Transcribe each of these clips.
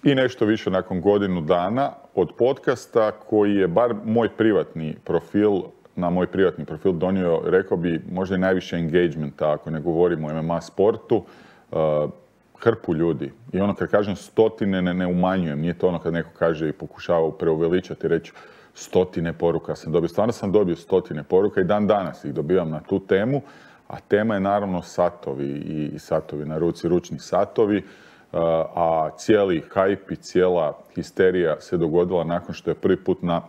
i nešto više nakon godinu dana od podcasta koji je bar moj privatni profil, na moj privatni profil donio, rekao bi, možda i najviše engagementa, ako ne govorimo o MMA sportu, hrpu ljudi. I ono kad kažem stotine ne umanjujem, nije to ono kad neko kaže i pokušava preuveličati i reći stotine poruka sam dobio. Stvarno sam dobio stotine poruka i dan danas ih dobivam na tu temu, a tema je naravno satovi i satovi na ruci, ručni satovi, a cijeli hype i cijela histerija se dogodila nakon što je prvi put na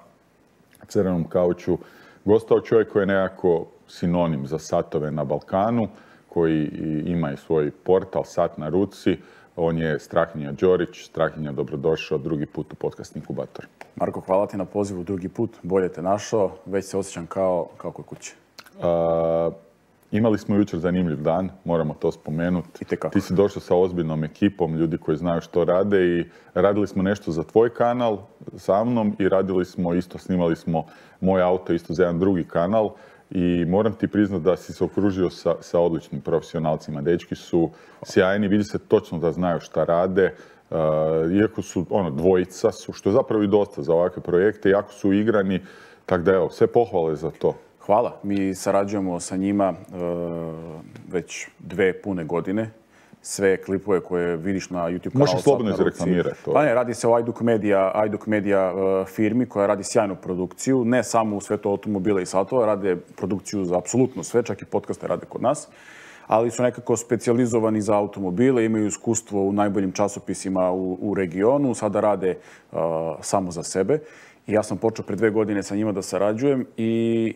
crvenom kauču gostao čovjek koji je nekako sinonim za satove na Balkanu, koji ima i svoj portal Sat na ruci. On je Strahinja Đorić. Strahinja, dobrodošao drugi put u podcast Inkubator. Marko, hvala ti na pozivu drugi put. Bolje te našao. Već se osjećam kao kod kuće. Imali smo jučer zanimljiv dan, moramo to spomenuti. Ti si došao sa ozbiljnom ekipom, ljudi koji znaju što rade i radili smo nešto za tvoj kanal sa mnom i radili smo isto, snimali smo moj auto isto za jedan drugi kanal i moram ti priznati da si se okružio sa odličnim profesionalcima. Dečki su sjajni, vidi se točno da znaju šta rade, iako su dvojica su, što je zapravo i dosta za ovakve projekte, jako su igrani, tako da evo, sve pohvale za to. Hvala. Mi sarađujemo sa njima već 2 pune godine. Sve klipove koje vidiš na YouTube kanalu. Možeš slobodno izreklamirati to. Pa ne, radi se o iDoc Media firmi koja radi sjajnu produkciju. Ne samo u svetu automobila i satova, rade produkciju za apsolutno sve, čak i podcaste rade kod nas. Ali su nekako specijalizovani za automobile, imaju iskustvo u najboljim časopisima u regionu, sada rade samo za sebe. I ja sam počeo pre 2 godine sa njima da sarađujem i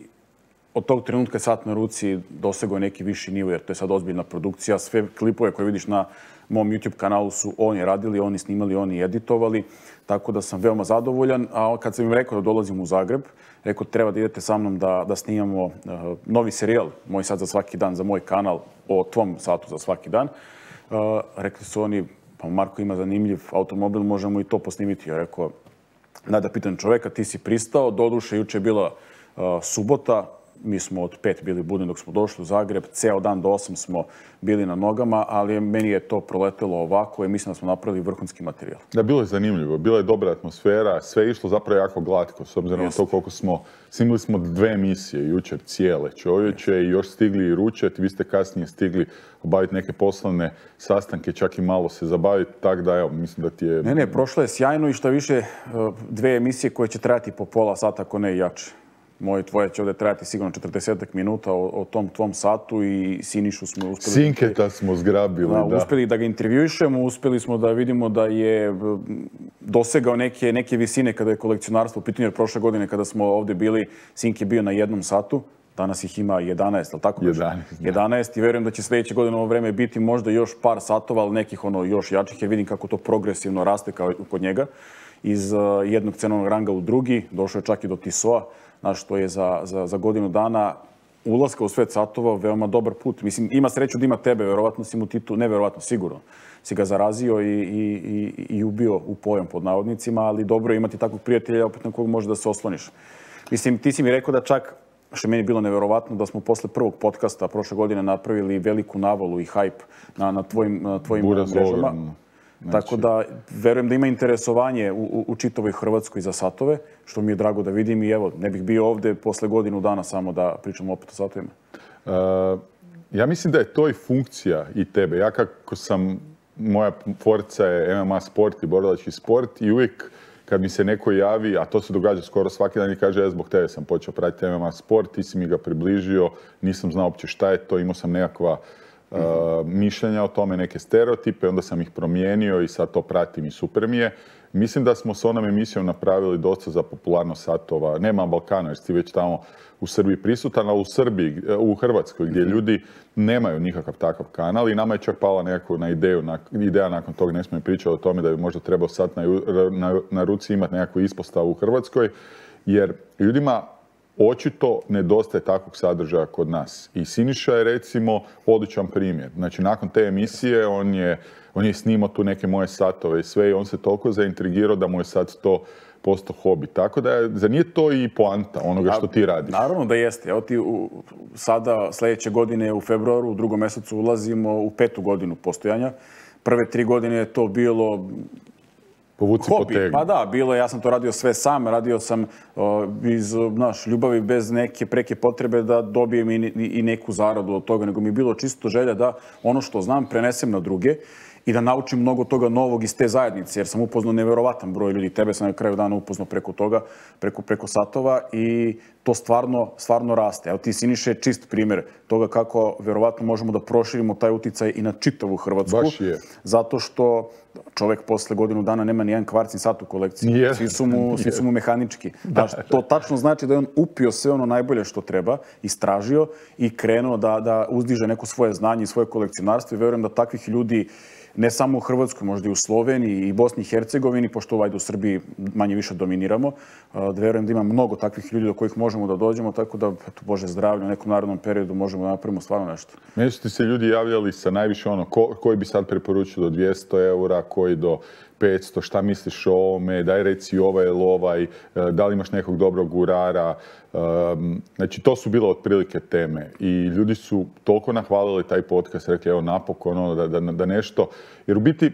od tog trenutka je Sat na ruci dosegao neki viši nivo, jer to je sad ozbiljna produkcija. Sve klipove koje vidiš na mom YouTube kanalu su oni radili, oni snimali, oni editovali, tako da sam veoma zadovoljan. A kad sam im rekao da dolazim u Zagreb, rekao treba da idete sa mnom da snimamo novi serijal, Moj sat za svaki dan, za moj kanal, o tvom satu za svaki dan. Rekli su oni, pa Marko ima zanimljiv automobil, možemo i to posnimiti. Ja rekao, da pitam čoveka, ti si pristao, doduše juče je bila subota, mi smo od 5 bili budni dok smo došli u Zagreb, ceo dan do 8 smo bili na nogama, ali meni je to proletelo ovako i mislim da smo napravili vrhunski materijal. Da, bilo je zanimljivo, bila je dobra atmosfera, sve je išlo zapravo jako glatko, s obzirom na to koliko snimili smo 2 emisije jučer cijele čovječe i još stigli i ručati, vi ste kasnije stigli obaviti neke poslovne sastanke, čak i malo se zabaviti, tako da evo, mislim da ti je... Ne, prošlo je sjajno i šta više 2 emisije koje će trajati po pola sata, ako ne i jače. Moje tvoje će ovdje trajati sigurno 40 minuta o tom tvom satu i Sinišu smo uspjeli... Sinketa smo zgrabili, da. Uspjeli da ga intervjuišemo, uspjeli smo da vidimo da je dosegao neke visine kada je kolekcionarstvo u pitanju, jer prošle godine kada smo ovdje bili, Sink je bio na 1 satu, danas ih ima 11, ali tako? 11 i verujem da će sljedeće godine ovo vreme biti možda još par satova, ali nekih još jačih, jer vidim kako to progresivno raste kod njega. Iz jednog cenovnog ranga u drugi, došao je čak i do Tisoa, što je za godinu dana ulaska u svet satova veoma dobar put. Mislim, ima sreću da ima tebe, verovatno si mu Titu, ne verovatno, sigurno, si ga zarazio i ubio u pojam pod navodnicima, ali dobro je imati takvog prijatelja opet na kog može da se osloniš. Mislim, ti si mi rekao da čak, što je meni bilo neverovatno, da smo posle prvog podcasta prošle godine napravili veliku navalu i hype na tvojim mrežama. Tako da, verujem da ima interesovanje u čitavoj Hrvatskoj za satove, što mi je drago da vidim i evo, ne bih bio ovdje posle godinu dana samo da pričamo opet o satovima. Ja mislim da je to i funkcija i tebe. Ja kako sam, moja forca je MMA sport i borilački sport i uvijek kad mi se neko javi, a to se događa skoro svaki dan i kaže, ja zbog tebe sam počeo pratiti MMA sport, ti si mi ga približio, nisam znao uopće šta je to, imao sam nekakva mišljenja o tome, neke stereotipe, onda sam ih promijenio i sad to pratim i super mi je. Mislim da smo s onom emisijom napravili dosta za popularnost satova. Nema Balkana jer si već tamo u Srbiji prisutan, ali u Hrvatskoj gdje ljudi nemaju nikakav takav kanal i nama je čak pala nekako ideja nakon toga, ne smo i pričali o tome da bi možda trebao Sat na ruci imati nekakvu ispostavu u Hrvatskoj, jer ljudima očito nedostaje takvog sadržaja kod nas. I Siniša je recimo odličan primjer. Znači nakon te emisije on je snimao tu neke moje satove i sve i on se toliko zaintrigirao da mu je sad to postao hobi. Tako da zar nije to i poanta onoga što ti radiš? Naravno da jeste. Evo ti sada sljedeće godine u februaru, u 2. mjesecu ulazimo u 5. godinu postojanja. Prve 3 godine je to bilo Povuci potegni. Pa da, bilo je, ja sam to radio sve sam, radio sam iz ljubavi bez neke preke potrebe da dobijem i neku zaradu od toga, nego mi je bilo čisto želja da ono što znam prenesem na druge i da naučim mnogo toga novog iz te zajednice, jer sam upoznao neverovatan broj ljudi. Tebe sam na kraju dana upoznao preko toga, preko satova i to stvarno raste. Evo ti, Siniša, je čist primjer toga kako verovatno možemo da proširimo taj uticaj i na čitavu Hrvatsku. Baš je. Zato što čovjek posle godinu dana nema ni jedan kvarcni sat u kolekciji. Svi su mu mehanički. To tačno znači da je on upio sve ono najbolje što treba, istražio i krenuo da uzdiže neko svoje znanje i svoje kolekcionarstvo. I verujem da takvih ljudi ne samo u Hrvatskoj, možda i u Sloveniji i Bosni i Hercegovini, pošto u Srbiji manje više dominiramo. Da verujem da ima mnogo takvih ljudi do kojih možemo da dođemo, tako da, eto, Bože zdravlje, u nekom narednom periodu možemo da napravimo stvarno nešto. Meni su ti se ljudi javljali sa najviše koji bi sad preporučio do 200 eura, koji do 500, šta misliš o ovome, daj reci ovaj ili ovaj, da li imaš nekog dobrog urara. Znači, to su bile otprilike teme i ljudi su toliko nahvalili taj podcast, rekli evo napokon, da nešto, jer u biti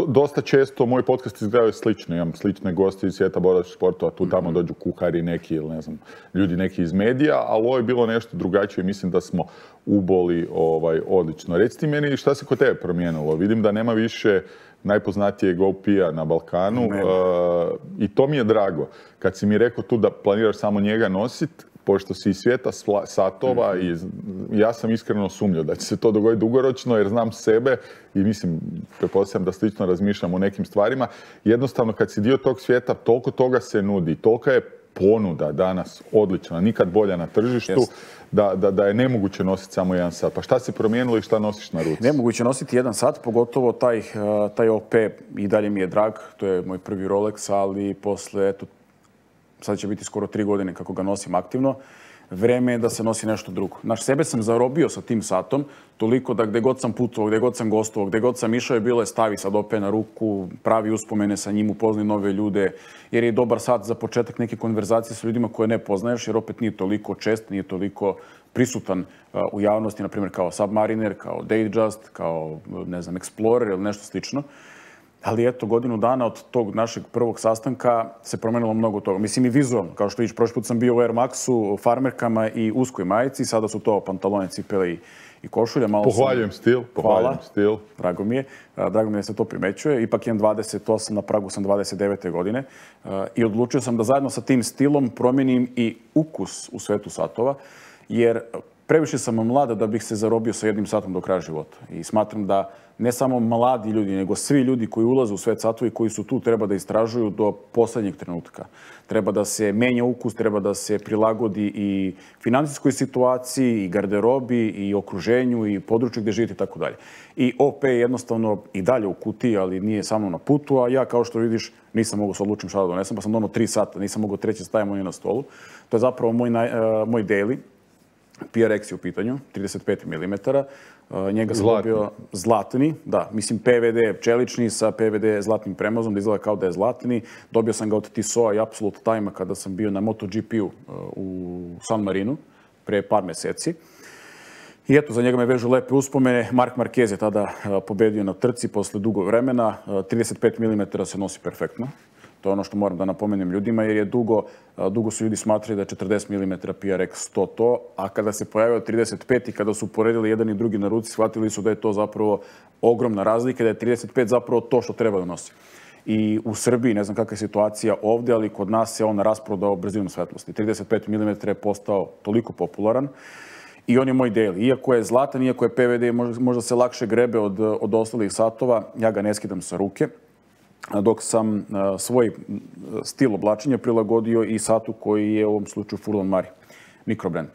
dosta često moj podcast izgledaju slično. Imam slične goste iz svijeta borilačkih sportova, tu tamo dođu kuhari neki ili ne znam, ljudi neki iz medija, ali ovo je bilo nešto drugačije. Mislim da smo uboli odlično. Reci ti meni šta se kod tebe promijenilo. Vidim da nema više najpoznatijeg OP-a na Balkanu i to mi je drago. Kad si mi rekao tu da planiraš samo njega nositi, pošto si iz svijeta satova i ja sam iskreno sumnjao da će se to dogoditi dugoročno jer znam sebe i mislim, pretpostavljam da slično razmišljam o nekim stvarima. Jednostavno kad si dio tog svijeta, toliko toga se nudi, tolika je ponuda danas odlična, nikad bolja na tržištu, da je nemoguće nositi samo jedan sat. Pa šta se promijenilo i šta nosiš na ruci? Nemoguće nositi jedan sat, pogotovo taj OP i dalje mi je drag. To je moj prvi Rolex, ali posle, eto, sad će biti skoro 3 godine kako ga nosim aktivno. Vreme je da se nosi nešto drugo. Sebe sam zarobio sa tim satom, toliko da gde god sam putovao, gde god sam gostovao, gde god sam išao je bilo je stavi sad OP na ruku, pravi uspomene sa njim, upoznaj nove ljude, jer je dobar sat za početak neke konverzacije sa ljudima koje ne poznaješ, jer opet nije toliko čest, nije toliko prisutan u javnosti, na primjer kao Submariner, kao Datejust, kao, ne znam, Explorer ili nešto slično. Ali eto, godinu dana od tog našeg prvog sastanka se promenilo mnogo toga. Mislim i vizualno, kao što vidiš, prošli put sam bio u Air Maxu, farmerkama i uskoj majici, sada su to pantalone, cipele i košulja. Pohvaljujem stil. Drago mi je. Drago mi je da se to primećuje. Ipak imam 28, na pragu sam 29. godine. I odlučio sam da zajedno sa tim stilom promijenim i ukus u svetu satova, jer previše sam mlada da bih se zarobio sa jednim satom do kraja života. I smatram da ne samo mladi ljudi, nego svi ljudi koji ulaze u svet satova i koji su tu treba da istražuju do poslednjeg trenutka. Treba da se menja ukus, treba da se prilagodi i finansijskoj situaciji, i garderobi, i okruženju, i području gdje živite i tako dalje. I OP je jednostavno i dalje u kutiji, ali nije samo na putu, a ja, kao što vidiš, nisam mogao se odlučiti šta da donesem, pa sam donao 3 sata, nisam mogao treći stavim on na stolu. To je zapravo moj daily. PRX je u pitanju, 35 mm. Njega sam dobio zlatni, da, mislim PVD čelični sa PVD zlatnim premazom, da izgleda kao da je zlatni. Dobio sam ga od Tissot i Absolute Time-a kada sam bio na MotoGP-u u San Marinu pre par meseci. I eto, za njega me vežu lepe uspomene. Marc Marquez je tada pobedio na trci posle dugo vremena. 35 mm se nosi perfektno. To je ono što moram da napomenem ljudima, jer je dugo su ljudi smatrali da je 40 mm PRX to, a kada se pojavio 35 i kada su poredili jedan i drugi na ruci, shvatili su da je to zapravo ogromna razlika, da je 35 zapravo to što treba da nosi. I u Srbiji, ne znam kakva je situacija ovdje, ali kod nas se on rasprodao brzinom svetlosti. 35 mm je postao toliko popularan i on je moj daily. Iako je zlatan, iako je PVD, možda se lakše grebe od ostalih satova, ja ga ne skidam sa ruke. Dok sam svoj stil oblačenja prilagodio i satu koji je u ovom slučaju Furlan Mari, mikrobrand.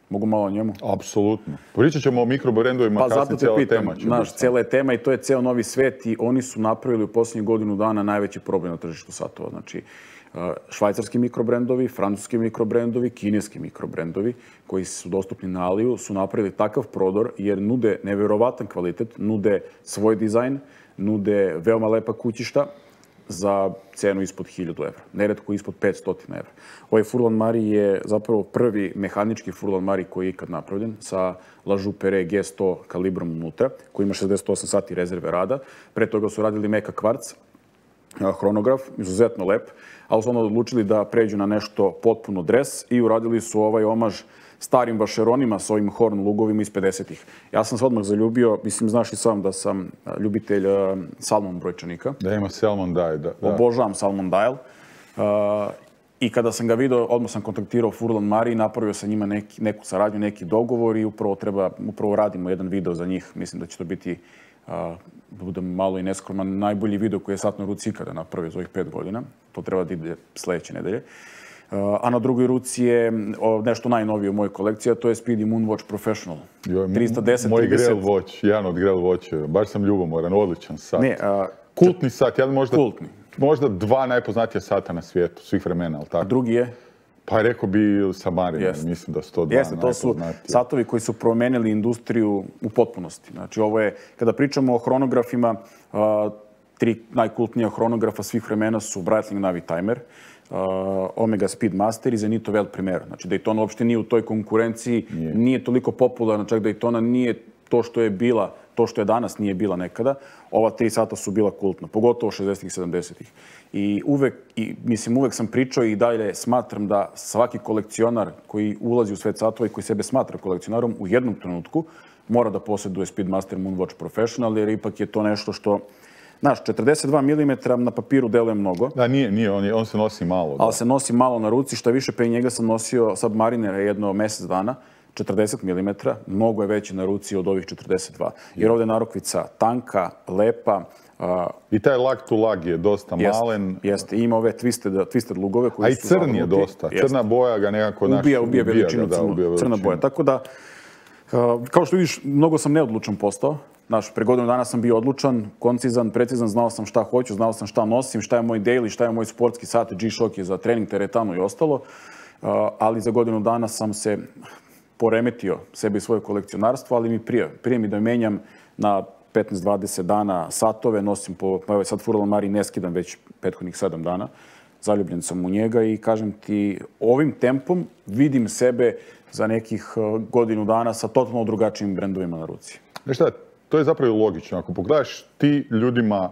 Mogu malo o njemu? Apsolutno. Pričat ćemo o mikrobrandovima, kasnije cijela tema će biti. Cijela je tema i to je ceo novi svet i oni su napravili u posljednjih godinu dana najveći problem na tržištu satova. Znači, švajcarski mikrobrendovi, francuski mikrobrendovi, kineski mikrobrendovi koji su dostupni na Aliju su napravili takav prodor jer nude neverovatan kvalitet, nude svoj dizajn, nude veoma lepa kućišta za cenu ispod 1000 evra, neretko ispod 500 evra. Ovaj Furlan Mari je zapravo prvi mehanički Furlan Mari koji je ikad napravljen sa La Joux-Perret G100 kalibrom unutra, koji ima 68 sati rezerve rada. Pre toga su radili meka kvarc hronograf, izuzetno lep, ali su onda odlučili da pređu na nešto potpuno dres i uradili su ovaj omaž starim vašeronima sa ovim horn lugovima iz 50-ih. Ja sam se odmah zaljubio, mislim, znaš i sam da sam ljubitelj Salmon brojčanika. Da, ima Salmon Dial, da. Obožavam Salmon Dial. I kada sam ga vidio, odmah sam kontaktirao Furlan Mari i napravio sa njima neku saradnju, neki dogovor i upravo radimo jedan video za njih. Mislim da će to biti, da budem malo i neskroman, najbolji video koji je sat na ruci ikada napravio za ovih 5 godina. To treba da ide sledeće nedelje. A na drugoj ruci je nešto najnovije u mojoj kolekciji, a to je Speedy Moonwatch Professional. 310, moj Grail Watch, jedan od Grail Watcheva. Baš sam ljubomoran, odličan sat. Kultni sat, jedan možda 2 najpoznatija sata na svijetu, svih vremena, ali tako? A drugi je? Pa rekao bi Submariner, mislim da su to 2 najpoznatija. To su satovi koji su promenili industriju u potpunosti. Znači, ovo je, kada pričamo o hronografima, 3 najkultnija hronografa svih vremena su Breitling Navitimer, Omega Speedmaster i Zenith Welt Primera. Znači, Daytona uopšte nije u toj konkurenciji, nije toliko popularna, čak Daytona nije to što je bila, to što je danas nije bila nekada. Ova 3 sata su bila kultna, pogotovo 60-ih i 70-ih. I uvek sam pričao i dalje smatram da svaki kolekcionar koji ulazi u svet satova i koji sebe smatra kolekcionarom u jednom trenutku mora da posjeduje Speedmaster Moonwatch Professional, jer ipak je to nešto što, znaš, 42 mm na papiru deluje mnogo. Da, nije, on se nosi malo. Ali se nosi malo na ruci, šta više, pre njega sam nosio Submarinera jedno mesec dana, 40 mm, mnogo je veći na ruci od ovih 42. Jer ovdje je narukvica tanka, lepa. I taj lag to lag je dosta malen. Jeste, ima ove twisted lugove. A i crn je dosta. Crna boja ga nekako ubija veličinu crna boja. Tako da, kao što vidiš, mnogo sam neodlučan postao. Znaš, pre godinu dana sam bio odlučan, koncizan, precizan, znao sam šta hoću, znao sam šta nosim, šta je moj daily, šta je moj sportski sat, G-Shock je za trening, teretanu i ostalo. Ali za godinu dana sam se poremetio sebi i svoje kolekcionarstvo, ali mi prije mi da menjam na 15-20 dana satove, nosim evo sad Furlan Mari ne skidam već prethodnih 7 dana, zaljubljen sam u njega i kažem ti, ovim tempom vidim sebe za nekih godinu dana sa totalno drugačijim brendovima na ruci. Znaš šta, to je zapravo logično. Ako pogledaš, ti ljudima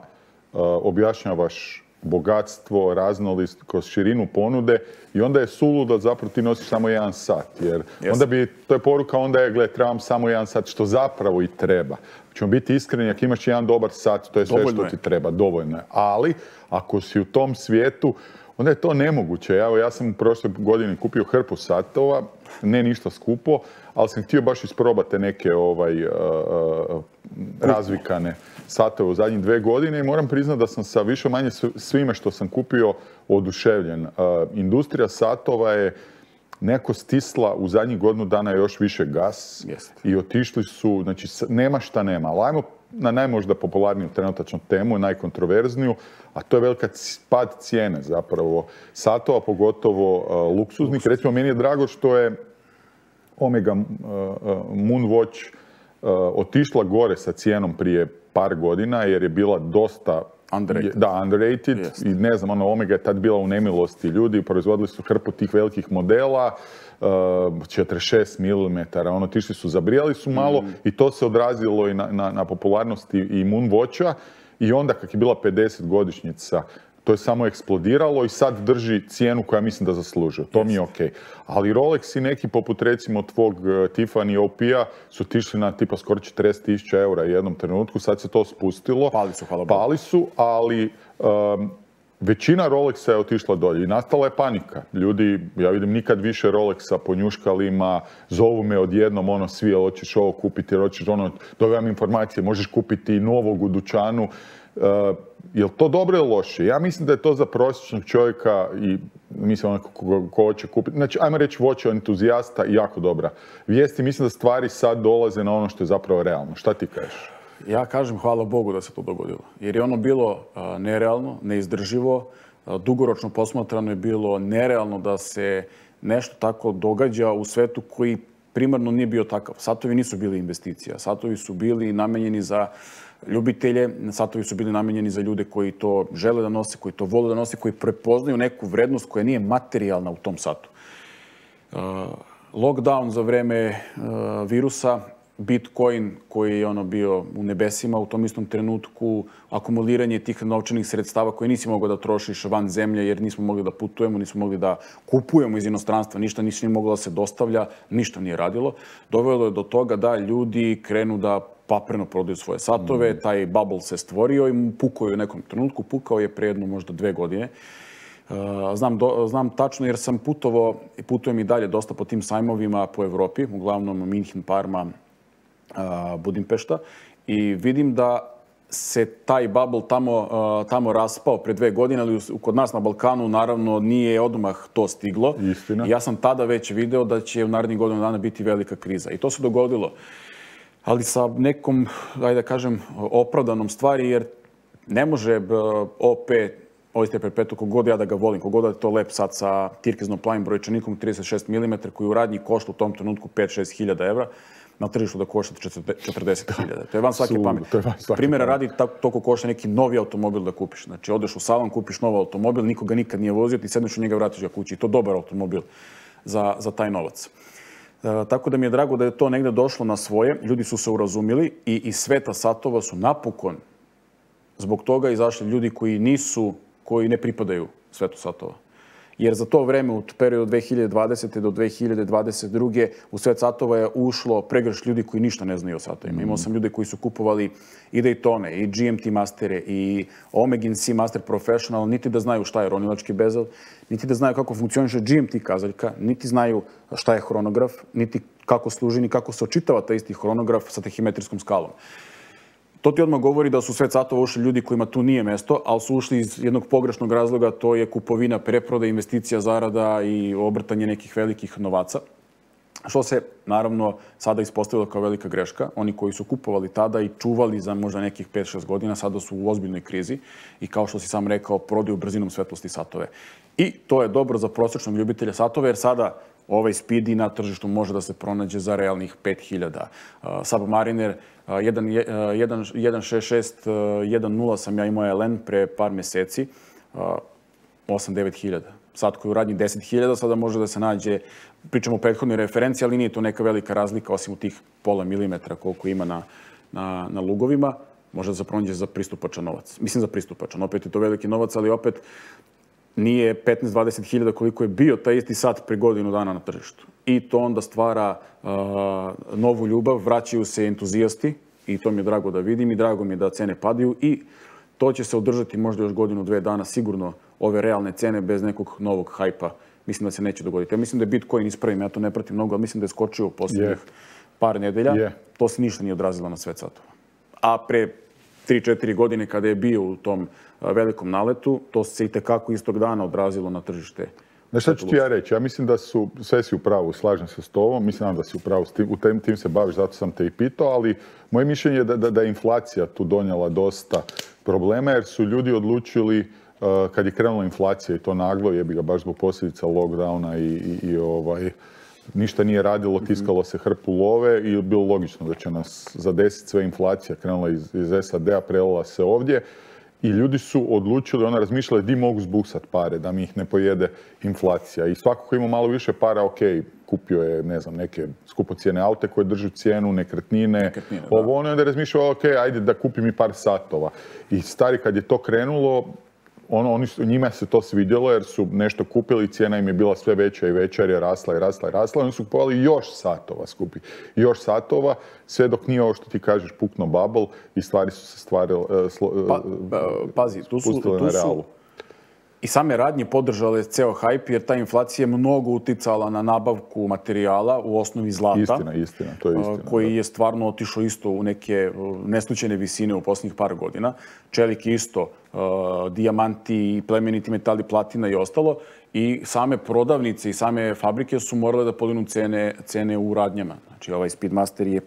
objašnjavaš bogatstvo, raznolikost, širinu ponude i onda je suludo zapravo ti nosiš samo 1 sat. Jer onda bi, to je poruka, onda je, gle, trebam samo 1 sat, što zapravo i treba. Ćemo biti iskreni, ako imaš jedan dobar sat, to je sve što ti treba, dovoljno je. Ali, ako si u tom svijetu, onda je to nemoguće. Evo, ja sam u prošloj godini kupio hrpu satova, ne ništa skupo, ali sam htio baš isprobati neke razvikane satove u zadnjih 2 godine i moram priznati da sam sa više manje svime što sam kupio oduševljen. Industrija satova je neko stisla u zadnjih godinu dana još više gas i otišli su, znači nema šta nema. Ali ajmo na najmožda popularniju trenutačnu temu, najkontroverzniju, a to je velika pad cijene zapravo satova, pogotovo luksuznih. Recimo, meni je drago što je Omega Moonwatch otišla gore sa cijenom prije par godina, jer je bila dosta underrated. I ne znam, Omega je tad bila u nemilosti ljudi, proizvodili su hrpu tih velikih modela, 46 mm, otišli su, zabrijali su malo i to se odrazilo i na popularnosti i Moonwatcha. I onda, kak je bila 50-godišnjica, to je samo eksplodiralo i sad drži cijenu koja mislim da zaslužuje. To mi je okej. Ali Rolex i neki poput recimo tvog Tiffany OP-a su otišli na tipa skoro 40.000 eura u jednom trenutku. Sad se to spustilo. Pali su, hvala Bogu. Pali su, ali većina Rolexa je otišla dolje i nastala je panika. Ljudi, ja vidim nikad više Rolexa po njuškalima, zovu me odjednom, svi, jel hoćeš ovo kupiti, jel hoćeš dobivam informacije, možeš kupiti novog u dućanu. Je li to dobro ili loše? Ja mislim da je to za prosječnog čovjeka i mislim ko hoće kupiti. Znači, ajmo reći voće entuzijasta i jako dobra vijest i mislim da stvari sad dolaze na ono što je zapravo realno. Šta ti kažeš? Ja kažem hvala Bogu da se to dogodilo. Jer je ono bilo nerealno, neizdrživo, dugoročno posmatrano je bilo nerealno da se nešto tako događa u svetu koji primarno nije bio takav. Satovi nisu bili investicija. Satovi su bili namenjeni za ljubitelje, satovi su bili namenjeni za ljude koji to žele da nose, koji to vole da nose, koji prepoznaju neku vrednost koja nije materijalna u tom satu. Lockdown za vreme virusa Bitcoin koji je bio u nebesima u tom istom trenutku, akumuliranje tih novčanih sredstava koje nisi mogao da trošiš van zemlje jer nismo mogli da putujemo, nismo mogli da kupujemo iz inostranstva, ništa nije moglo da se dostavlja, ništa nije radilo. Dovelo je do toga da ljudi krenu da papreno prodaju svoje satove, taj bubble se stvorio i pukao je u nekom trenutku, pukao je pre jedno možda 2 godine. Znam tačno jer sam putovao i putujem i dalje dosta po tim sajmovima po Evropi, uglavnom Minhen, Parma, Budimpešta, i vidim da se taj bubble tamo raspao pre 2 godine, ali kod nas na Balkanu naravno nije odmah to stiglo. Istina. Ja sam tada već video da će u narednih godinu dana biti velika kriza. I to se dogodilo. Ali sa nekom, ajde da kažem, opravdanom stvari, jer ne može OP, Oyster Perpetuum, kogod ja da ga volim, kogod da je to lep sad sa tirkiznom plavim brojčanikom 36 mm koji u radnji košta u tom trenutku 5-6 hiljada evra, na tržištu da košta 40 hiljada. To je van svake pameti. Primjera radi, toliko košta neki novi automobil da kupiš. Znači, odeš u salon, kupiš novi automobil, nikoga nikad nije vozio, ti sedneš u njega, vratiš ga kući. I to dobar automobil za taj novac. Tako da mi je drago da je to negde došlo na svoje. Ljudi su se urazumili i iz sveta satova su napokon zbog toga izašli ljudi koji ne pripadaju svetu satova. Jer za to vreme, u periodu 2020. do 2022. u svet satova je ušlo pregršt ljudi koji ništa ne znaju o satovima. Imao sam ljude koji su kupovali i Daytone, i GMT Mastere, i Omega C Master Professional, niti da znaju šta je ronilački bezel, niti da znaju kako funkcioniše GMT kazaljka, niti znaju šta je hronograf, niti kako služi, ni kako se očitava taj isti hronograf sa tahimetrijskom skalom. To ti odmah govori da su svet satova ušli ljudi kojima tu nije mesto, ali su ušli iz jednog pogrešnog razloga, to je kupovina, preproda, investicija, zarada i obrtanje nekih velikih novaca. Što se, naravno, sada ispostavilo kao velika greška. Oni koji su kupovali tada i čuvali za možda nekih 5-6 godina, sada su u ozbiljnoj krizi i, kao što si sam rekao, prodaju brzinom svetlosti satove. I to je dobro za prosječnog ljubitelja satova, jer sada ovaj Speedy na tržištu može da se pronađe za realnih 5000. Submariner 1.66, 1.0 sam ja imao LN pre par meseci, 8-9 hiljada. Sad koji u radnji 10.000, sada može da se nađe, pričamo o prethodnoj referenciji, ali nije to neka velika razlika, osim u tih pola milimetra koliko ima na lugovima, može da se pronađe za pristupačan novac. Mislim za pristupačan, opet je to veliki novac, ali opet nije 15-20 hiljada koliko je bio taj isti sat pre godinu dana na tržištu. I to onda stvara novu ljubav, vraćaju se entuzijasti i to mi je drago da vidim i drago mi je da cene padaju i to će se održati možda još godinu, 2 dana, sigurno ove realne cene bez nekog novog hajpa. Mislim da se neće dogoditi. Ja mislim da je Bitcoin, ispravim, ja to ne pratim mnogo, ali mislim da je skočio u posljednjih par nedelja. To se ništa nije odrazilo na svet satova. A pre 3-4 godine kada je bio u tom velikom naletu, to se i tekako istog dana odrazilo na tržište. Znaš šta ću ti ja reći? Ja mislim da sve si u pravu, slažem se s tobom, mislim da si u pravu, u tim se baviš, zato sam te i pitao, ali moje mišljenje je da je inflacija tu donijela dosta problema, jer su ljudi odlučili, kad je krenula inflacija i to naglo, jebi ga baš zbog posljedica lockdowna i ništa nije radilo, tiskalo se hrpu love i bilo logično da će nas zadesiti sve inflacija. Krenula iz SAD-a, prelila se ovdje i ljudi su odlučili, razmišljali di mogu zbuksat pare, da mi ih ne pojede inflacija. I svako ko ima malo više para, ok, kupio je, ne znam, neke skupocijene aute koje držu cijenu, nekretnine, ovo ono, onda je razmišljao, ok, ajde da kupim i par satova. I stari, kad je to krenulo, njima se to svidjelo jer su nešto kupili, cijena im je bila sve veća i veća jer je rasla i rasla i rasla. Oni su kupovali još satova skupi. Još satova, sve dok nije ovo što ti kažeš pukno bubble i stvari su se pazi, spustile na realu. I same radnje podržale ceo hajp jer ta inflacija je mnogo uticala na nabavku materijala, u osnovi zlata. Istina, to je istina. Koji je stvarno otišao isto u neke neslučajne visine u posljednjih par godina. Čelik isto, dijamanti, plemeniti metali, platina i ostalo. I same prodavnice i same fabrike su morale da podignu cene u radnjama. Znači, ovaj Speedmaster je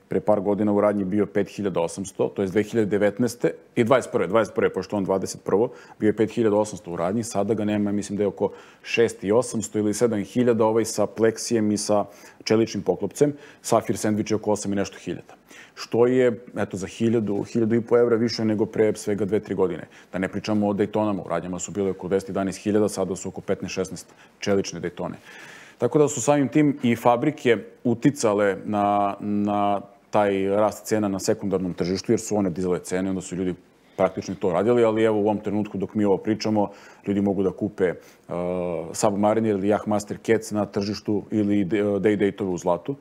pre par godina u radnji bio 5800, to je 2019. i 21. pošto on 21. bio je 5800 u radnji, sada ga nema, mislim da je oko 6800 ili 7000, ovaj sa pleksijem i sa čeličnim poklopcem. Safir sandvič je oko 8 i nešto hiljada. Što je, eto, za 1000-1500 evra više nego pre svega 2-3 godine. Da ne pričamo o Daytonama, u radnjama su bile oko 10-11 hiljada, sada su oko 15-16 čelične Daytone. Tako da su samim tim i fabrike uticale na taj rast cena na sekundarnom tržištu, jer su one dizale cene, onda su ljudi praktično to radili, ali evo u ovom trenutku dok mi ovo pričamo, ljudi mogu da kupe Submariner ili Yachtmaster Cats na tržištu ili Day-Dateove u zlatu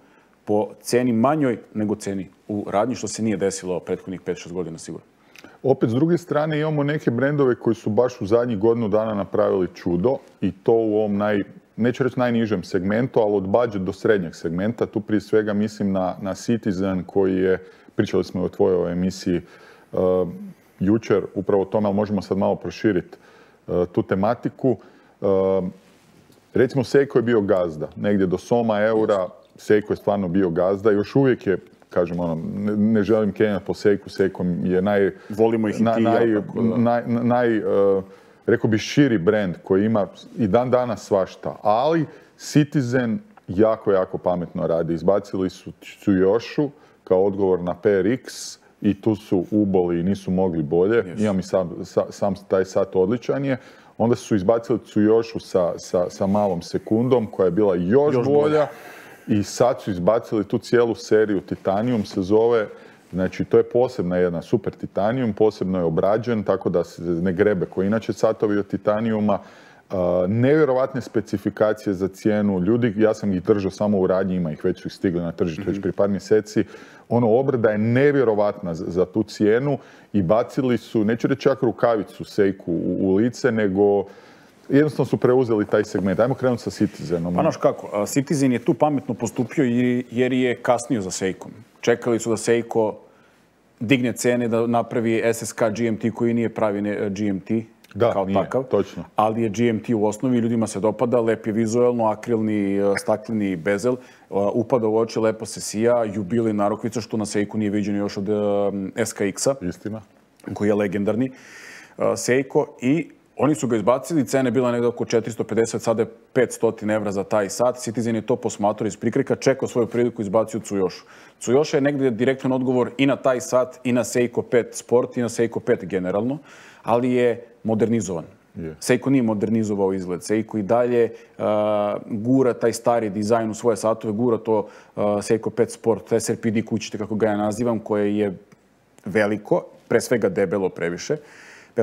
po ceni manjoj nego ceni u radnji, što se nije desilo prethodnih 5-6 godina sigurno. Opet, s druge strane, imamo neke brendove koji su baš u zadnjih godinu dana napravili čudo i to u ovom neću reći najnižem segmentu, ali od budget do srednjeg segmenta. Tu prije svega mislim na Citizen koji je, pričali smo o tvojoj emisiji jučer, upravo o tome, ali možemo sad malo proširiti tu tematiku. Recimo, Seiko je bio gazda. Negdje do soma eura Seiko je stvarno bio gazda. Još uvijek je, kažem, ne želim kenjati po Seiku. Seiko je volimo ih rekao bi širi brand koji ima i dan danas svašta. Ali Citizen jako, jako pametno radi. Izbacili su Tsuyoshi kao odgovor na PRX i tu su uboli i nisu mogli bolje. Yes. Imam i sam taj sat odličan je. Onda su izbacili Tsuyoshi sa malom sekundom koja je bila još bolja. I sad su izbacili tu cijelu seriju Titanium se zove. Znači, to je posebna jedna super Titanium, posebno je obrađen, tako da se ne grebe koji inače satovi od Titaniuma. Nevjerovatne specifikacije za cijenu. Ljudi, ja sam ih držao samo u radnji, ima ih već su ih stigli na tržište već prije par mjeseci. Obrada je nevjerovatna za tu cijenu i bacili su, neću reći čak rukavicu Seiku u lice, nego jednostavno su preuzeli taj segment. Ajmo krenuti sa Citizenom. Pa znaš kako, Citizen je tu pametno postupio jer je kasnio za Seikom. Čekali su da Seiko digne cene, da napravi SSK GMT koji nije pravi GMT kao takav. Točno. Ali je GMT u osnovi, ljudima se dopada, lep je vizualno, akrilni, stakleni bezel, upada u oči, lepo se sija, jubilej narukvica, što na Seiku nije viđeno još od SKX-a. Istina. Koji je legendarni Seiko i oni su ga izbacili, cena je bila negdje oko 450, sada je 500 evra za taj sat. Citizen je to posmatrao iz prikrika, čekao svoju priliku i izbacio Tsuyoshi. Tsuyoshi je negdje direktan odgovor i na taj sat, i na Seiko 5 Sport, i na Seiko 5 generalno, ali je modernizovan. Yeah. Seiko nije modernizovao izgled. Seiko i dalje gura taj stari dizajn u svoje satove, gura to Seiko 5 Sport, SRPD kućite, kako ga ja nazivam, koje je veliko, pre svega debelo previše.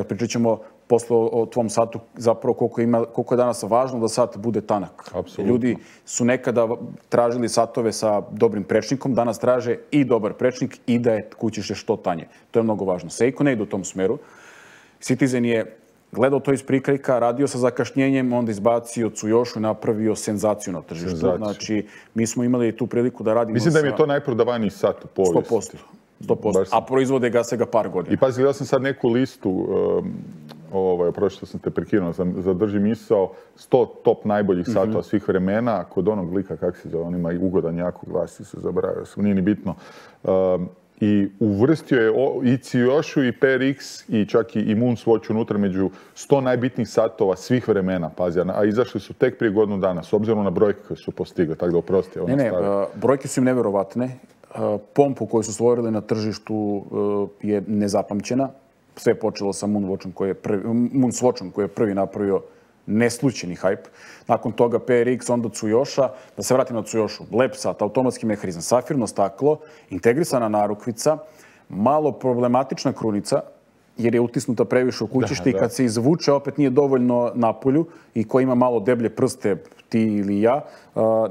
Pričat ćemo posle o tvom satu zapravo koliko je danas važno da sat bude tanak. Apsolutno. Ljudi su nekada tražili satove sa dobrim prečnikom, danas traže i dobar prečnik i da je kućište što tanje. To je mnogo važno. Seiko ne ide u tom smeru. Citizen je gledao to iz prikrajka, radio sa zakašnjenjem, onda izbacio Tsuyoshi i napravio senzaciju na tržištu. Znači, mi smo imali tu priliku da radimo Mislim da mi je to najprodavaniji sat u povijesti. 100%. A proizvode ga se par godina. I pazi, gledao sam sad neku listu, prošlo sam te prekinuo, zadrži misao, 100 top najboljih satova svih vremena, kod onog lika, kak se zove, on ima i ugodan jako glas, se zaboravio sam, nije ni bitno. I uvrstio je i Tsuyoshi i PRX i čak i Moonswatch unutra među 100 najbitnijih satova svih vremena, pazi, a izašli su tek prije godinu dana, s obzirom na brojke koje su postigli, tako da oprosti. Brojke su im nevjerovatne. Pompu koju su stvorili na tržištu je nezapamćena. Sve je počelo sa Moonswatchom koji je prvi napravio neslučajni hype. Nakon toga PRX, onda Tsuyoshi. Da se vratim na Tsuyoshi. Lep sat, automatski mehanizam, safirno staklo, integrisana narukvica, malo problematična krunica, jer je utisnuta previše u kućište i kad se izvuče opet nije dovoljno napolju i ko ima malo deblje prste, ti ili ja,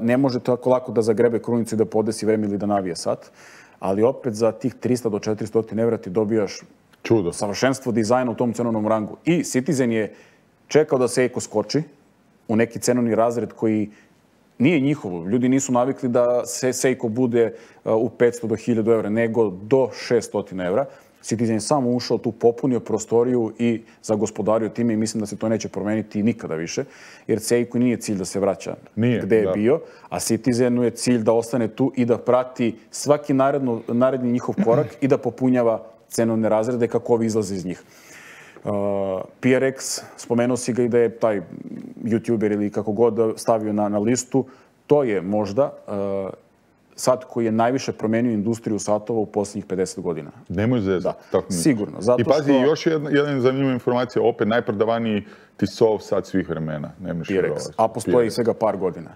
ne može tako lako da zagrebe krunicu i da podesi vreme ili da navije sat. Ali opet za tih 300 do 400 evra ti dobijaš čudo, savršenstvo dizajna u tom cenovnom rangu. I Citizen je čekao da Seiko skoči u neki cenovni razred koji nije njihovo. Ljudi nisu navikli da Seiko bude u 500 do 1000 evra, nego do 600 evra. Citizen je samo ušao tu, popunio prostoriju i zagospodario time i mislim da se to neće promeniti nikada više, jer Seiko nije cilj da se vraća gde je bio, a Citizenu je cilj da ostane tu i da prati svaki naredni njihov korak i da popunjava cenovne razrede kako ovi izlaze iz njih. PRX, spomenuo si ga i da je taj YouTuber ili kako god stavio na listu, to je možda sat koji je najviše promenio industriju satova u posljednjih 50 godina. Nemoj zezati. Sigurno. I pazi, još jedna zanimljiva informacija, opet najprodavaniji Tissot sat svih vremena. PRX, a postoji svega par godina.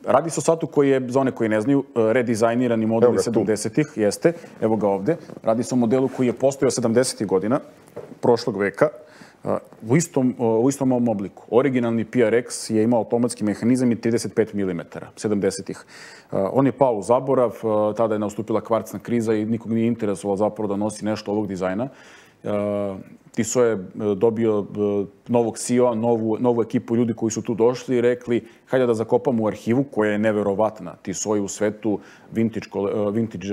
Radi se o satu koji je, za one koji ne znaju, redizajnirani model iz 70-ih, jeste, evo ga ovde. Radi se o modelu koji je postojao 70-ih godina, prošlog veka, u istom ovom obliku. Originalni PRX je imao automatski mehanizam i 35 mm, 70-ih. On je pao u zaborav, tada je nastupila kvarcna kriza i nikog nije interesovalo zapravo da nosi nešto ovog dizajna. Tissot je dobio novog CEO-a, novu ekipu ljudi koji su tu došli i rekli hajde da zakopamo u arhivu koja je neverovatna. Tissot je u svetu vintage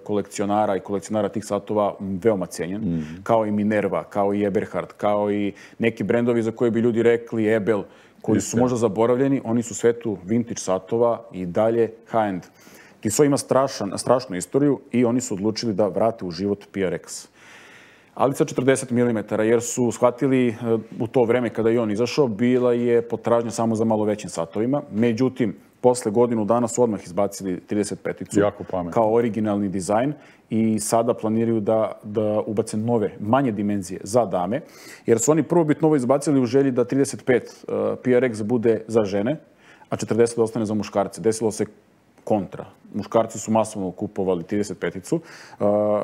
kolekcionara i kolekcionara tih satova veoma cenjen, kao i Minerva, kao i Eberhard, kao i neki brendovi za koje bi ljudi rekli Ebel, koji su možda zaboravljeni, oni su u svetu vintage satova i dalje high-end. Tissot ima strašnu istoriju i oni su odlučili da vrate u život PRX. Ali sa 40 mm, jer su shvatili u to vreme kada je on izašao, bila je potražnja samo za malo većim satovima. Međutim, posle godinu dana su odmah izbacili 35-icu kao originalni dizajn i sada planiraju da ubace nove, manje dimenzije za dame, jer su oni prvobitno ovo izbacili u želji da 35 PRX bude za žene, a 40 ostane za muškarce. Desilo se kontra. Muškarci su masovno kupovali 35-icu.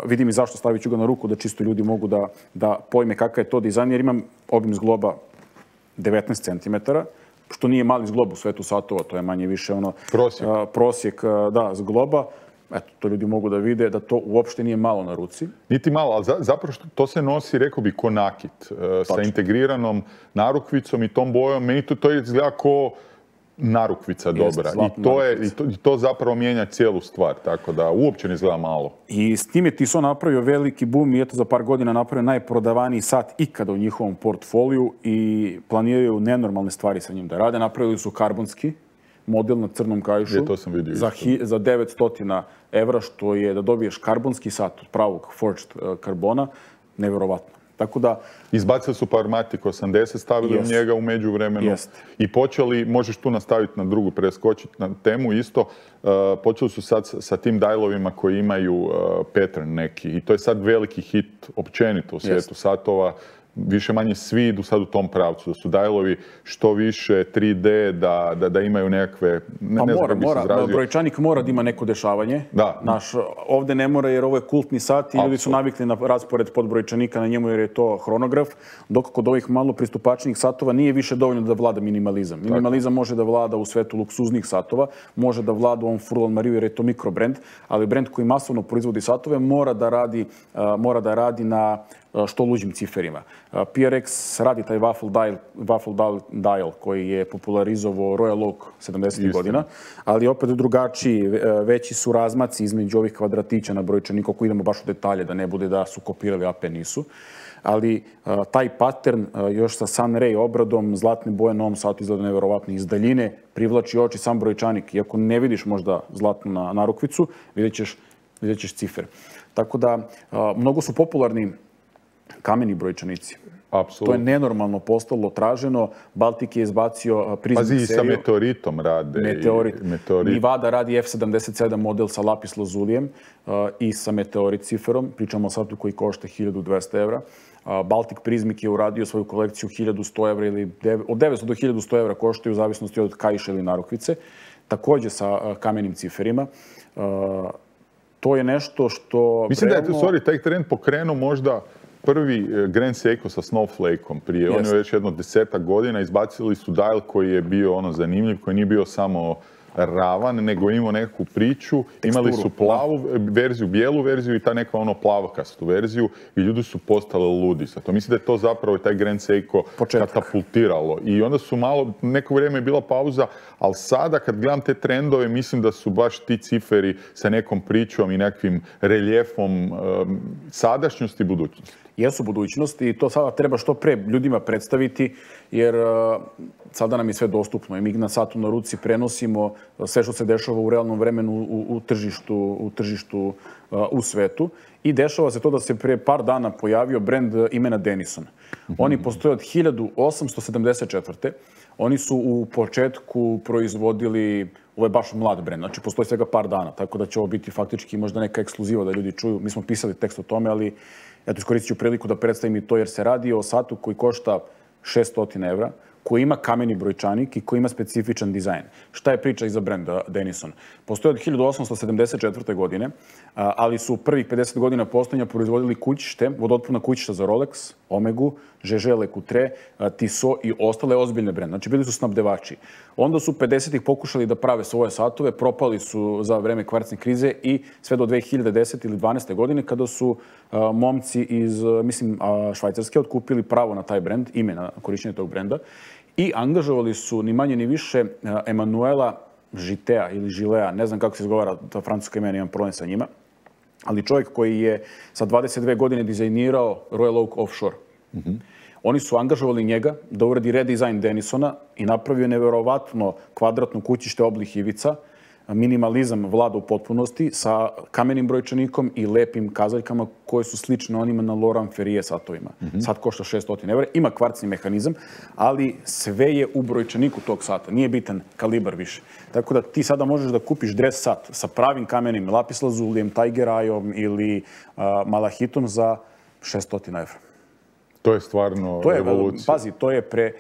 Vidim i zašto, stavit ću ga na ruku da čisto ljudi mogu da pojme kakav je to dizajn, jer imam obim zgloba 19 cm, što nije mali zglob u svetu satova, to je manje više ono prosjek zgloba. Eto, to ljudi mogu da vide da to uopšte nije malo na ruci. Niti malo, ali zapravo to se nosi, rekao bi, ko nakit, sa integriranom narukvicom i tom bojom. Meni to izgleda ko narukvica dobra. I to zapravo mijenja cijelu stvar, tako da uopće ne izgleda malo. I s tim je Tissot napravio veliki boom i eto za par godina napravio najprodavaniji sat ikada u njihovom portfoliju i planiraju nenormalne stvari sa njim da rade. Napravili su karbonski model na crnom kaišu za 900 evra, što je da dobiješ karbonski sat od pravog forged karbona, neverovatno. Tako da... Izbacili su Powermatic 80, stavili u njega u međuvremenu i počeli, možeš tu nastaviti na drugu, preskočiti na temu isto, počeli su sad sa tim dialovima koji imaju pattern neki i to je sad veliki hit općenito u svijetu satova. Više manje svi idu sad u tom pravcu, da su dialovi što više 3D, da imaju nekakve... Brojčanik mora da ima neko dešavanje. Ovde ne mora jer ovo je kultni sat i ljudi su navikli na raspored podbrojčanika na njemu jer je to hronograf, dok kod ovih malo pristupačnijih satova nije više dovoljno da vlada minimalizam. Minimalizam može da vlada u svetu luksuznih satova, može da vlada u ovom Furlan Mariju jer je to mikrobrend, ali brend koji masovno proizvodi satove mora da radi na što luđim ciferima. PRX radi taj waffle dial koji je popularizovao Royal Oak 70. godina, ali opet drugačiji, veći su razmaci između ovih kvadratića na brojčaniku, ako idemo baš u detalje, da ne bude da su kopirali, AP nisu. Ali taj pattern još sa Sunray obradom, zlatne boje na ovom satu izgleda neverovatno. Iz daljine privlači oči sam brojčanik. Iako ne vidiš možda zlatnu narukvicu, vidjet ćeš cifre. Tako da, mnogo su popularni kameni brojčanici. To je nenormalno postalo traženo. Baltic je izbacio Prismic seriju. Pazi, i sa meteoritom rade. Meteorit. Nivada radi F77 model sa lapis lazulijem i sa meteorit ciferom. Pričamo o satu koji košta 1200 evra. Baltic Prismic je uradio svoju kolekciju 1100 evra ili od 900 do 1100 evra koštaju u zavisnosti od kaiša ili narukvice. Također sa kamenim ciferima. To je nešto što... Mislim da je taj trend pokrenuo možda prvi Grand Seiko sa Snowflake-om prije. On je već jedno 10 godina. Izbacili su dial koji je bio zanimljiv, koji nije bio samo ravan, nego imao nekakvu priču. Imali su plavu verziju, bijelu verziju i ta neka plavokastu verziju i ljudi su postali ludi. Zato mislim da je to zapravo taj Grand Seiko katapultiralo. I onda su neko vrijeme je bila pauza, ali sada kad gledam te trendove, mislim da su baš ti ciferi sa nekom pričom i nekakvim reljefom sadašnjosti i budućnosti. jesu budućnost i to sada treba što pre ljudima predstaviti, jer sada nam je sve dostupno i mi na satu na ruci prenosimo sve što se dešava u realnom vremenu u tržištu u svetu. I dešava se to da se pre par dana pojavio brend imena Denison. Oni postoje od 1874. Oni su u početku proizvodili, ovo je baš mlad brend, znači postoji svega par dana, tako da će ovo biti faktički možda neka ekskluziva da ljudi čuju. Mi smo pisali tekst o tome, ali eto, iskoristit ću priliku da predstavim i to, jer se radi o satu koji košta 600 evra, koji ima kameni brojčanik i koji ima specifičan dizajn. Šta je priča iza brenda Denison? Postoje od 1874. godine, ali su prvih 50 godina postojanja proizvodili kućište, vodootporna kućišta za Rolex, Omegu, Žeže, Lecoultre, Tissot i ostale ozbiljne brende. Znači, bili su snabdevači. Onda su 50-ih pokušali da prave svoje satove, propali su za vreme kvarcne krize i sve do 2010. ili 12. godine kada su momci iz, mislim, Švajcarske otkupili pravo na taj brend, ime na korišćenje tog brenda i angažovali su ni manje ni više Emanuela Žitea ili Žilea, ne znam kako se izgovara ta francuska imena, imam problem sa njima, ali čovjek koji je sa 22 godine dizajnirao Royal Oak Offshore. Oni su angažovali njega da uradi redizajn Denisona i napravio neverovatno kvadratno kućište oblik ivica, minimalizam vlada u potpunosti sa kamenim brojčanikom i lepim kazaljkama koje su slične onima na Laurent Ferrier satovima. Sat košta 600 evra, ima kvarcni mehanizam, ali sve je u brojčaniku tog sata. Nije bitan kalibar više. Tako da ti sada možeš da kupiš dres sat sa pravim kamenim lapis lazulijem, Tiger Eye-om ili malahitom za 600 evra. To je stvarno revolucija. Pazi, to je pre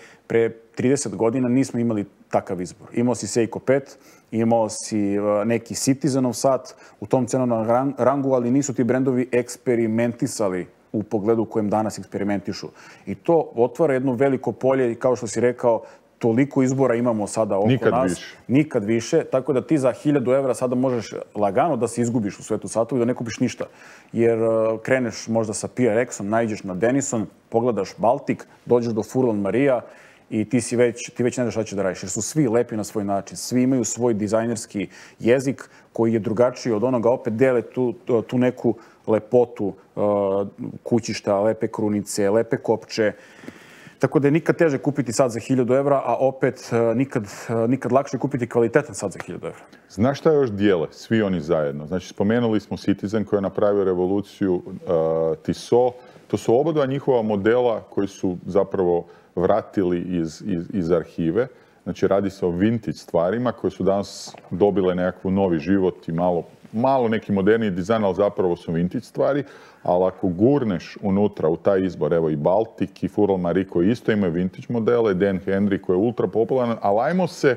30 godina nismo imali takav izbor. Imao si Seiko 5, imao si neki Citizenov sat u tom cenovnom rangu, ali nisu ti brendovi eksperimentisali u pogledu u kojem danas eksperimentišu. I to otvara jedno veliko polje i kao što si rekao, toliko izbora imamo sada oko nas. Nikad više. Tako da ti za 1000 evra sada možeš lagano da se izgubiš u svetu satova i da ne kupiš ništa. Jer kreneš možda sa PRX-om, naiđeš na Denison, pogledaš Baltik, dođeš do Furlan Maria i ti već ne znaš šta će da radiš. Jer su svi lepi na svoj način. Svi imaju svoj dizajnerski jezik koji je drugačiji od onoga. Opet dele tu neku lepotu kućišta, lepe krunice, lepe kopče. Tako da je nikad teže kupiti sat za 1000 evra, a opet nikad lakše kupiti kvalitetan sat za 1000 evra. Znaš šta još dijele? Svi oni zajedno. Znači, spomenuli smo Citizen koji je napravio revoluciju, Tissot. To su obadva njihova modela koji su zapravo vratili iz arhive. Znači, radi se o vintage stvarima koje su danas dobile nekakvu novi život i malo neki moderniji dizajn, ali zapravo su vintage stvari. Ali ako gurneš unutra u taj izbor, evo i Baltic i Furlan Marie koji isto imaju vintage modele, Dan Henry koji je ultra popularan, ali ajmo se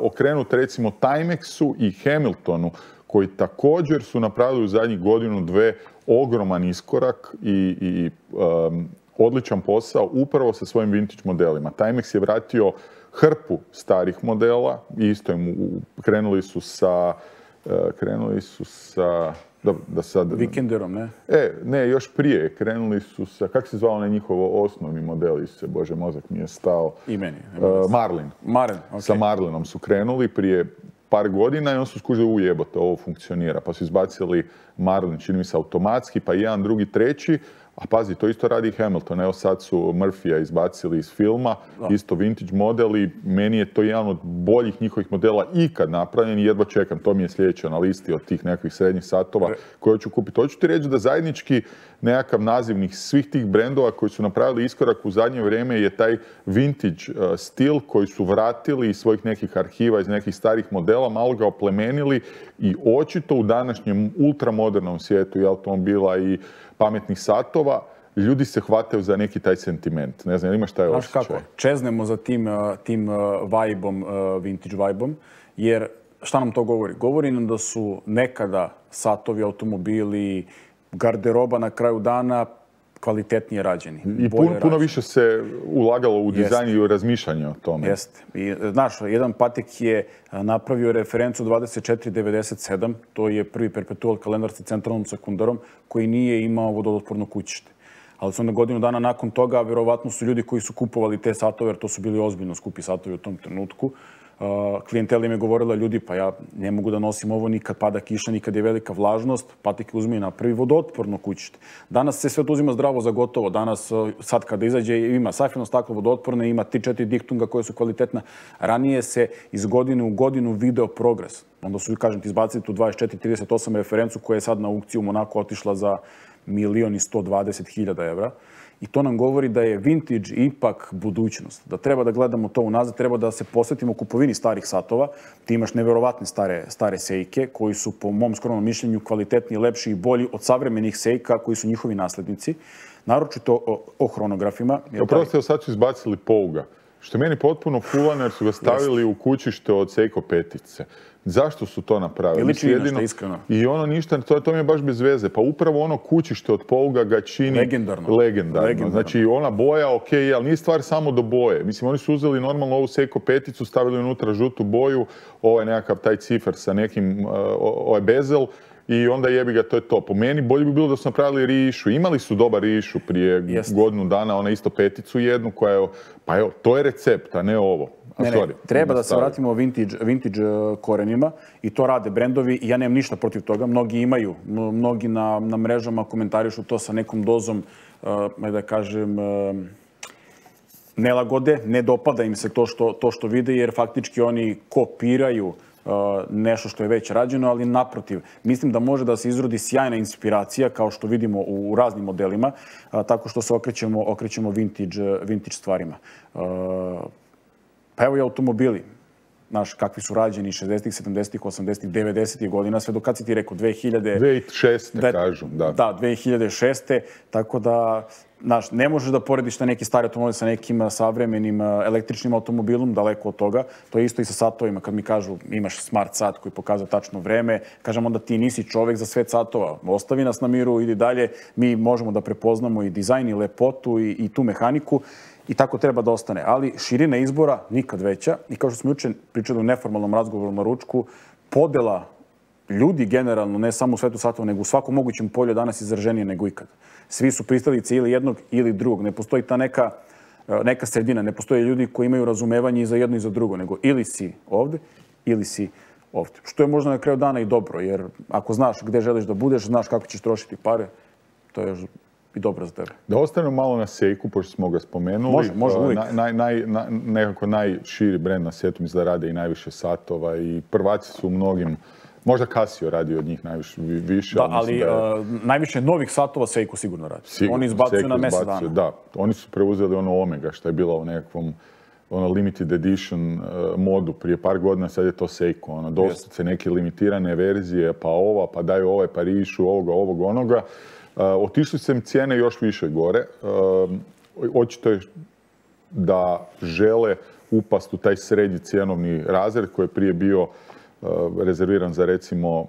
okrenuti recimo Timexu i Hamiltonu koji također su napravili u zadnjih godinu, dve ogroman iskorak i odličan posao upravo sa svojim vintage modelima. Timex je vratio hrpu starih modela i isto krenuli su sa dobro, da sad... Vikenderom, ne? Ne, još prije. Krenuli su sa... Kako se zvao onaj njihov osnovni model? Bože, mozak mi je stao. Imeni. Marlin. Okay. Sa Marlinom su krenuli prije par godina i on su skužili jebote, ovo funkcionira. Pa su izbacili Marlin, čini mi se automatski, pa jedan, drugi, treći. A pazi, to isto radi Hamilton. Evo sad su Murphyja izbacili iz filma, isto vintage model i meni je to jedan od boljih njihovih modela ikad napravljen i jedva čekam. To mi je sljedeće na listi od tih nekakvih srednjih satova koje hoću kupiti. Hoću ti reći da zajednički nekakav nazivnik svih tih brendova koji su napravili iskorak u zadnje vrijeme je taj vintage stil koji su vratili iz svojih nekih arhiva, iz nekih starih modela, malo ga oplemenili i očito u današnjem ultramodernom svijetu i automobila i pametnih satova, ljudi se hvataju za neki taj sentiment. Ne znam, imaš taj osjećaj? Znaš kako, čeznemo za tim vibe-om, vintage vibe-om, jer šta nam to govori? Govori nam da su nekada satovi, automobili, garderoba na kraju dana kvalitetnije rađeni. I puno više se ulagalo u dizajn i u razmišljanje o tome. Jeste. I, znaš, jedan Patek je napravio referencu 2497, to je prvi perpetual kalendar sa centralnom sekundarom, koji nije imao vodootporno kućište. ali su onda godinu dana nakon toga, verovatno su ljudi koji su kupovali te satove, jer to su bili ozbiljno skupi satovi u tom trenutku. Klijentela im je govorila, ljudi, pa ja ne mogu da nosim ovo ni kad pada kiša, ni kad je velika vlažnost, patike uzmi na prvi vodootporno kućište. Danas se sve to uzima zdravo za gotovo. Danas, sad kada izađe, ima safirno staklo vodootporne, ima 3-4 diktunga koje su kvalitetna. Ranije se iz godine u godinu video progres. Onda su, kažem ti, izbacili tu 24-38 referencu koja je sad na aukciju u Monaku otišla za 1.120.000 evra. I to nam govori da je vintage ipak budućnost. Da treba da gledamo to unazad, treba da se posvetimo kupovini starih satova. Ti imaš neverovatne stare Seike koji su, po mom skromnom mišljenju, kvalitetniji, lepši i bolji od savremenih Seika koji su njihovi naslednici. Naročito o hronografima. Oprosti, sad su izbacili Pouga. Što je meni potpuno fulano jer su ga stavili u kućište od Seiko petice. Zašto su to napravili? Liči jedino, iskreno. I ono ništa, to mi je baš bez veze. Pa upravo ono kućište od Pouga ga čini legendarno. Znači ona boja, ok, ali nije stvar samo do boje. Mislim, oni su uzeli normalno ovu Seiko peticu, stavili unutra žutu boju, ovaj nekakav taj cifer sa nekim, ovaj bezel, i onda jebi ga, to je to. Po meni bolje bi bilo da su napravili rišu. Imali su dobar rišu prije godinu dana, ona isto peticu jednu koja je, pa evo, to je recept, a ne ovo. Treba da se vratimo vintage korenima i to rade brendovi i ja nemam ništa protiv toga. Mnogi imaju, mnogi na mrežama komentarišu to sa nekom dozom, da kažem, nelagode. Ne dopada im se to što vide jer faktički oni kopiraju nešto što je već rađeno, ali naprotiv. Mislim da može da se izrodi sjajna inspiracija, kao što vidimo u raznim modelima, tako što se okrećemo vintage stvarima. Pa evo i automobili. Znaš, kakvi su rađeni 60-ih, 70-ih, 80-ih, 90-ih godina, sve do kad si ti rekao, 2006. kažu, da. Da, 2006. Tako da, znaš, ne možeš da porediš na neki stari automobil sa nekim savremenim električnim automobilom, daleko od toga. To je isto i sa satovima. Kad mi kažu imaš smart sat koji pokazuje tačno vreme, kažem onda ti nisi čovek za svet satova. Ostavi nas na miru, idi dalje. Mi možemo da prepoznamo i dizajn i lepotu i tu mehaniku. I tako treba da ostane. Ali širina izbora nikad veća. I kao što smo juče pričali u neformalnom razgovoru na ručku, podela ljudi generalno, ne samo u svetu satova, nego u svakom mogućem polju danas izraženije nego ikad. Svi su pristalice ili jednog ili drugog. Ne postoji ta neka sredina. Ne postoje ljudi koji imaju razumevanje i za jedno i za drugo, nego ili si ovde ili si ovde. Što je možda na kraju dana i dobro, jer ako znaš gde želiš da budeš, znaš kako ćeš trošiti pare, to je i dobro za tebe. Da ostanemo malo na Seiku, pošto smo ga spomenuli. Može uvijek. Nekako najširi brend na svijetu, mislim da rade i najviše satova i prvaci su u mnogim, možda Casio radi od njih više. Da, ali najviše novih satova Seiko sigurno radi. Oni izbacuju na mjesec dana. Da, oni su preuzeli ono Omega, što je bilo u nekakvom limited edition modu prije par godina, sad je to Seiko. Doslovce neke limitirane verzije, pa ova, pa daju ovaj, pa rišu ovog, onoga. Otišli su im cijene još više gore. Očito je da žele upast u taj srednji cjenovni razred koji je prije bio rezerviran za recimo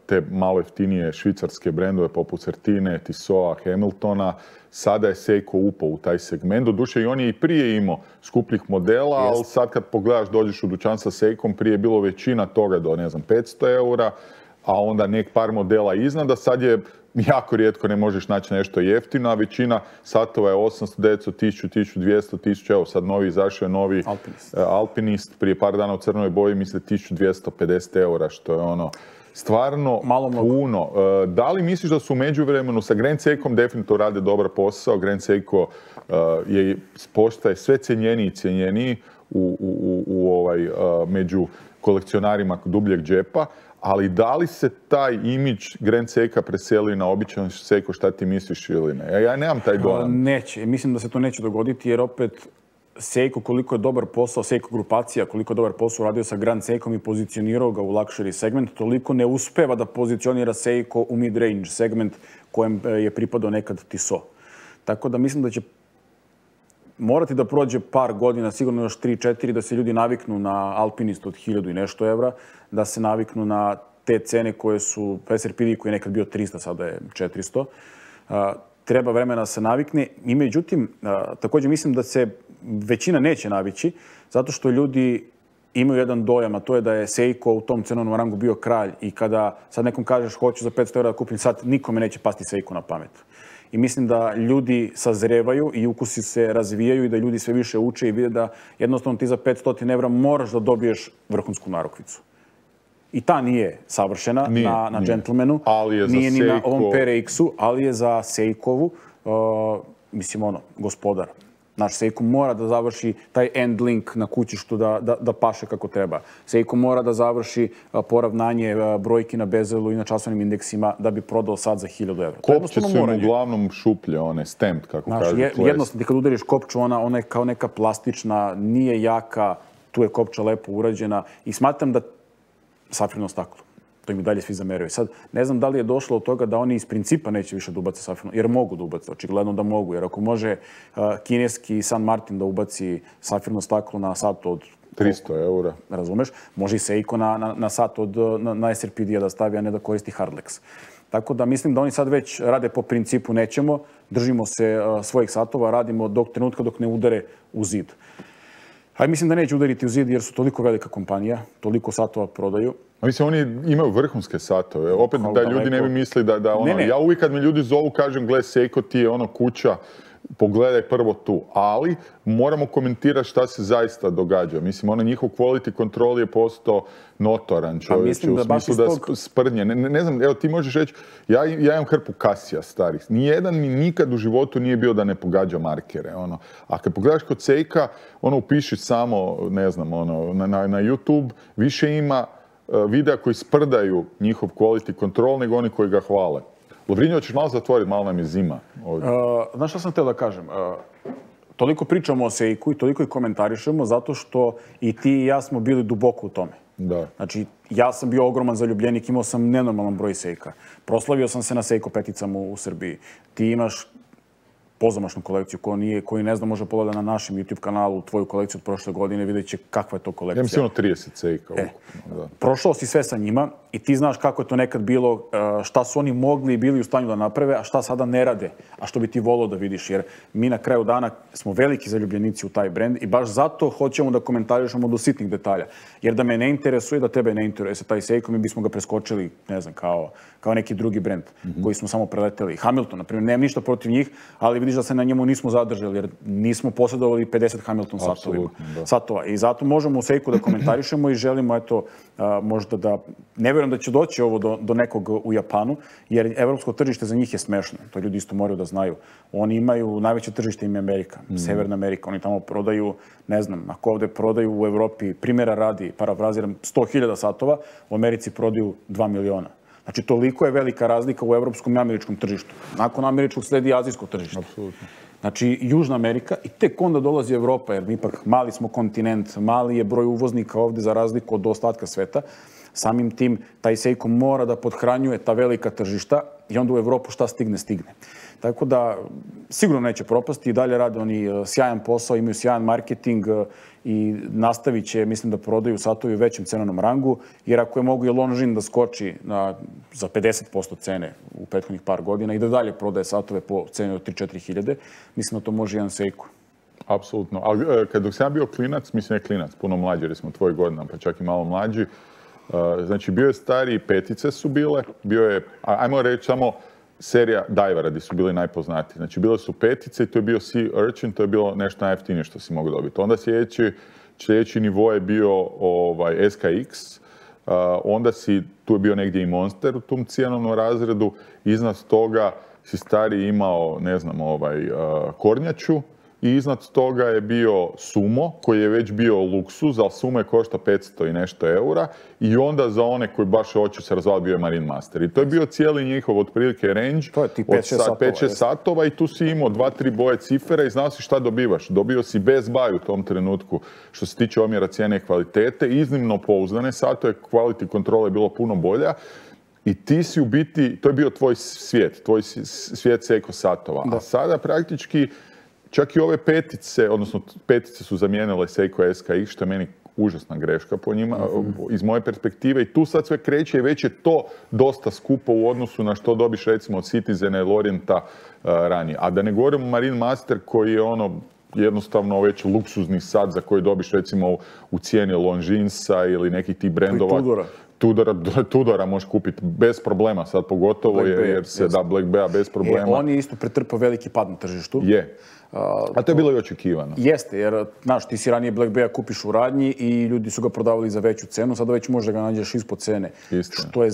te malo jeftinije švicarske brendove poput Certine, Tissoa, Hamiltona. Sada je Seiko upao u taj segment. Doduše i on je i prije imao skupljih modela, ali sad kad pogledaš, dođeš u dućan sa Seikom, prije je bilo većina toga do, 500 eura, a onda nek par modela iznad, a sad je jako rijetko ne možeš naći nešto jeftino, a većina satova je 800, 900, 1000, 1200, 1000, evo sad izašao je novi Alpinist prije par dana u crnoj boji, misle 1250 eura, što je ono stvarno puno. Da li misliš da su u međuvremenu sa Grand Seikom definitivno rade dobar posao? Grand Seiko postaje sve cijenjeniji i cijenjeniji među kolekcionarima dubljeg džepa, ali da li se taj imidž Grand Seika preseli na običan Seiko, šta ti misliš ili ne? Ja nemam taj dojam. Neće. Mislim da se to neće dogoditi jer opet Seiko koliko je dobar posao, Seiko grupacija koliko je dobar posao radio sa Grand Seikom i pozicionirao ga u luxury segment, toliko ne uspeva da pozicionira Seiko u mid-range segment kojem je pripadao nekad Tissot. Tako da mislim da će morati da prođe par godina, sigurno još 3-4, da se ljudi naviknu na Alpinist od 1000 i nešto evra, da se naviknu na te cene koje su, SRPD koji je nekad bio 300, sada je 400. Treba vremena da se navikne. I međutim, također mislim da se većina neće navići, zato što ljudi imaju jedan dojam, a to je da je Seiko u tom cenovnom rangu bio kralj i kada sad nekom kažeš hoću za 500 € da kupim sad, nikome neće pasti Seiko na pamet. i mislim da ljudi sazrevaju i ukusi se razvijaju i da ljudi sve više uče i vide da jednostavno ti za 500 evra moraš da dobiješ vrhunsku narukvicu. I ta nije savršena na Gentlemanu, nije ni na ovom PRX-u, ali je za Seikovu, mislim gospodar. Naš Seiko mora da završi taj end link na kućištu da paše kako treba. Seiko mora da završi poravnanje brojki na bezelu i na časovnim indeksima da bi prodao sad za 1000 evra. Kopče su im uglavnom šuplje, one stamped, kako kažu. Jednostavno, kad udariš kopču, ona je kao neka plastična, nije jaka, tu je kopča lepo urađena i smatram da safirno staklo. To im i dalje svi zameraju. Sad, ne znam da li je došlo od toga da oni iz principa neće više da ubace safirno, jer mogu da ubace, očigledno da mogu, jer ako može kineski San Martin da ubaci safirno staklo na sat od 300 eura. Razumeš? Može i Seiko na sat na SRPD-a da stavi, a ne da koristi Hardlex. Tako da mislim da oni sad već rade po principu nećemo, držimo se svojih satova, radimo do trenutka dok ne udare u zid. Ali mislim da neće udariti u zid jer su toliko velika kompanija, toliko satova prodaju. Mislim, oni imaju vrhunske satove. Opet da ljudi ne bi mislili da ono... Ja uvijek kad me ljudi zovu kažem, gle, Seiko ti je kuća, pogledaj prvo tu. Ali moramo komentirati šta se zaista događa. Mislim, njihov quality control je postao notoran, čovječe, u smislu da sprdnje. Ne znam, evo ti možeš reći, ja imam hrpu Casija starih. Nijedan mi nikad u životu nije bio da ne pogađa markere. A kad pogledaš kod Seika, upiši samo, ne znam, na YouTube, više ima videa koji sprdaju njihov quality control nego oni koji ga hvale. Lovrinjo, ćeš malo zatvoriti, malo nam je zima. Znaš što sam htio da kažem? Toliko pričamo o Seiku i toliko i komentarišemo zato što i ti i ja smo bili duboko u tome. Da. Znači, ja sam bio ogroman zaljubljenik, imao sam nenormalan broj Seika. Proslavio sam se na Seiko peticama u Srbiji. Ti imaš pozamašnu kolekciju koju ne znam, može pogledati na našem YouTube kanalu, tvoju kolekciju od prošle godine, vidjet će kakva je to kolekcija. Ja mislim 30 Seika. Prošao si sve sa njima i ti znaš kako je to nekad bilo, šta su oni mogli i bili u stanju da naprave, a šta sada ne rade, a što bi ti volao da vidiš, jer mi na kraju dana smo veliki zaljubljenici u taj brend i baš zato hoćemo da komentarišemo do sitnih detalja. Jer da me ne interesuje, da tebe ne interesuje taj Seiko, mi bismo ga preskočili, ne znam, kao neki drugi brend koji smo samo preleteli. Hamilton, na primjer, nemam ništa protiv njih, ali vidiš da se na njemu nismo zadržali, jer nismo posjedovali 50 Hamilton satova. I zato možemo u Seiku da komentarišemo i želimo, eto, možda da... Ne vjerujem da će doći ovo do nekog u Japanu, jer evropsko tržište za njih je smešno. To ljudi isto moraju da znaju. Oni imaju, najveće tržište im je Amerika, Severna Amerika. Oni tamo prodaju, ne znam, ako ovde prodaju u Evropi, primjera radi, parafraziram, 100.000 satova, u Americi prodaju 2 miliona. Znači, toliko je velika razlika u evropskom i američkom tržištu. Nakon američkog sledi azijsko tržište. Apsolutno. Znači, Južna Amerika i tek onda dolazi Evropa, jer ipak mali smo kontinent, mali je broj uvoznika ovde za razliku od ostatka sveta. Samim tim, taj Seiko mora da podhranjuje ta velika tržišta i onda u Evropu šta stigne. Tako da, sigurno neće propasti i dalje rade oni sjajan posao, imaju sjajan marketing i nastavit će, mislim da prodaju satovi u većem cenovnom rangu, jer ako je mogu i Longines da skoči za 50% cene u prethodnih par godina i da dalje prodaje satove po ceni od 3-4 hiljade, mislim da to može jedan Seiko. Apsolutno. Ali dok sam ja bio klinac, mislim ne klinac, puno mlađi, jer smo tvoj godina, pa čak i malo mlađi, znači bio je stariji, petice su bile, bio je, ajmo reći samo, serija Divera gdje su bili najpoznatiji. Znači, bile su petice i to je bio Sea Urchin, to je bilo nešto najjeftinije što si mogao dobiti. Onda sljedeći nivo je bio SKX, onda tu je bio negdje i Monster u tom cijenovnom razredu, iznad toga si stariji imao, ne znam, kornjaču, i iznad toga je bio Sumo, koji je već bio luksuz, ali Sumo je košta 500 i nešto eura, i onda za one koji baš hoće se razvaliti bio je Marine Master. I to je bio cijeli njihov otprilike range od 5-6 satova i tu si imao 2-3 boje cifera i znao si šta dobivaš. Dobio si Best Buy u tom trenutku što se tiče omjera cijene i kvalitete, iznimno pouzdane satove, quality kontrola je bilo puno bolja. I ti si u biti, to je bio tvoj svijet Seiko satova. A sada praktički čak i ove petice, odnosno petice su zamijenile Seiko SKX, što je meni užasna greška po njima, iz moje perspektive. I tu sad sve kreće i već je to dosta skupo u odnosu na što dobiš recimo od Citizena ili Orienta ranije. A da ne govorimo o Marine Master koji je jednostavno već luksuzni sat za koji dobiš recimo u cijeni Longinesa ili nekih tih brendova. Tudora možeš kupiti bez problema sad, pogotovo jer se da Black Bay bez problema. On je isto pretrpao veliki pad na tržištu. Je. A to je bilo i očekivano. Jeste, jer, znaš, ti si ranije Black Bay kupiš u radnji i ljudi su ga prodavali za veću cenu, sada već možda ga nađeš ispod cene. Istina. Što je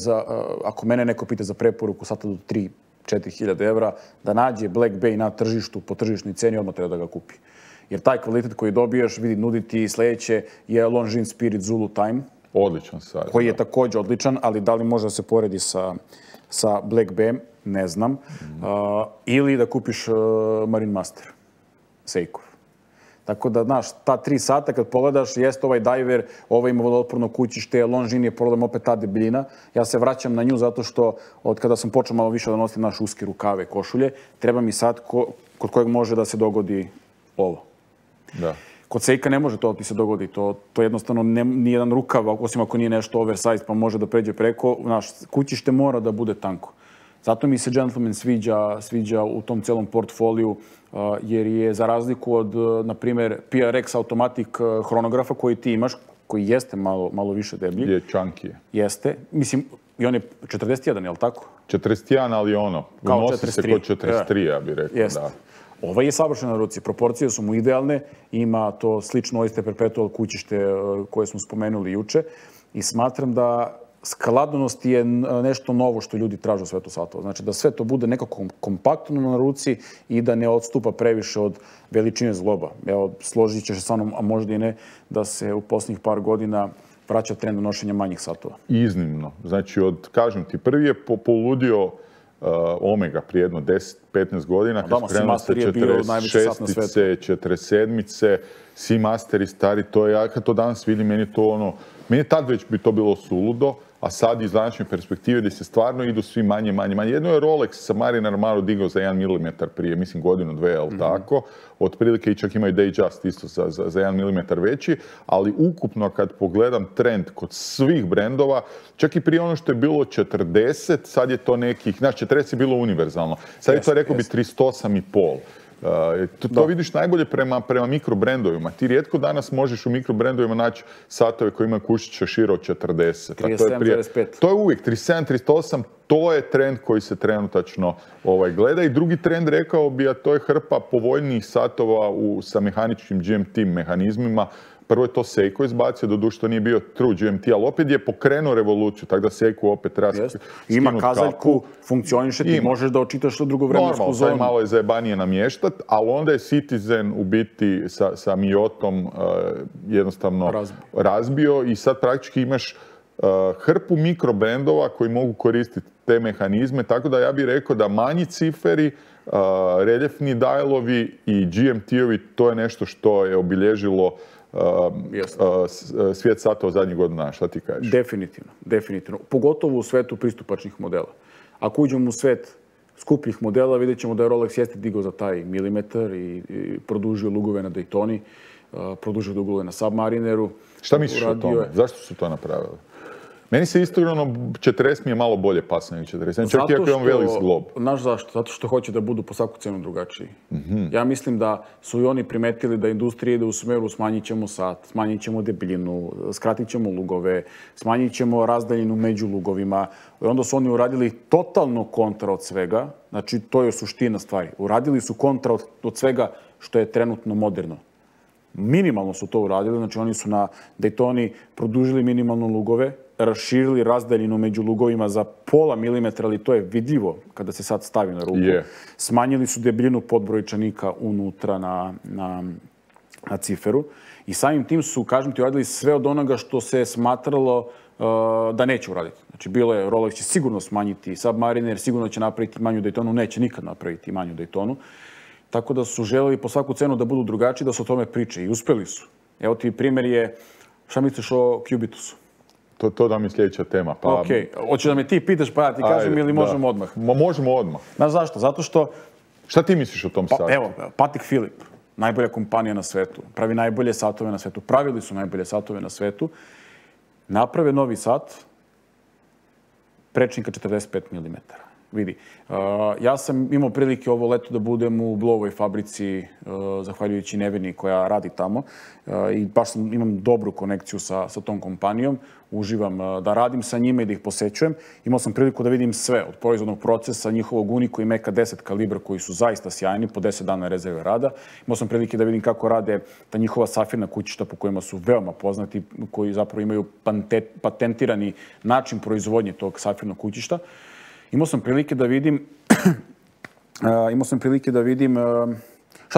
ako mene neko pita za preporuku sada do 3-4 hiljade evra, da nađe Black Bay na tržištu, po tržišnoj ceni, odmah treba da ga kupi. Jer taj kvalitet koji dobiješ, vidi, nuditi sledeće je Longines Spirit Zulu Time. Odličan sad. Koji je također odličan, ali da li može da se poredi sa Black Bayem, ne znam. Ili da kupiš Marine Master, Seikov. Tako da, znaš, ta 3 sata kad pogledaš, jeste ovaj diver, ovaj ima vodootporno kućište, Longines je problem opet ta debljina. Ja se vraćam na nju zato što od kada sam počeo malo više da nosim naš uske rukave, košulje, treba mi sad kod kojeg može da se dogodi ovo. Da. Kod Seika ne može to ti se dogodi, to jednostavno nijedan rukav, osim ako nije nešto oversize pa može da pređe preko, znaš, kućište mora da bude tanko. Zato mi se Gentleman sviđa u tom celom portfoliju, jer je za razliku od, na primjer, PRX Automatic hronografa koji ti imaš, koji jeste malo više deblji. Je chunky. Jeste. Mislim, i on je 41, je li tako? 41, ali ono, unosi se kod 43, ja bih rekao. Jeste. Da. Ovaj je savršen na ruci, proporcije su mu idealne, ima to slično Oyster Perpetual kućište koje smo spomenuli juče i smatram da skladnost je nešto novo što ljudi traže u svetu satova. Znači da sve to bude nekako kompaktno na ruci i da ne odstupa previše od veličine zgloba. Evo, složit ćeš se sa mnom, a možda i ne, da se u posljednjih par godina vraća trend nošenja manjih satova. Iznimno. Znači, kažem ti, prvi je poludio Omega prije jedno 10-15 godina, kad su krenuli sa 46-ice, 47-ice, Seamaster stari, to je, ja kad to danas vidim, meni je tad već bi to bilo suludo, a sad iz današnje perspektive gdje se stvarno idu svi manje. Jedno je Rolex sa Mariner malo digao za 1 mm prije, mislim godinu, dve, ali tako. Otprilike i čak imaju Datejust isto za 1 mm veći, ali ukupno kad pogledam trend kod svih brendova, čak i prije ono što je bilo 40, sad je to nekih, znači 40 je bilo univerzalno, sad je to rekao bi 38,5. To vidiš najbolje prema mikrobrendovima. Ti rijetko danas možeš u mikrobrendovima naći satove koji imaju kućiće šire od 40. 37,5. To je uvijek 37, 38, to je trend koji se trenutačno gleda. I drugi trend, rekao bi, a to je hrpa povoljnijih satova sa mehaničkim GMT mehanizmima. Prvo je to Seiko izbacio, doduše to nije bio true GMT, ali opet je pokrenuo revoluciju, tako da Seiko opet treba skinuti kapu. Ima kazaljku, funkcioniše, ti možeš da očitaš u drugu vremensku zonu. Normalno, malo je zajebanije namještat, ali onda je Citizen u biti sa Mijotom jednostavno razbio i sad praktički imaš hrpu mikrobrendova koji mogu koristiti te mehanizme, tako da ja bih rekao da manji ciferi, reljefni dialovi i GMT-ovi, to je nešto što je obilježilo svijet satova zadnjih godina. Šta ti kažeš? Definitivno. Pogotovo u svetu pristupačnih modela. Ako uđemo u svet skupljih modela, vidjet ćemo da je Rolex jeste digao za taj milimetar i produžio lugove na Daytoni, produžio lugove na Submarineru. Šta misliš o tome? Zašto su to napravili? Meni se iskreno 40 mi je malo bolje pasno nego 40. Čak i ako imam velik zglob. Znaš zašto? Zato što hoće da budu po svaku cenu drugačiji. Ja mislim da su i oni primetili da industrija ide u smeru smanjit ćemo sat, smanjit ćemo debljinu, skratit ćemo lugove, smanjit ćemo razdaljinu među lugovima. I onda su oni uradili totalno kontra od svega. Znači, to je suština stvari. Uradili su kontra od svega što je trenutno moderno. Minimalno su to uradili, znači oni su na Daytoni produžili minimalno lugove, raširili razdaljinu među lugovima za pola milimetra, ali to je vidljivo kada se sad stavi na ruku. Smanjili su debljinu podbrojčanika unutra na ciferu i samim tim su, kažem ti, uradili sve od onoga što se smatralo da neće uraditi. Znači, bilo je, Rolex će sigurno smanjiti Submariner, sigurno će napraviti manju Daytonu, neće nikad napraviti manju Daytonu. Tako da su želeli po svaku cenu da budu drugačiji, da se o tome priče i uspjeli su. Evo ti primjer je, šta misliš o Cubitusu? To da mi je sljedeća tema. Ok, hoćeš da me ti pitaš pa ja ti kažem ili možemo odmah? Možemo odmah. Znaš zašto? Zato što... Šta ti misliš o tom satu? Evo, Patek Philippe, najbolja kompanija na svetu, pravi najbolje satove na svetu, pravili su najbolje satove na svetu, naprave novi sat, prečnika 45 mm. vidi. Ja sam imao prilike ovo leto da budem u Blovoj fabrici, zahvaljujući Neveni koja radi tamo. I baš imam dobru konekciju sa tom kompanijom. Uživam da radim sa njima i da ih posećujem. Imao sam priliku da vidim sve od proizvodnog procesa, njihovog Unico i Meka 10 kalibra koji su zaista sjajni, po 10 dana rezerve rada. Imao sam prilike da vidim kako rade ta njihova safirna kućišta po kojima su veoma poznati, koji zapravo imaju patentirani način proizvodnje tog safirnog kućišta. Imao sam prilike da vidim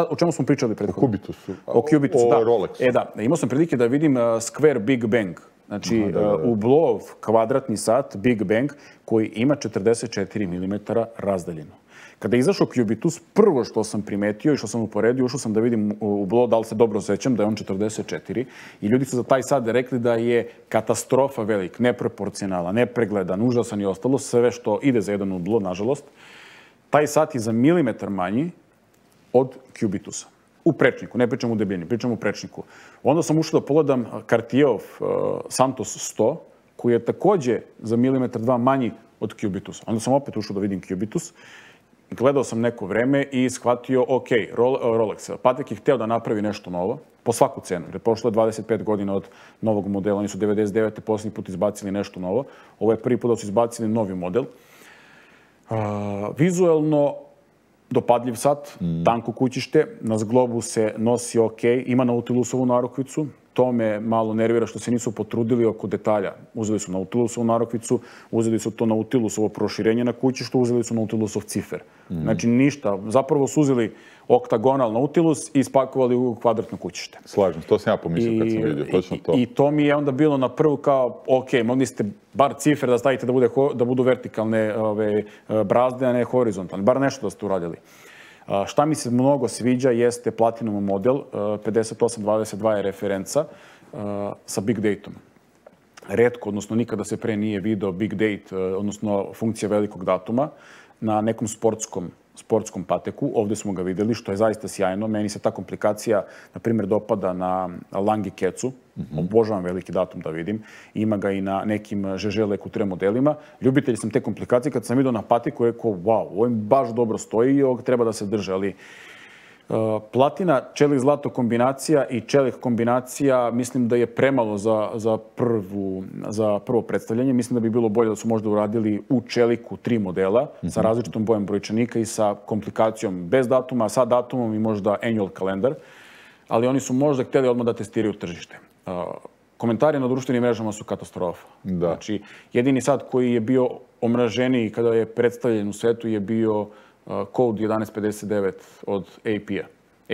o čemu smo pričali prethodno? O Cubitusu. O Cubitusu, da. O Rolexu. Da. Imao sam prilike da vidim Square Big Bang. Znači, Hublot kvadratni sat Big Bang koji ima 44 mm razdaljeno. Kada je izašao Cubitus, prvo što sam primetio i što sam uporedio, ušao sam da vidim Hublot, da li se dobro sećam, da je on 44. I ljudi su za taj sat rekli da je katastrofa velik, neproporcionalan, nepregledan, užasan i ostalo, sve što ide za jedan Hublot, nažalost. Taj sat je za milimetar manji od Cubitusa. U prečniku, ne pričam u debljini, pričam u prečniku. Onda sam ušao da pogledam Cartierov Santos 100, koji je takođe za milimetar dva manji od Cubitusa. Onda sam opet ušao da vidim Cubitus. Gledao sam neko vreme i shvatio, ok, Rolex. Patek je hteo da napravi nešto novo, po svaku cenu. Jer prošlo je 25 godina od novog modela. Oni su 99. posljednji put izbacili nešto novo. Ovo je prvi put da su izbacili novi model. Vizuelno, dopadljiv sat, tanko kućište, na zglobu se nosi ok, ima Nautilusovu narukvicu, to me malo nervira što se nisu potrudili oko detalja. Uzeli su Nautilusovu narukvicu, uzeli su to Nautilusovo proširenje na kućištu, uzeli su Nautilusov cifer. Znači ništa, zapravo su uzeli oktagonal Nautilus i ispakovali u kvadratno kućište. Slažem, to sam ja pomislio kad sam vidio, točno to. I to mi je onda bilo na prvu kao, ok, mogli ste bar cifer da stavite da budu vertikalne brazde, a ne horizontalne. Bar nešto da ste uradili. Šta mi se mnogo sviđa jeste Platinum model, 5822 je referenca sa Big Dateom. Retko, odnosno nikada se pre nije video Big Date, odnosno funkcija velikog datuma, na nekom sportskom pateku. Ovde smo ga videli, što je zaista sjajno. Meni se ta komplikacija, na primjer, dopada na Lange Kecu. Obožavam veliki datum da vidim. Ima ga i na nekim Žeže Lekutre modelima. Ljubitelj sam te komplikacije. Kad sam vidio na patiku, rekao, wow, ovo im baš dobro stoji i ovog treba da se drže. Ali platina, čelik zlato kombinacija i čelik kombinacija mislim da je premalo za prvo predstavljanje. Mislim da bi bilo bolje da su možda uradili u čeliku 3 modela sa različitom bojem brojčanika i sa komplikacijom bez datuma, sa datumom i možda annual kalendar. Ali oni su možda htjeli odmah da testiraju tržište. Komentari na društvenim mrežama su katastrofa. Znači, jedini sat koji je bio omraženiji kada je predstavljen u svetu je bio Code 1159 od AP-a.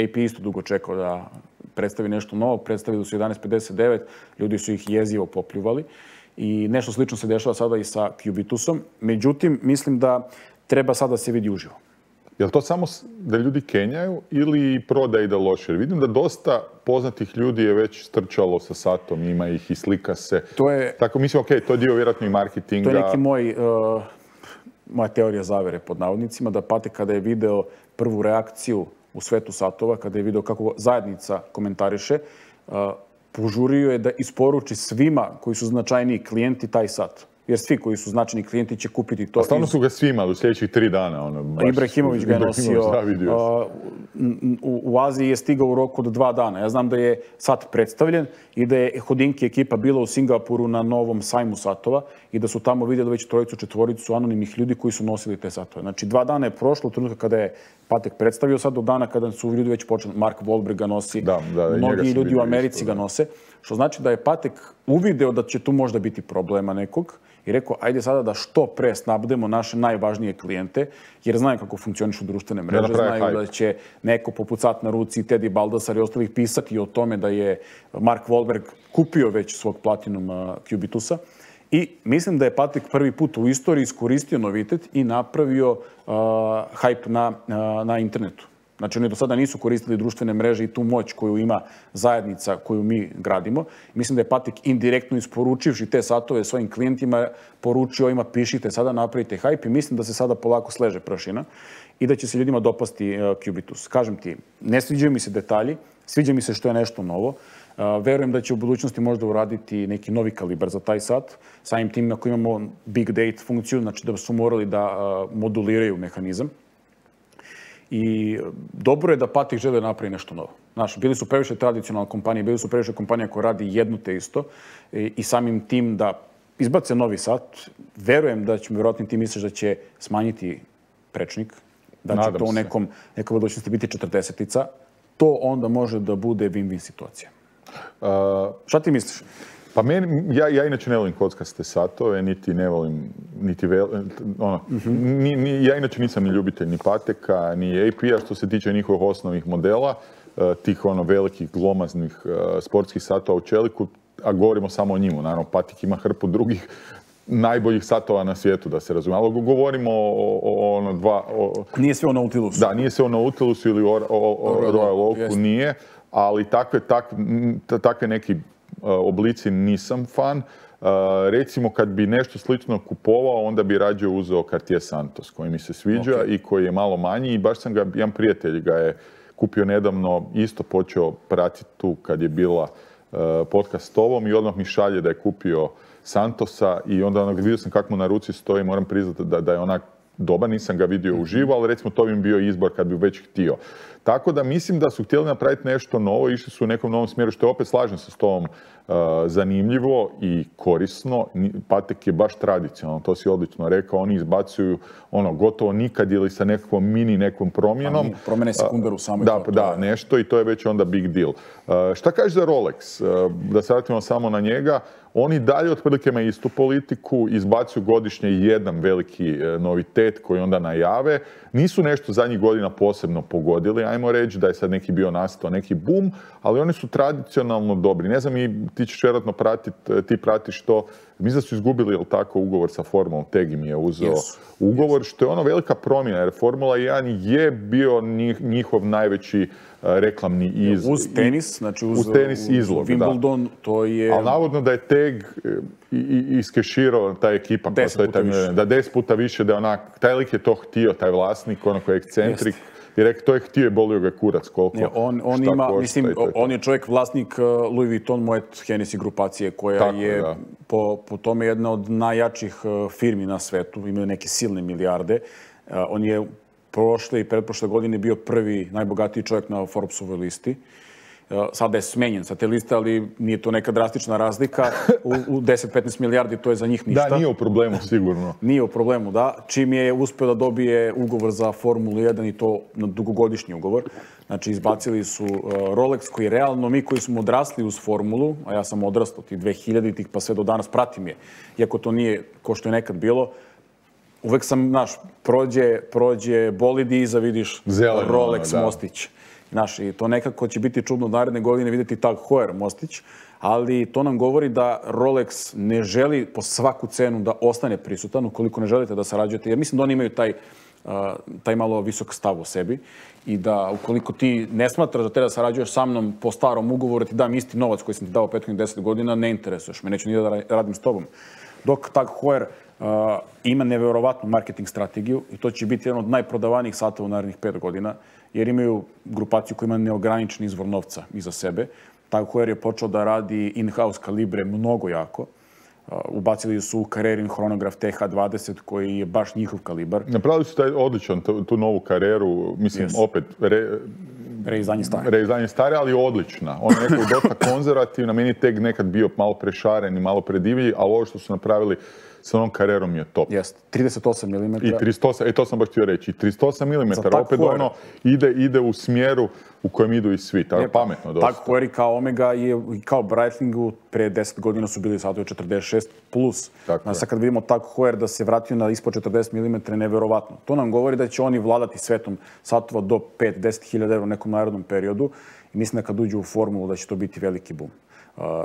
AP isto dugo čekao da predstavi nešto novo, predstavili su 1159, ljudi su ih jezivo popljuvali i nešto slično se dešava sada i sa Cubitusom. Međutim, mislim da treba sada da se vidi uživo. Je li to samo da ljudi kenjaju ili prodaje ide loše? Jer vidim da dosta poznatih ljudi je već strčalo sa satom, ima ih i slika se. Tako mislim, ok, to je dio vjerojatno i marketinga. To je neki moja teorija zavere pod navodnicima, da Patek kada je video prvu reakciju u svetu satova, kada je video kako zajednica komentariše, požurio je da isporuči svima koji su značajniji klijenti taj sat. Jer svi koji su značajni klijenti će kupiti to. A stvarno su ga svi imali u sljedećih 3 dana. Ibrahimović ga je nosio. U Aziji je stigao u roku od 2 dana. Ja znam da je sat predstavljen i da je Hodinki ekipa bila u Singapuru na novom sajmu satova i da su tamo vidjeli već 3-4 anonimnih ljudi koji su nosili te satove. Znači 2 dana je prošlo od trenutka kada je Patek predstavio sad do dana kada su ljudi već počeli. Mark Wahlberg ga nosi, mnogi ljudi u Americi ga nose. Što znači da je Patek uvideo da će tu možda biti problema nekog i rekao, ajde sada da što pre snabdemo naše najvažnije klijente, jer znaju kako funkcionišu društvene mreže, znaju da će neko poput Sat na ruci, Teddy Baldasar i ostalih pisati o tome da je Mark Wahlberg kupio već svog Platinum Cubitusa. I mislim da je Patek prvi put u istoriji iskoristio novitet i napravio hype na internetu. Znači, oni do sada nisu koristili društvene mreže i tu moć koju ima zajednica koju mi gradimo. Mislim da je Patek indirektno isporučivši te satove svojim klijentima poručio ima pišite sada, napravite hype i mislim da se sada polako sleže prašina. i da će se ljudima dopasti Cubitus. Kažem ti, ne sviđaju mi se detalji, sviđa mi se što je nešto novo. Verujem da će u budućnosti možda uraditi neki novi kalibar za taj sat. Samim tim ako imamo big date funkciju, znači da su morali da moduliraju mehanizam. I dobro je da Patek žele napravi nešto novo. Znaš, bili su previše tradicionalne kompanije, bili su previše kompanija koja radi jedno te isto i samim tim da izbace novi sat, verujem da će, vjerojatno ti misliš da će smanjiti prečnik, da će to u nekoj budućnosti biti 40-ica, to onda može da bude win-win situacija. Šta ti misliš? Pa ja inače ne volim kockaste satove, niti ne volim, ja inače nisam ni ljubitelj ni Pateka, ni AP-a što se tiče njihovih osnovnih modela, tih velikih glomaznih sportskih satova u čeliku, a govorimo samo o njima. Naravno, Patek ima hrpu drugih najboljih satova na svijetu, da se razumije. Ali govorimo o dva... Nije sve o Nautilusu. Da, nije sve o Nautilusu ili o Royal Oaku, nije. Ali takve neki oblici nisam fan. Recimo, kad bi nešto slično kupovao, onda bi rađe uzeo Cartier Santos, koji mi se sviđa i koji je malo manji. I baš sam ga, jedan prijatelj ga je kupio nedavno, isto počeo pratiti tu kad je bila podcast s tobom i odmah mi šalje da je kupio Santosa i onda vidio sam kako mu na ruci stoji, moram priznati da je onak dobar, nisam ga vidio uživo, ali recimo to bi mi bio izbor kad bi već htio. Tako da mislim da su htjeli napraviti nešto novo, išli su u nekom novom smjeru, što je opet, slažem se s tobom, zanimljivo i korisno. Patek je baš tradicionalno, to si odlično rekao, oni izbacuju gotovo nikad ili sa nekom promjenom. Promjene sekundaru samo. Da, nešto i to je već onda big deal. Šta kažeš za Rolex? Da se vratimo samo na njega. Oni dalje otprilike imaju istu politiku, izbacuju godišnje jedan veliki novitet koji onda najave. Nisu nešto zadnjih godina posebno pogodili, ajmo reći da je sad neki bio nastao, neki boom, ali oni su tradicionalno dobri. Ne znam, ti ćeš vjerojatno pratiti, ti pratiš to. Mislim da su izgubili, jel tako, ugovor sa Formulom, Tegi mi je uzeo ugovor, što je velika promjena, jer Formula 1 je bio njihov najveći reklamni izlog. Uz tenis, znači uz izlog, Wimbledon, to je... Ali navodno da je Teg iskeširao ta ekipa. 10 puta više, da je onak, taj lik je to htio, taj vlasnik, koji je ekscentrik. I rekao, to je htio i bolio ga kurac koliko. On je čovjek vlasnik Louis Vuitton Moet Hennessy grupacije, koja je po tome jedna od najjačih firmi na svetu, imaju neke silne milijarde. On je prošle i pretprošle godine bio prvi najbogatiji čovjek na Forbesovoj listi. Sada je smenjen sa te liste, ali nije to neka drastična razlika. U 10-15 milijardi to je za njih ništa. Da, nije u problemu, sigurno. Nije u problemu, da. Čim je uspio da dobije ugovor za Formulu 1 i to na dugogodišnji ugovor. Znači, izbacili su Rolex, koji realno mi koji smo odrasli uz Formulu, a ja sam odrastao tih 2000-ih pa sve do danas pratim je, iako to nije ko što je nekad bilo. Uvek sam, znaš, prođe bolid i iza vidiš Rolex mostić. Znaš, i to nekako će biti čudno naredne godine vidjeti Tag Heuer mostić, ali to nam govori da Rolex ne želi po svaku cenu da ostane prisutan ukoliko ne želite da sarađujete, jer mislim da oni imaju taj malo visok stav u sebi i da ukoliko ti ne smatraš da treba da sarađuješ sa mnom po starom ugovoru, ti dam isti novac koji sam ti dao 10 godina, ne interesuješ me, neću ni da radim s tobom. Dok Tag Heuer ima neverovatnu marketing strategiju i to će biti jedan od najprodavanijih satova u narednih 5 godina, jer imaju grupaciju koja ima neograničen izvor novca iza sebe. Tag Heuer je počeo da radi in-house kalibre mnogo jako. Ubacili su u Carrerin chronograf TH20 koji je baš njihov kalibar. Napravili su taj odličan, tu novu Carreru, mislim, opet reizdanje stare, ali odlična. On je nekako dosta konzervativna, meni je Teg nekad bio malo prešaren i malo predivlji, ali ovo što su napravili sa onom Carrerom je top. Jest, 38 mm. I 38, to sam baš htio reći, 38 mm, opet ide u smjeru u kojem idu i svi, tako pametno dosta. Tag Heuer i kao Omega i kao Breitlingu pre 10 godina su bili satovi 46+. Sad kad vidimo Tag Heuer da se vratio na ispod 40 mm, neverovatno. To nam govori da će oni vladati svetom satova do 5-10 hiljada € u nekom narednom periodu i mislim da kad uđu u formulu da će to biti veliki boom.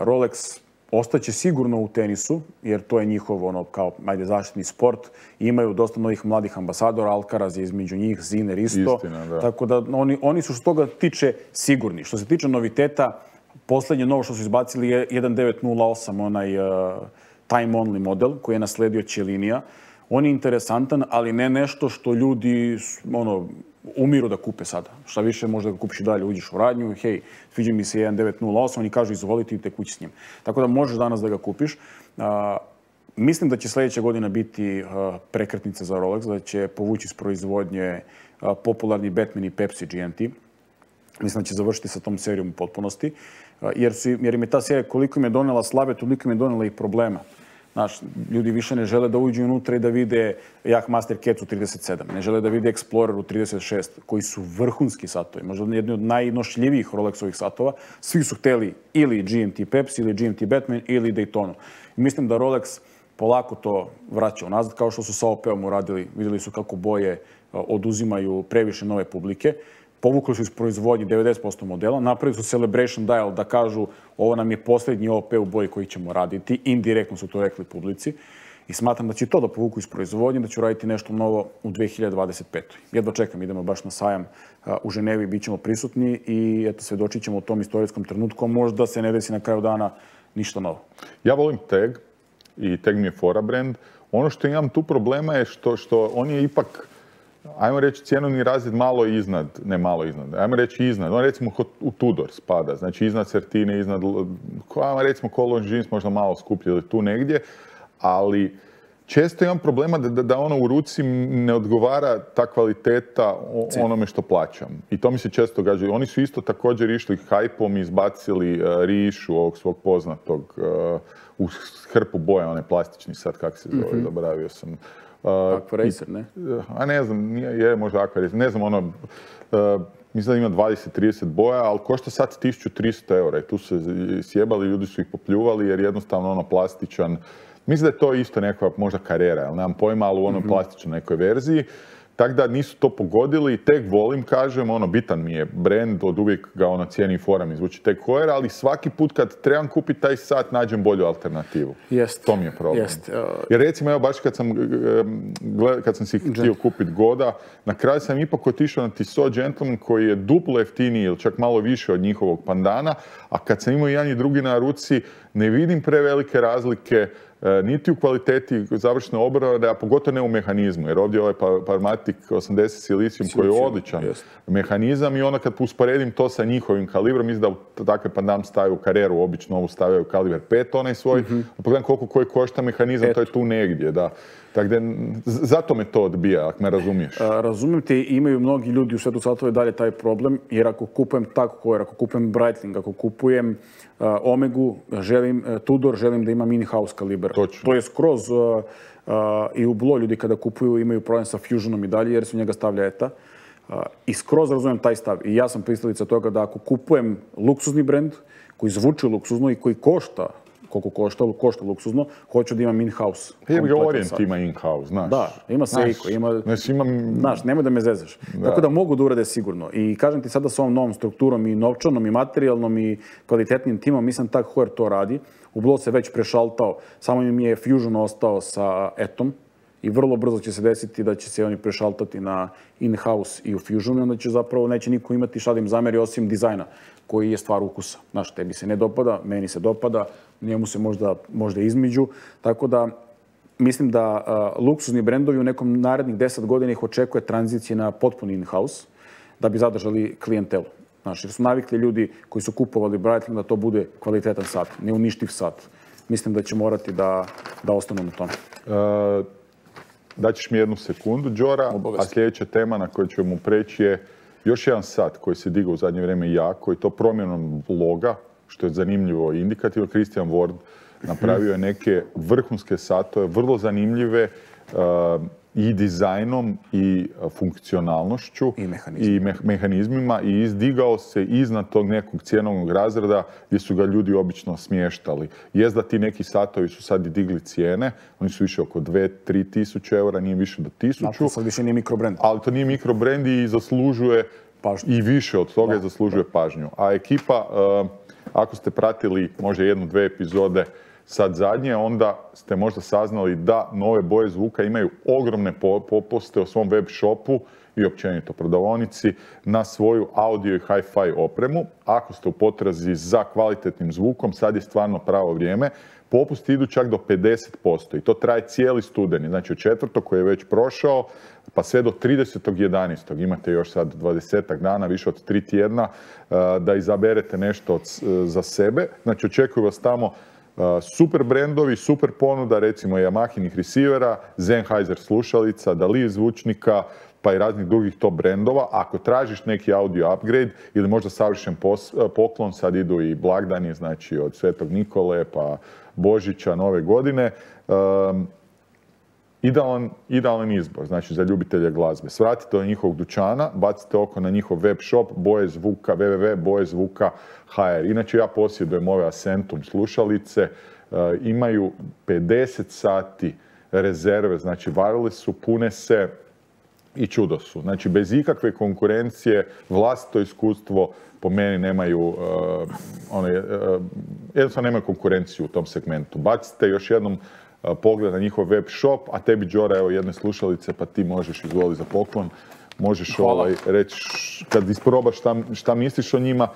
Rolex ostaće sigurno u tenisu, jer to je njihov zaštitni sport. Imaju dosta novih mladih ambasadora, Alcaraz je između njih, Ziner isto. Istina, da. Tako da oni su što toga tiče sigurni. Što se tiče noviteta, posljednje novo što su izbacili je 1908, onaj time only model koji je nasledio Ciellinija. On je interesantan, ali ne nešto što ljudi umiru da kupe sada. Šta više, možda ga kupiš i dalje, uđeš u radnju, hej, sviđa mi se 1908, oni kažu izvolite i te kući s njim. Tako da možeš danas da ga kupiš. Mislim da će sljedeća godina biti prekretnica za Rolex, da će povući iz proizvodnje popularni Batman i Pepsi GMT. Mislim da će završiti sa tom serijom u potpunosti. Jer im je ta serija koliko im je donela slave, toliko im je donela i problema. Znaš, ljudi više ne žele da uđu unutra i da vide Yachtmaster Cat u 37. Ne žele da vide Explorer u 36, koji su vrhunski satovi. Možda jedni od najnošljivijih Rolexovih satova. Svi su hteli ili GMT Pepsi, ili GMT Batman, ili Daytonu. Mislim da Rolex polako to vraća unazad, kao što su sa OP-om uradili. Vidjeli su kako boje oduzimaju previše nove publike. Povukli su iz proizvodnje 90% modela, napravili su Celebration Dial da kažu ovo nam je posljednji OP u boji koji ćemo raditi. Indirektno su to rekli publici. I smatram da će to da povuku iz proizvodnje, da ću raditi nešto novo u 2025. Jedva čekam, idemo baš na sajam u Ženevi, bit ćemo prisutni i eto, svedočit ćemo u tom istorijskom trenutku. Možda se ne desi na kraju dana ništa novo. Ja volim Tag i Tag mi je fora brand. Ono što imam tu problema je što on je ipak, ajmo reći, cjenovni razred malo iznad, ne malo iznad, ajmo reći iznad. On recimo u Tudor spada, znači iznad Certine, iznad, ajmo recimo Cole & Jeans možda malo skuplje ili tu negdje, ali često imam problema da ono u ruci ne odgovara ta kvaliteta onome što plaćam. I to mi se često događa. Oni su isto također išli hajpom i izbacili Rišu, ovog svog poznatog, u hrpu boja, onaj plastični sad, kako se zove, zaboravio sam. Aquaracer, ne? A ne znam, je možda Aquaracer, ne znam, ono, mislim da ima 20-30 boja, ali košta sad 1300 eura i tu se sjebali, ljudi su ih popljuvali jer jednostavno ono plastičan. Mislim da je to isto neka možda Carrera, ali nemam pojma, ali u onoj plastičnoj nekoj verziji. Tako da nisu to pogodili, Tag volim, kažem, ono, bitan mi je brand, od uvijek ga ono cijeni i fora mi zvuči Tag Heuer, ali svaki put kad trebam kupiti taj sat, nađem bolju alternativu. To mi je problem. Jer recimo, evo, baš kad sam si htio kupiti Goda, na kraju sam ipak otišao na Tissot Gentleman koji je duplo jeftiniji ili čak malo više od njihovog pandana, a kad sam imao jedan i drugi na ruci, ne vidim prevelike razlike niti u kvaliteti završne obrade, a pogotovo ne u mehanizmu, jer ovdje je ovaj Parmatic 80 Silicium koji je odličan mehanizam i onda kad usporedim to sa njihovim kalibrom, mislim da takve pandam stavaju u Carreru, obično ovu stavljaju kaliber 5, onaj svoj, pogledam koliko koji košta mehanizam, to je tu negdje, da. Tako da, zato me to odbija, ako me razumiješ. Razumijem te, imaju mnogi ljudi u svetu satova i dalje taj problem, jer ako kupujem Tag Heuer, ako kupujem Breitling, ako kupujem Omegu, Tudor, želim da imam in-house kaliber. To je skroz i u Blo ljudi kada kupuju imaju problem sa Fusionom i dalje, jer su njega stavlja ETA. I skroz razumijem taj stav. I ja sam pristalica toga da ako kupujem luksuzni brend, koji zvuči luksuzno i koji košta koliko košta luksuzno, hoću da imam in-house. Jer ga Orient ima in-house, znaš. Da, ima Seiko, znaš, nemoj da me zezaš. Tako da mogu da urade sigurno. I kažem ti sada sa ovom novom strukturom i novčanom i materijalnom i kvalitetnim timom, mislim Tag Heuer to radi. U Blo se već prešaltao, samo im je Fusion ostao sa Etom i vrlo brzo će se desiti da će se oni prešaltati na in-house i u Fusionu, onda će zapravo neće niko imati šta da im zameri osim dizajna, koji je stvar ukusa. Znaš, tebi se ne dopada, meni se dopada, njemu se možda između. Tako da mislim da luksuzni brendovi u nekom narednih 10 godina ih očekuje tranzicije na potpuni in-house da bi zadržali klijentelu. Znaš, jer su navikli ljudi koji su kupovali Breitling da to bude kvalitetan sat, neuništiv sat. Mislim da će morati da ostanu na tome. Daćeš mi jednu sekundu, Đora, a sljedeća tema na koju ćemo preći je još jedan sat koji se digao u zadnje vrijeme jako i to promjenom loga, što je zanimljivo i indikativno. Christian Ward napravio je neke vrhunske satove, vrlo zanimljive i dizajnom i funkcionalnošću i mehanizmima i izdigao se iznad tog nekog cjenovnog razreda gdje su ga ljudi obično smještali. Jest da ti neki satovi su sad i digli cijene, oni su više oko 2-3 tisuće eura, nije više do 1000. To sad više nije mikrobrand. Ali to nije mikrobrand i zaslužuje pažnju. I više od toga zaslužuje pažnju. A ekipa, ako ste pratili možda 1-2 epizode sad zadnje, onda ste možda saznali da nove boje zvuka imaju ogromne popuste u svom web shopu i općenito prodavaonici na svoju audio i hi-fi opremu. Ako ste u potrazi za kvalitetnim zvukom, sad je stvarno pravo vrijeme. Popusti idu čak do 50% i to traje cijeli studeni, znači od 4. koji je već prošao, pa sve do 30.11. Imate još sad 20 dana, više od 3 tjedna, da izaberete nešto za sebe. Znači očekuju vas tamo super brendovi, super ponuda, recimo Yamahinih receivera, Sennheiser slušalica, Dali zvučnika, pa i raznih drugih top brendova. Ako tražiš neki audio upgrade ili možda savršen poklon, sad idu i blagdani, znači od Svetog Nikole pa Božića, Nove godine, idealan izbor, znači za ljubitelje glazbe. Svratite do njihovog dućana, bacite oko na njihov web shop Boje Zvuka, www.bojezvuka.hr. Inače ja posjedujem ove Acentum slušalice, imaju 50 sati rezerve, znači varili su, pune se i čudo su. Znači bez ikakve konkurencije, vlastito iskustvo, po meni nemaju, jednostavno nemaju konkurenciju u tom segmentu. Bacite još jednom pogled na njihov web shop, a tebi, Đora, evo jedne slušalice, pa ti možeš izvoli za poklon. Možeš reći, kad isprobaš šta misliš o njima,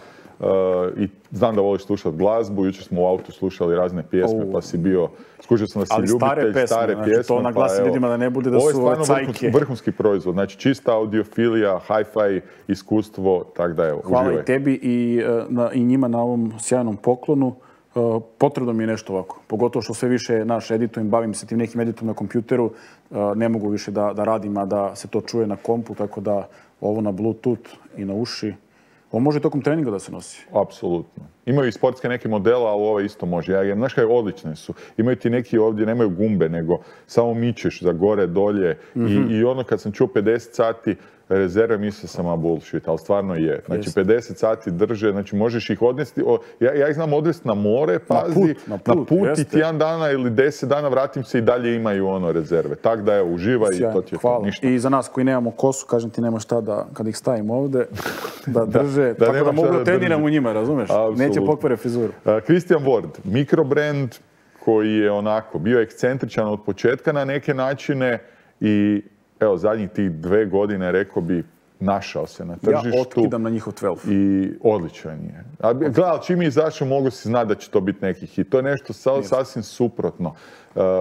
i znam da voliš slušati glazbu, jučer smo u autu slušali razne pjesme, pa si bio, skužio sam da si ljubitelj stare pjesme. To naglasi ljudima da ne bude da su cajke. Ovo je stvarno vrhunski proizvod, znači čista audiofilija, hi-fi iskustvo, tako da evo, uživaj. Hvala i tebi i njima na ovom sjajnom poklonu. Potrebno mi je nešto ovako, pogotovo što sve više editujem, bavim se tim nekim editom na kompjuteru, ne mogu više da radim, a da se to čuje na kompu, tako da ovo na Bluetooth i na uši. Ovo može tokom treninga da se nosi. Apsolutno. Imaju i sportske neke modele, ali ovo isto može. Znaš kaj, odlične su. Imaju ti neki ovdje, nemaju gumbe, nego samo mičeš za gore, dolje. I ono kad sam čuo 50 sati rezerve, mislio sam, a bullshit, ali stvarno je. Znači 50 sati drže, znači možeš ih odnesti, ja ih znam odvesti na more, pazi, na put i tjedan dana ili 10 dana vratim se i dalje imaju rezerve. Tako da evo, uživaj i to ti je to, ništa. I za nas koji nemamo kosu, kažem ti, nema šta da, kad ih stavim ovdje, da drže, tako da mogu da treniram u njima, razumeš? Neće pokvare frizuru. Christian Ward, mikrobrand koji je onako bio ekscentričan od početka na neke načine i evo, zadnjih tih 2 godine, rekao bi, našao se na tržištu. Ja otkidam na njihov 12. I odličan je. Gledaj, čim je izašao, mogu si znati da će to biti neki hit. To je nešto sasvim suprotno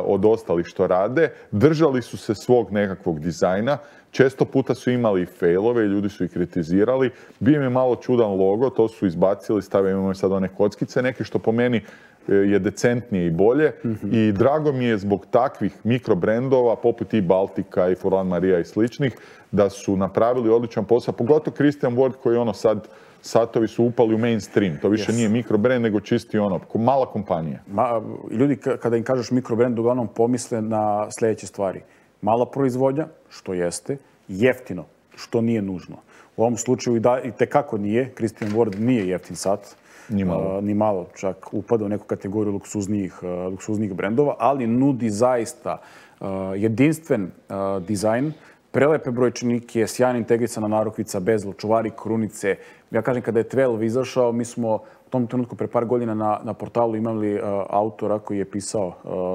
od ostalih što rade. Držali su se svog nekakvog dizajna. Često puta su imali failove i ljudi su ih kritizirali. Bio im je malo čudan logo, to su izbacili, imamo sad one kockice, neke što po meni je decentnije i bolje. I drago mi je zbog takvih mikrobrendova, poput i Baltika i Furlan Maria i sličnih, da su napravili odličan posao. Pogotovo Christian Ward koji sad satovi su upali u mainstream. To više nije mikrobrand, nego čisti mala kompanija. Ljudi kada im kažeš mikrobrand, uglavnom pomisle na sljedeće stvari. Mala proizvodnja, što jeste, jeftino, što nije nužno. U ovom slučaju i tekako nije. Christian Ward nije jeftin sat. Ni malo, čak upada u neku kategoriju luksuznih brendova, ali nudi zaista jedinstven dizajn, prelepe brojčanike, sjajna integrisana narukvica, bezel, čuvari, krunice. Ja kažem, kada je 12 izašao, mi smo u tom trenutku pre par godina na portalu imali autora koji je pisao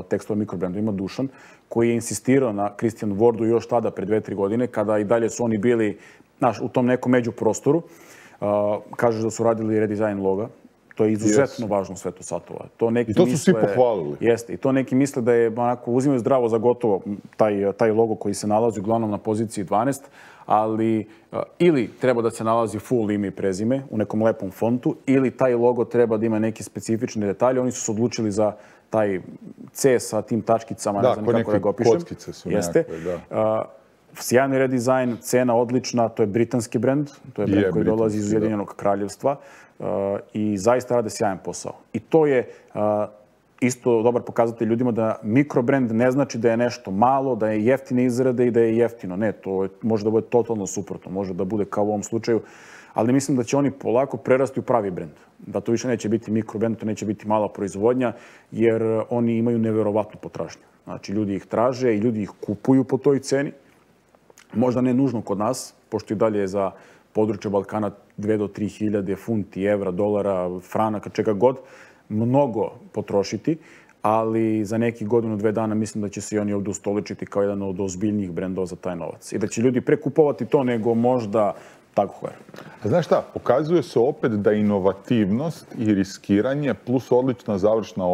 tekst o mikrobrendu, ima Dušan, koji je insistirao na Christian Wardu još tada, pre 2-3 godine, kada i dalje su oni bili u tom nekom međuprostoru. Kažeš da su radili redizajn loga. To je izuzetno važno u svetu satova. I to su svi pohvalili. Jeste. I to neki misle da je onako uzimaju zdravo za gotovo taj logo koji se nalazi uglavnom na poziciji 12, ali ili treba da se nalazi full ime i prezime u nekom lepom fontu, ili taj logo treba da ima neke specifične detalje. Oni su se odlučili za taj C sa tim tačkicama, ne znam kako da ga opišem. Kockice su nekakve, da. Sjajni redizajn, cena odlična, to je britanski brend, to je brend koji dolazi iz Ujedinjenog kraljevstva i zaista rade sjajan posao. I to je isto dobar pokazatelj ljudima da mikrobrend ne znači da je nešto malo, da je jeftine izrade i da je jeftino. Ne, to može da bude totalno suprotno, može da bude kao u ovom slučaju, ali mislim da će oni polako prerasti u pravi brend. Da to više neće biti mikrobrend, to neće biti mala proizvodnja, jer oni imaju neverovatnu potražnju. Znači, ljudi ih traže i ljudi ih kupuju po toj ceni. Možda ne nužno kod nas, pošto i dalje je za područje Balkana 2 do 3 hiljade funti, evra, dolara, franaka, čega god, mnogo potrošiti, ali za nekih godinu, 2 dana mislim da će se i oni ovdje ustoličiti kao jedan od ozbiljnijih brendova za taj novac. I da će ljudi prekupovati to nego možda tako hver. A znaš šta, pokazuje se opet da inovativnost i riskiranje plus odlična završna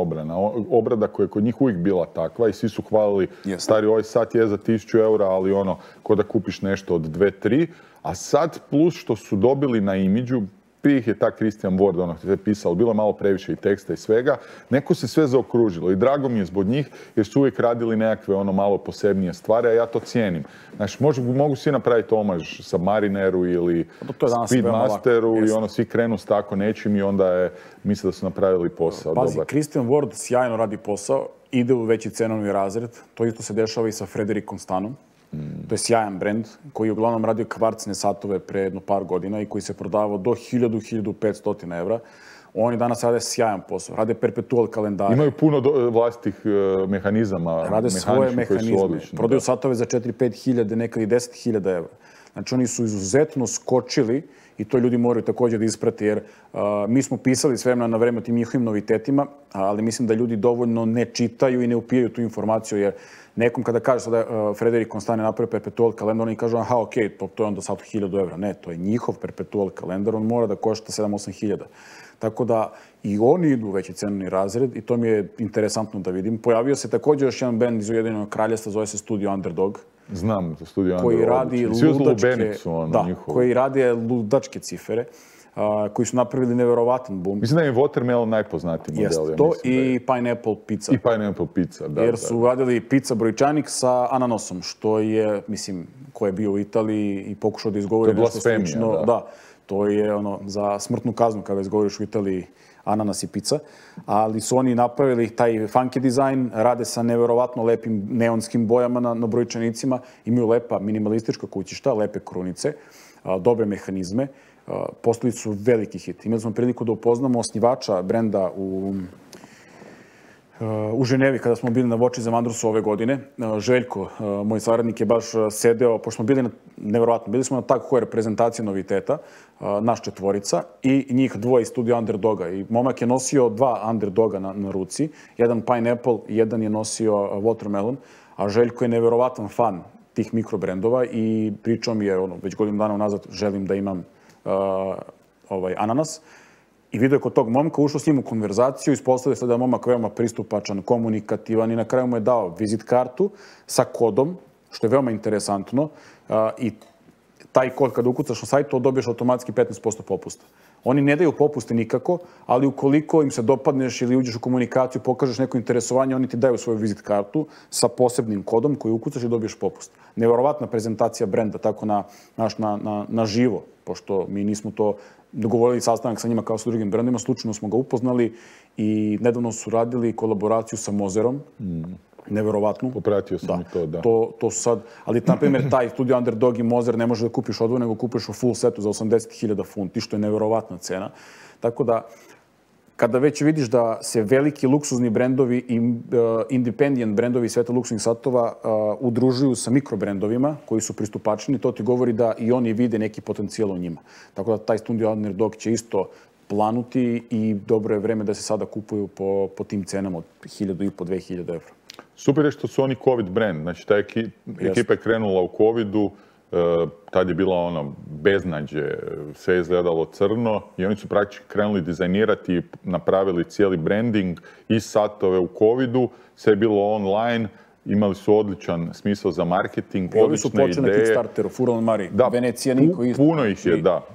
obrada koja je kod njih uvijek bila takva i svi su hvalili stari ovaj sat je za 1000 eura, ali ono, ko da kupiš nešto od 2-3, a sad plus što su dobili na imidžu, prije ih je ta Christian Ward, ono što je pisalo, bilo malo previše i teksta i svega, neko se sve zaokružilo i drago mi je zbog njih jer su uvijek radili nekakve ono malo posebnije stvari, a ja to cijenim. Znači, mogu svi napraviti omaž Submarineru ili Speedmasteru i ono svi krenu s tako nečim i onda je, misle da su napravili posao. Pazi, dobar. Christian Ward sjajno radi posao, ide u veći cenovni razred, to isto se dešava i sa Fredericom Stanom. To je sjajan brend koji je uglavnom radio kvarcne satove pre jedno par godina i koji se prodavao do 1000-1500 evra. Oni danas rade sjajan posao, rade perpetual kalendare. Imaju puno vlastitih mehanizama, rade svoje mehanizme, prodaju da. satove za 4-5 hiljade, nekad i 10.000 evra. Znači oni su izuzetno skočili i to ljudi moraju također da isprate jer mi smo pisali s vremena na vreme o tim njihovim novitetima, ali mislim da ljudi dovoljno ne čitaju i ne upijaju tu informaciju jer nekom kada kaže sada Frederik Constane napravi perpetual kalendar, oni kažu aha, ok, to je onda sad 1000 evra. Ne, to je njihov perpetual kalendar, on mora da košta 7-8 hiljada. Tako da i oni idu u veći cenovni razred i to mi je interesantno da vidim. Pojavio se također još jedan band iz Ujedinjenog Kraljevstva, zove se Studio Underdog. Znam, Studio koji Underdog. radi koji radi ludačke cifere. Koji su napravili neverovatan boom. Mislim da je Watermelon najpoznatiji model. Jest, to i Pineapple Pizza. I Pineapple Pizza, da. Jer su radili pizza brojčanik sa ananasom, što je, mislim, ko je bio u Italiji i pokušao da izgovori nešto slično. Da, to je ono za smrtnu kaznu kada izgovoriš u Italiji ananas i pizza. Ali su oni napravili taj funky dizajn, rade sa neverovatno lepim neonskim bojama na brojčanicima, imaju lepa minimalistička kućišta, lepe krunice, dobre mehanizme. Postali su veliki hit. Imali smo priliku da upoznamo osnivača brenda u Ženevi kada smo bili na Voči za Mandrusu ove godine. Željko, moj saradnik, je baš sedeo, pošto smo bili neverovatno, bili smo na takvoj reprezentaciji noviteta, naš četvorica i njih dvoje iz Studio Underdoga. I momak je nosio 2 Underdoga na ruci, jedan Pineapple i jedan je nosio Watermelon, a Željko je neverovatan fan tih mikrobrendova i pričao mi je već godinu dana unazad želim da imam ananas. I vidio je kod tog momka, ušao s njim u konverzaciju, ispostavio se da je momak veoma pristupačan, komunikativan i na kraju mu je dao vizit kartu sa kodom, što je veoma interesantno. I taj kod kada ukucaš na sajtu, dobiješ automatski 15% popusta. Oni ne daju popuste nikako, ali ukoliko im se dopadneš ili uđeš u komunikaciju, pokažeš neko interesovanje, oni ti daju svoju vizit kartu sa posebnim kodom koji ukucaš i dobiješ popust. Neverovatna prezentacija brenda, tako na živo, pošto mi nismo to dogovorili sastanak sa njima kao sa drugim brendima, slučajno smo ga upoznali i nedavno su radili kolaboraciju sa Mozerom. Neverovatno. Popratio sam i to, da. To su sad, ali na primjer taj Studio Underdog i Mozer ne možeš da kupiš odvojeno, nego kupiš u full setu za 80.000 funti, što je neverovatna cena. Tako da, kada već vidiš da se veliki luksuzni brendovi i independent brendovi sveta luksuznih satova udružuju sa mikrobrendovima koji su pristupačni, to ti govori da i oni vide neki potencijal u njima. Tako da taj Studio Underdog će isto planuti i dobro je vreme da se sada kupuju po tim cenama od 1.500-2.000 evra. Super je što su oni COVID brand. Znači, ta ekipa je krenula u COVID-u, tad je bila ono beznađe, sve je izgledalo crno i oni su praktički krenuli dizajnirati i napravili cijeli branding i satove u COVID-u, sve je bilo online, imali su odličan smisao za marketing, odlične ideje. Ovi su počeli na Kickstarteru, Furlan Mari, Venecija niko isto. Puno ih je, da.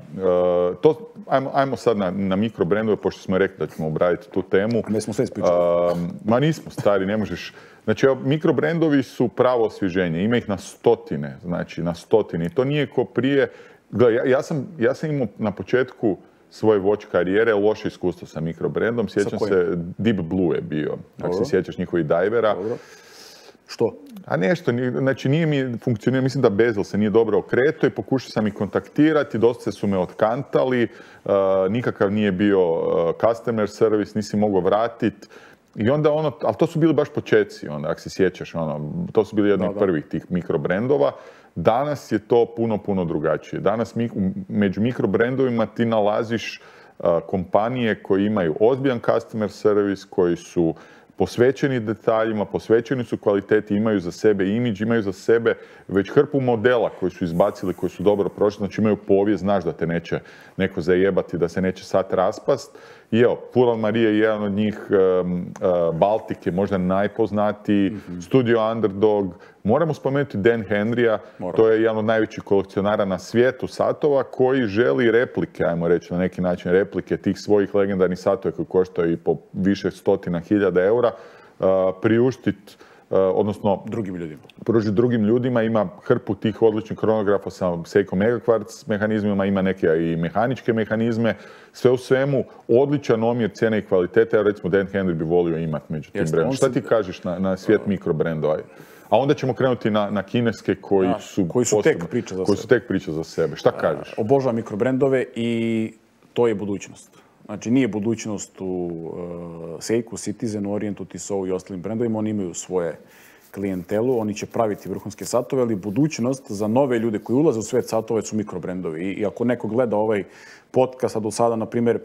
Ajmo sad na mikrobrendove, pošto smo rekli da ćemo obraditi tu temu. Ne smo sve ispričali. Ma nismo, stari, ne možeš. Znači, mikrobrendovi su pravo osvježenje, ima ih na stotine, znači na stotine. I to nije ko prije. Gledaj, ja sam imao na početku svoje watch karijere loše iskustvo sa mikrobrendom. Sjećam se, Deep Blue je bio, ako se sjećaš njihovih divera. Dobro. Što? A nešto, znači nije mi funkcionirao, mislim da Bezel se nije dobro okretao i pokušao sam ih kontaktirati, dosta su me otkantali, nikakav nije bio customer service, nisi mogao vratiti. I onda ali to su bili baš počeci, ako se sjećaš, to su bili jedni od prvih tih mikrobrendova. Danas je to puno drugačije. Danas među mikrobrendovima ti nalaziš kompanije koje imaju ozbiljan customer service, koji su posvećeni detaljima, posvećeni su kvaliteti, imaju za sebe imidž, imaju za sebe već hrpu modela koji su izbacili, koji su dobro prošli, znači imaju povijest, znaš da te neće neko zajebati, da se neće sad raspast. I evo, Fural Maria je jedan od njih, Baltic je možda najpoznatiji, Studio Underdog, moramo spomenuti Dan Henrya, to je jedan od najvećih kolekcionara na svijetu satova koji želi replike, ajmo reći na neki način replike tih svojih legendarnih satova koji koštaju i po više stotina hiljada eura, priuštiti, odnosno pružiti drugim ljudima. Ima hrpu tih odličnih kronografa sa Seiko Megakvarc mehanizmima, ima neke i mehaničke mehanizme. Sve u svemu, odličan omjer cijene i kvalitete. Recimo, Dan Henry bi volio imati među tim brendom. Šta ti kažeš na svijet mikrobrendova? A onda ćemo krenuti na kineske koji su tek priča za sebe. Šta kažeš? Obožavam mikrobrendove i to je budućnost. Znači, nije budućnost u Seiko, Citizen, Orientu, Tissot i ostalim brendovima. Oni imaju svoje klijentelu, oni će praviti vrhunske satove, ali budućnost za nove ljude koji ulaze u svet satova su mikrobrendovi. I ako neko gleda ovaj podcast, a do sada, na primjer,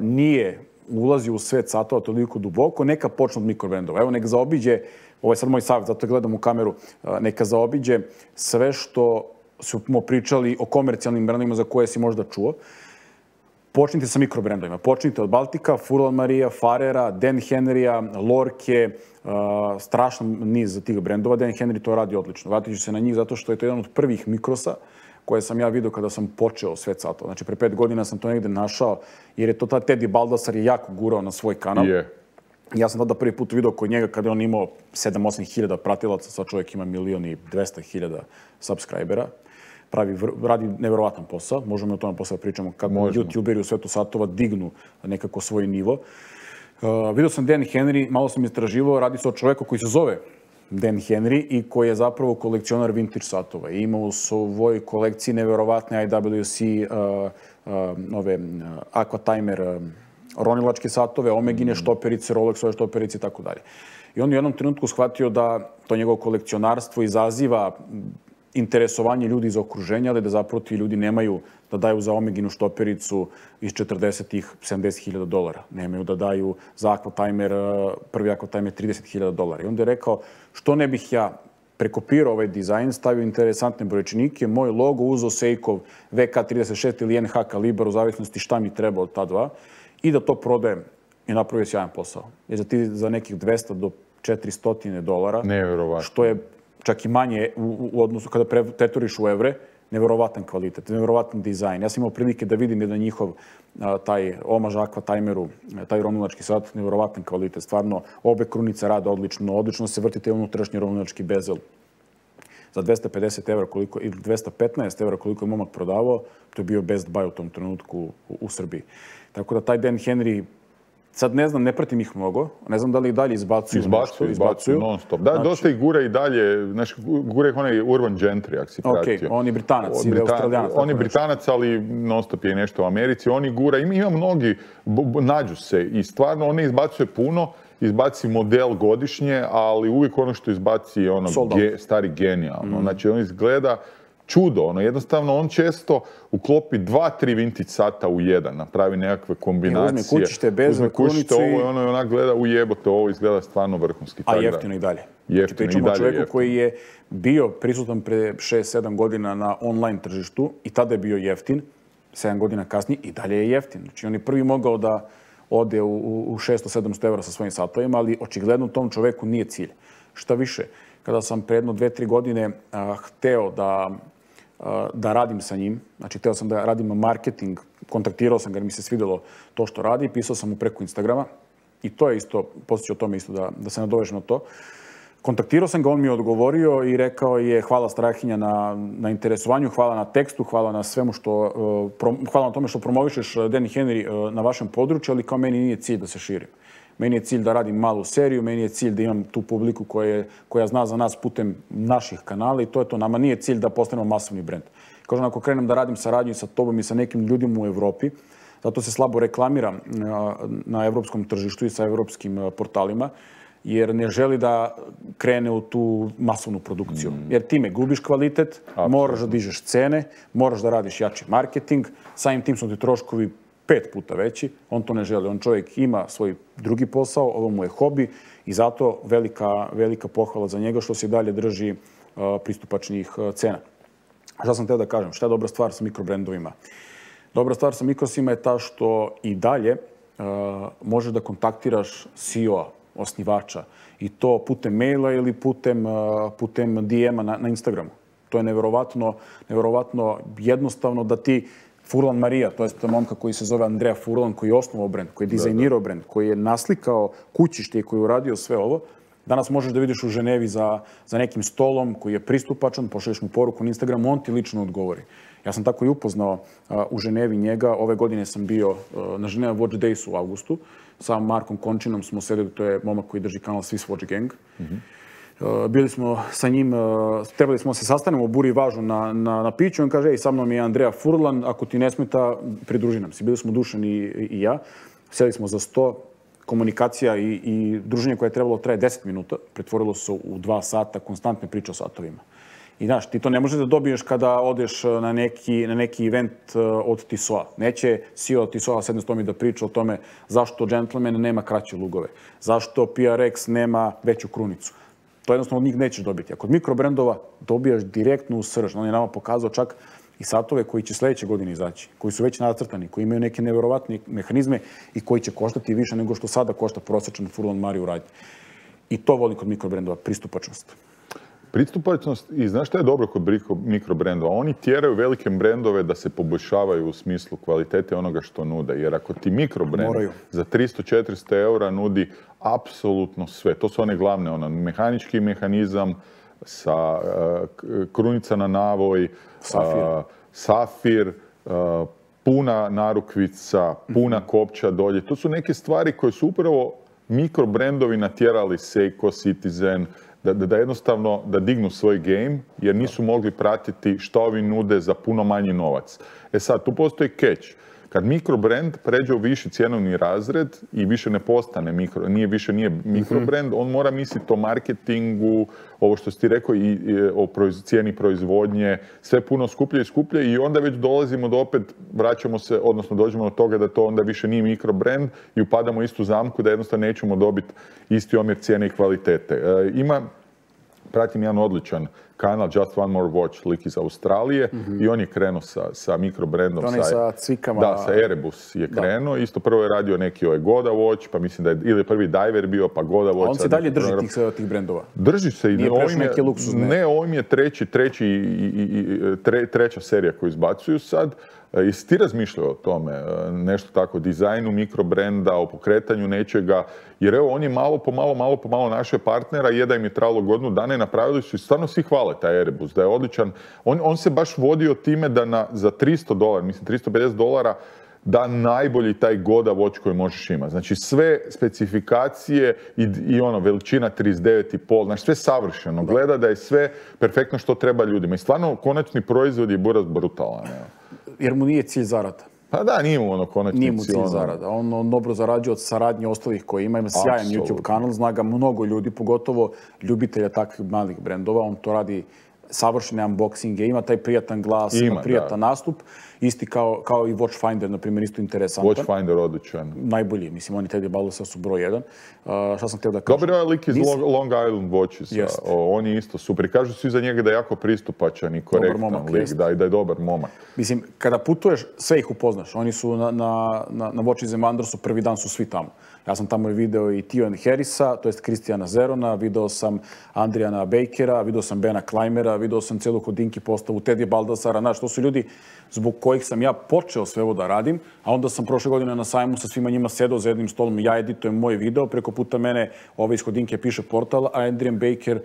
nije ulazio u svet satova toliko duboko, neka počne od mikrobrendova. Evo, neka zaobiđe, ovo je sad moj savjet, zato gledam u kameru, neka zaobiđe sve što smo pričali o komercijalnim brendovima za koje si možda čuo. Počnite sa mikrobrendovima. Počnite od Baltika, Fural Maria, Farera, Dan Henrya, Lorke, strašan niz tih brendova. Dan Henry to radi odlično. Vratit ću se na njih zato što je to jedan od prvih mikrosa koje sam ja vidio kada sam počeo svet satova. Znači, pre 5 godina sam to negdje našao, jer je to ta Teddy Baldassar je jako gurao na svoj kanal. Ja sam tada prvi put vidio kod njega kada je on imao 7-8 hiljada pratilaca, sad čovjek ima 1.200.000 subscribera. Radi nevjerovatan posao, možemo o tome posao pričamo kako youtuberi u svetu satova dignu nekako svoj nivo. Vidio sam Dan Henry, malo sam istraživao, radi se o čovjeku koji se zove Dan Henry i koji je zapravo kolekcionar vintage satova. I ima u svojoj kolekciji nevjerovatne IWC, Aqua Timer, ronilačke satove, Omegine štoperice, Rolexove štoperice i tako dalje. I on u jednom trenutku shvatio da to njegovo kolekcionarstvo izaziva interesovanje ljudi iz okruženja, ali da zapravo ti ljudi nemaju da daju za Omeginu štopericu iz 40-ih $70.000. Nemaju da daju za Aquatimer, prvi Aquatimer $30.000. I onda je rekao, što ne bih ja prekopirao ovaj dizajn, stavio interesantne brojčanike, moj logo, uzeo Seikov VK36 ili NH kalibar, u zavisnosti šta mi treba od ta dva, i da to prodajem i napravio sjajan posao. Jer za nekih $200 do $400, što je čak i manje u odnosu kada pretvoriš u evre, nevjerovatan kvalitet, nevjerovatan dizajn. Ja sam imao prilike da vidim jedan njihov taj omaž Aquatimeru, taj ronilački sat, nevjerovatan kvalitet. Stvarno, obe krunice rade odlično, odlično se vrtite unutrašnji ronilački bezel. Za 250 evra ili 215 evra koliko je momak prodavao, to je bio best buy u tom trenutku u Srbiji. Tako da taj Dan Henry, sad ne znam, ne pratim ih mnogo, ne znam da li i dalje izbacuju. Izbacuju non stop. Da, dosta ih gura i dalje, znači gura ih onaj Urban Gentry, ako si pratio. On je Britanac ili Australijanac. On je Britanac, ali non stop je nešto u Americi. Oni gura, ima mnogi, nađu se i stvarno on ne izbacuje puno, izbaci model godišnje, ali uvijek ono što izbaci je ono stari genijalno. Znači on izgleda čudo, jednostavno on često uklopi 2-3 vintage sata u jedan, napravi nekakve kombinacije. Uzme kućište, bezel, krunicu ovo i ono onak gleda ujebote, ovo izgleda stvarno vrhunski. A jeftino i dalje. Pričamo o čovjeku koji je bio prisutan pre 6-7 godina na online tržištu i tada je bio jeftin, 7 godina kasnije i dalje je jeftin. Znači on je prvi mogao da ode u 600-700 evra sa svojim satovima, ali očigledno tom čovjeku nije cilj. Šta više, kada sam pre jedno 2-3 godine hteo da radim sa njim, znači hteo sam da radim marketing, kontaktirao sam ga jer mi se svidjelo to što radi, pisao sam mu preko Instagrama i to je isto, poslije ću o tome isto da se nadovežem na to. Kontaktirao sam ga, on mi je odgovorio i rekao je hvala Strahinja na interesovanju, hvala na tekstu, hvala na svemu hvala na tome što promovišeš Dan Henry na vašem području, ali kao meni nije cilj da se širim. Meni je cilj da radim malu seriju, meni je cilj da imam tu publiku koja zna za nas putem naših kanala i to je to. Nama nije cilj da postanemo masovni brend. Kažem, ako krenem da radim saradnju sa tobom i sa nekim ljudima u Evropi, zato se slabo reklamiram na evropskom tržištu i sa evropskim portalima, jer ne želi da krene u tu masovnu produkciju. Jer time gubiš kvalitet, moraš da dižeš cene, moraš da radiš jači marketing, samim tim su ti troškovi 5 puta veći. On to ne želi. On čovjek ima svoj drugi posao, ovo mu je hobi i zato velika pohvala za njega što se dalje drži pristupačnih cena. Šta sam teo da kažem? Šta je dobra stvar sa mikrobrendovima? Dobra stvar sa mikrosima je ta što i dalje možeš da kontaktiraš CEO-a, osnivača, i to putem maila ili putem DM-a na Instagramu. To je neverovatno jednostavno da ti Furlan Marija, to je momka koji se zove Andrea Furlan, koji je osnovao brend, koji je dizajnirao brend, koji je naslikao kućište i koji je uradio sve ovo. Danas možeš da vidiš u Ženevi za nekim stolom koji je pristupačan, pošalješ mu poruku na Instagramu, on ti lično odgovori. Ja sam tako i upoznao u Ženevi njega. Ove godine sam bio na Ženeva Watch Daysu u avgustu. Sa Markom Končinom smo sedeli, to je momak koji drži kanal Swiss Watch Gang. Bili smo sa njim, trebali smo se sastanemo u Buri Važu na piću. On kaže, ej, sa mnom je Andrea Furlan, ako ti ne smeta, pridruži nam se. Bili smo Dušan i ja. Sjeli smo za 100. Komunikacija i druženje koje je trebalo traje 10 minuta, pretvorilo se u 2 sata, konstantne priče o satovima. I znaš, ti to ne možeš da dobiješ kada odeš na neki event od Tissot-a. Neće CEO Tissot-a sedne s tom i da priča o tome zašto Gentleman nema kraće lugove, zašto PRX nema veću krunicu. To jednostavno od njih nećeš dobiti. A kod mikrobrendova dobijaš direktno u srž. On je nama pokazao čak i satove koji će sljedeće godine izaći, koji su već nacrtani, koji imaju neke neverovatne mehanizme i koji će koštati više nego što sada košta prosječan Furlan Marija u radnji. I to volim kod mikrobrendova, pristupačnost. Pristupačnost, i znaš šta je dobro kod mikrobrendova? Oni tjeraju velike brendove da se poboljšavaju u smislu kvalitete onoga što nude. Jer ako ti mikrobrend za 300-400 eura nudi apsolutno sve, to su one glavne, mehanički mehanizam sa krunica na navoj, safir, puna narukvica, puna kopča dolje. To su neke stvari koje su upravo mikrobrendovi natjerali Seiko, Citizen, da jednostavno da dignu svoj game, jer nisu mogli pratiti što ovi nude za puno manji novac. E sad, tu postoji catch. Kad mikrobrend pređe u viši cjenovni razred i više ne postane nije mikrobrend, on mora misliti o marketingu, ovo što si ti rekao, i o cijeni proizvodnje, sve puno skuplje i skuplje, i onda već dolazimo do opet, vraćamo se, odnosno dođemo do toga da to onda više nije mikrobrend i upadamo u istu zamku da jednostavno nećemo dobiti isti omjer cijene i kvalitete. Pratim jedan odličan kanal, Just One More Watch, lik iz Australije, i on je krenuo sa mikrobrendom. On je sa cvikama. Da, sa Erebus je krenuo. Isto prvo je radio neki Goda Watch, pa mislim da je ili prvi Diver bio, pa Goda Watch. A on se dalje drži tih brendova? Drži se. Nije prešao neke luksuzne? Ne, ovim je treća serija koju izbacuju sad. Jesi ti razmišljao o tome, nešto tako, dizajnu mikrobrenda, o pokretanju nečega, jer evo on je malo po malo našao partnera, da im je trajalo godinu dana i napravili su i stvarno svi hvale taj Erebus, da je odličan. On se baš vodio time da za $300, mislim $350, da najbolji taj Goda Watch koji možeš imati. Znači sve specifikacije i veličina 39,5, znači sve savršeno. Gleda da je sve perfektno što treba ljudima. I stvarno konačni proizvod je buraz brutalan. Jer mu nije cilj zarada. Pa da, nije mu konačni cilj. Nije mu cilj zarada. On dobro zarađuje od saradnje ostalih koji ima sjajan YouTube kanal, zna ga mnogo ljudi, pogotovo ljubitelja takvih malih brendova. On to radi savršene unboxinge, ima taj prijatan glas, ima prijatan nastup. Isti kao i Watchfinder, na primjer, isto interesantan. Watchfinder odličan. Najbolji, mislim, oni Teddy Baldusa su broj 1. Šta sam htio da kažem? Dobar je lik iz Long Island Watches. On je isto super. Kažu svi za njega da je jako pristupačan i korektan lik, da je dobar momak. Mislim, kada putuješ, sve ih upoznaš. Oni su na Watches and Wondersu, prvi dan su svi tamo. Ja sam tamo video i Tio Harrisa, to jest Kristijana Zerona, video sam Andrijana Bakera, video sam Bena Klajmera, video sam celu Hodinki postavu Teddy Baldasara. Znaš, to su ljudi zbog kojih sam ja počeo sve ovo da radim, a onda sam prošle godine na sajmu sa svima njima sedao za jednim stolom, ja editujem moj video, preko puta mene iz Hodinke piše portal, a Adrian Baker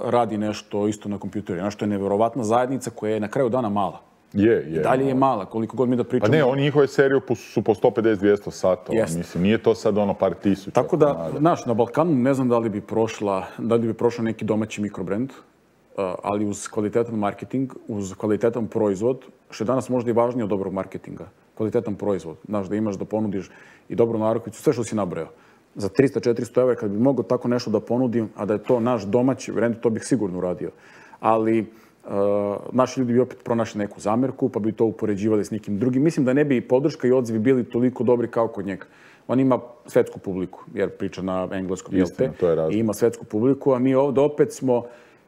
radi nešto isto na kompjuteru. Znaš, to je neverovatna zajednica koja je na kraju dana mala. I dalje je mala, koliko god mi da pričamo. Pa ne, oni njihove serije su po 150-200 satova. Mislim, nije to sad par tisuća. Tako da, znaš, na Balkanu ne znam da li bi prošao neki domaći mikrobrend, ali uz kvalitetan marketing, uz kvalitetan proizvod, što je danas možda i važnije od dobrog marketinga. Kvalitetan proizvod. Znaš, da imaš da ponudiš i dobru narukvicu, sve što si nabrao. Za 300-400 evra, kad bi mogao tako nešto da ponudim, a da je to naš domaći brend, to bih sigurno uradio. Ali naši ljudi bi opet pronašli neku zamerku, pa bi to upoređivali s nekim drugim. Mislim da ne bi podrška i odzivi bili toliko dobri kao kod njega. On ima svetsku publiku, jer priča na engleskom, i ima svetsku publiku, a mi ovdje opet smo,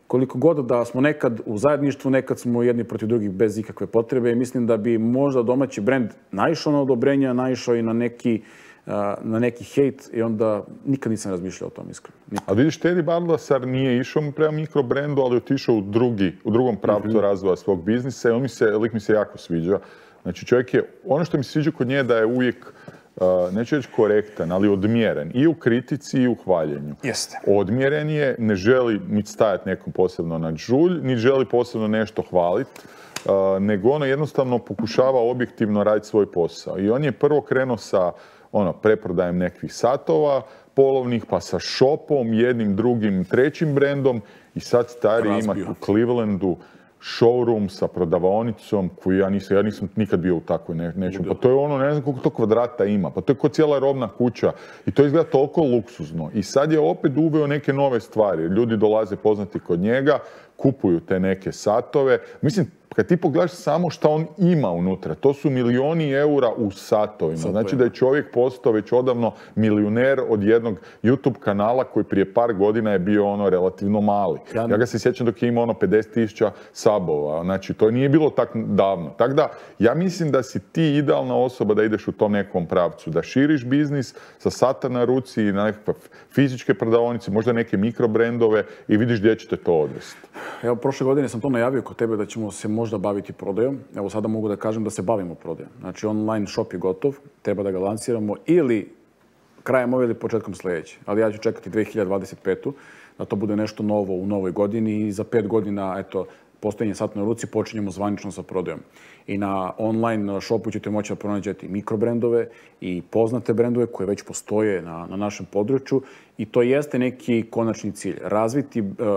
koliko god da smo nekad u zajedništvu, nekad smo jedni protiv drugih bez ikakve potrebe i mislim da bi možda domaći brend naišao na odobrenja, naišao i na neki hejt i onda nikad nisam razmišljao o tom iskreno. A vidiš, Teddy Baldasar nije išao prema mikrobrendu, ali je otišao u drugom pravcu razvoja svog biznisa i lik mi se jako sviđa. Znači čovjek je, ono što mi se sviđa kod nje da je uvijek, neću reći korektan, ali odmjeren i u kritici i u hvaljenju. Jeste. Odmjeren je, ne želi niti stajati nekom posebno na žulj, niti želi posebno nešto hvaliti, nego ono jednostavno pokušava objektivno raditi svoj posao. I on je prvo krenuo sa preprodajem nekih satova polovnih, pa sa shopom, jednim, drugim, trećim brendom i sad stari ima u Clevelandu showroom sa prodavaonicom koju ja nisam nikad bio u takvoj nečem. Pa to je ono, ne znam koliko to kvadrata ima, pa to je kao cijela robna kuća i to izgleda toliko luksuzno. I sad je opet uveo neke nove stvari. Ljudi dolaze poznati kod njega, kupuju te neke satove. Mislim, kad ti pogledaš samo šta on ima unutra, to su milioni eura u satovima. Znači da je čovjek postao već odavno milijuner od jednog YouTube kanala koji prije par godina je bio relativno mali. Ja ga se sjećam dok je imao 50.000 sabova. Znači to nije bilo tako davno. Tako da ja mislim da si ti idealna osoba da ideš u tom nekom pravcu, da širiš biznis sa sata na ruci na nekakve fizičke prodavaonice, možda neke mikrobrendove i vidiš gdje ćete to odvesti. Evo, prošle godine sam to najavio kod tebe da ćemo se možda baviti prodajom. Evo, sada mogu da kažem da se bavimo prodajom. Znači, online shop je gotov, treba da ga lansiramo ili krajem ove ili početkom sljedeće. Ali ja ću čekati 2025. da to bude nešto novo u novoj godini i za 5 godina, eto, postojanje sat na ruci, počinjemo zvanično sa prodajom. I na online shopu ćete moći da pronađete mikrobrendove i poznate brendove koje već postoje na našem području i to jeste neki konačni cilj.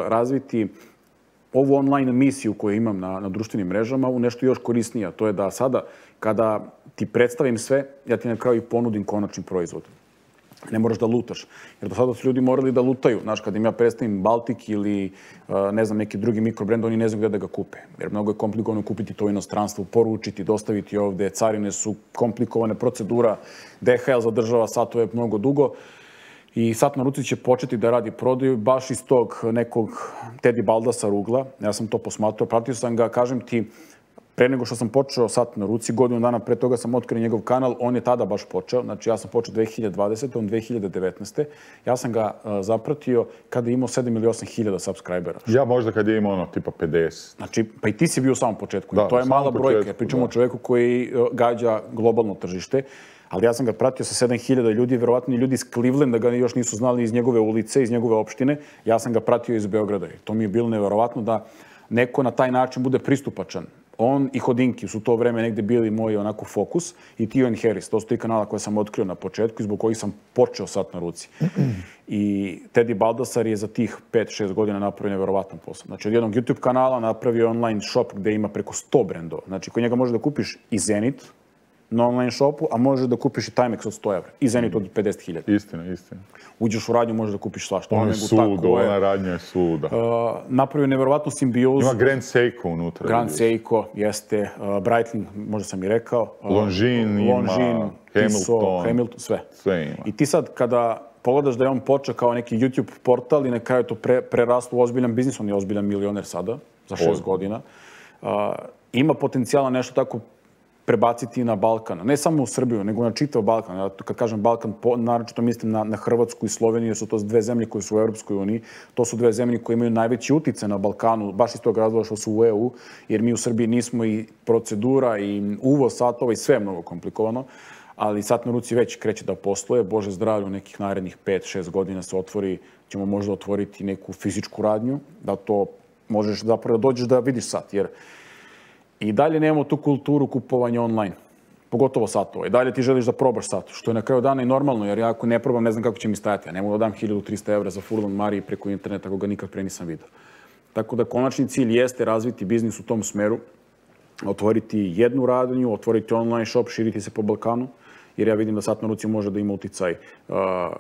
Razviti ovu online misiju koju imam na društvenim mrežama u nešto još korisnije. To je da sada, kada ti predstavim sve, ja ti na kraju ponudim konačni proizvod. Ne moraš da lutaš. Jer do sada su ljudi morali da lutaju. Znaš, kad im ja predstavim Baltik ili ne znam, neki drugi mikrobrend, oni ne znaju gdje da ga kupe. Jer mnogo je komplikovano kupiti to u inostranstvu, poručiti, dostaviti ovdje. Carine su komplikovane, procedura. DHL zadržava satove mnogo dugo. I sat na ruci će početi da radi prodaju baš iz tog nekog Teddy Baldasar ugla. Ja sam to posmatrao, pratio sam ga, kažem ti, pre nego što sam počeo sat na ruci, godinu dana pre toga sam otkrio njegov kanal, on je tada baš počeo, znači ja sam počeo 2020. on 2019. Ja sam ga zapratio kada je imao 7 ili 8 hiljada subscribera. Ja možda kad je imao tipa 50. Znači, pa i ti si bio u samom početku. Da, to je mala brojka. Pričamo o čovjeku koji gađa globalno tržište. Ali ja sam ga pratio sa 7.000 ljudi, verovatno i ljudi iz Clevelanda ga još nisu znali iz njegove ulice, iz njegove opštine. Ja sam ga pratio iz Beograda. To mi je bilo neverovatno da neko na taj način bude pristupačan. On i Hodinki su to vreme negde bili moj onako fokus i Tio and Harris. To su 3 kanala koje sam otkrio na početku i zbog kojih sam počeo sat na ruci. I Teddy Baldasar je za tih 5-6 godina napravio neverovatan posao. Znači, od jednog YouTube kanala napravio online shop gde ima preko 100 brendova. Znači, kod njega može da kupiš i Zenit na online shopu, a možeš da kupiš i Timex od 100 evra. I Zenit od 50.000. Istina. Uđeš u radnju, možeš da kupiš svašta. On je sudo, ona radnja je suda. Napravio nevjerovatnu simbiozu. Ima Grand Seiko unutra. Grand Seiko, jeste. Breitling, možda sam i rekao. Longines ima, Hamilton, sve. Sve ima. I ti sad, kada pogledaš da je on počeo kao neki YouTube portal i na kraju to preraslo u ozbiljan biznis, on je ozbiljan milioner sada, za 6 godina. Ima potencijala nešto tako prebaciti na Balkan. Ne samo u Srbiju, nego na čitav Balkan. Ja, kad kažem Balkan, naročito mislim na Hrvatsku i Sloveniju, jer su to 2 zemlje koje su u Europskoj uniji. To su 2 zemlje koje imaju najveći utjecaj na Balkanu, baš iz tog razloga što su u EU, jer mi u Srbiji nismo i procedura i uvoz satova i sve je mnogo komplikovano. Ali sat na ruci već kreće da posluje. Bože zdravlje, u nekih narednih 5-6 godina ćemo možda otvoriti neku fizičku radnju, da to možeš zapravo da dođeš da vidiš sat, jer i dalje nemamo tu kulturu kupovanja online, pogotovo satova. I dalje ti želiš da probaš sat, što je na kraju dana i normalno, jer ja ako ne probam ne znam kako će mi stajati. Ja ne mogu da dam 1300 evra za furlan Mariji preko interneta, ako ga nikad pre nisam vidio. Tako da konačni cilj jeste razviti biznis u tom smeru, otvoriti jednu radnju, otvoriti online shop, širiti se po Balkanu, jer ja vidim da sat na ruci može da ima uticaj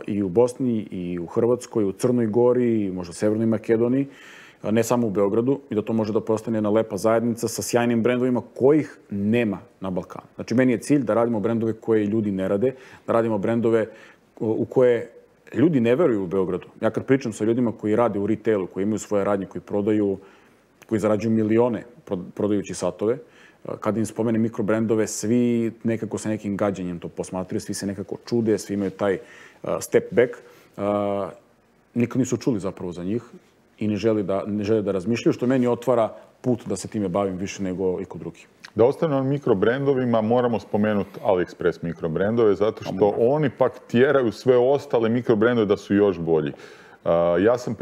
i u Bosni, i u Hrvatskoj, i u Crnoj Gori, i možda u Severnoj Makedoniji. ne samo u Beogradu, i da to može da postane jedna lepa zajednica sa sjajnim brendovima kojih nema na Balkanu. Znači, meni je cilj da radimo brendove koje ljudi ne rade, da radimo brendove u koje ljudi ne veruju u Beogradu. Ja kad pričam sa ljudima koji rade u retailu, koji imaju svoje radnje, koji prodaju, koji zarađuju milione prodajući satove, kad im spomene mikrobrendove, svi nekako sa nekim gađenjem to posmatraju, svi se nekako čude, svi imaju taj step back. Nikad nisu čuli zapravo za njih i ne žele da razmišljaju, što meni otvara put da se time bavim više nego i kod drugih. Da ostane na mikrobrendovima, moramo spomenuti AliExpress mikrobrendove, zato što oni pak tjeraju sve ostale mikrobrendove da su još bolji. Ja sam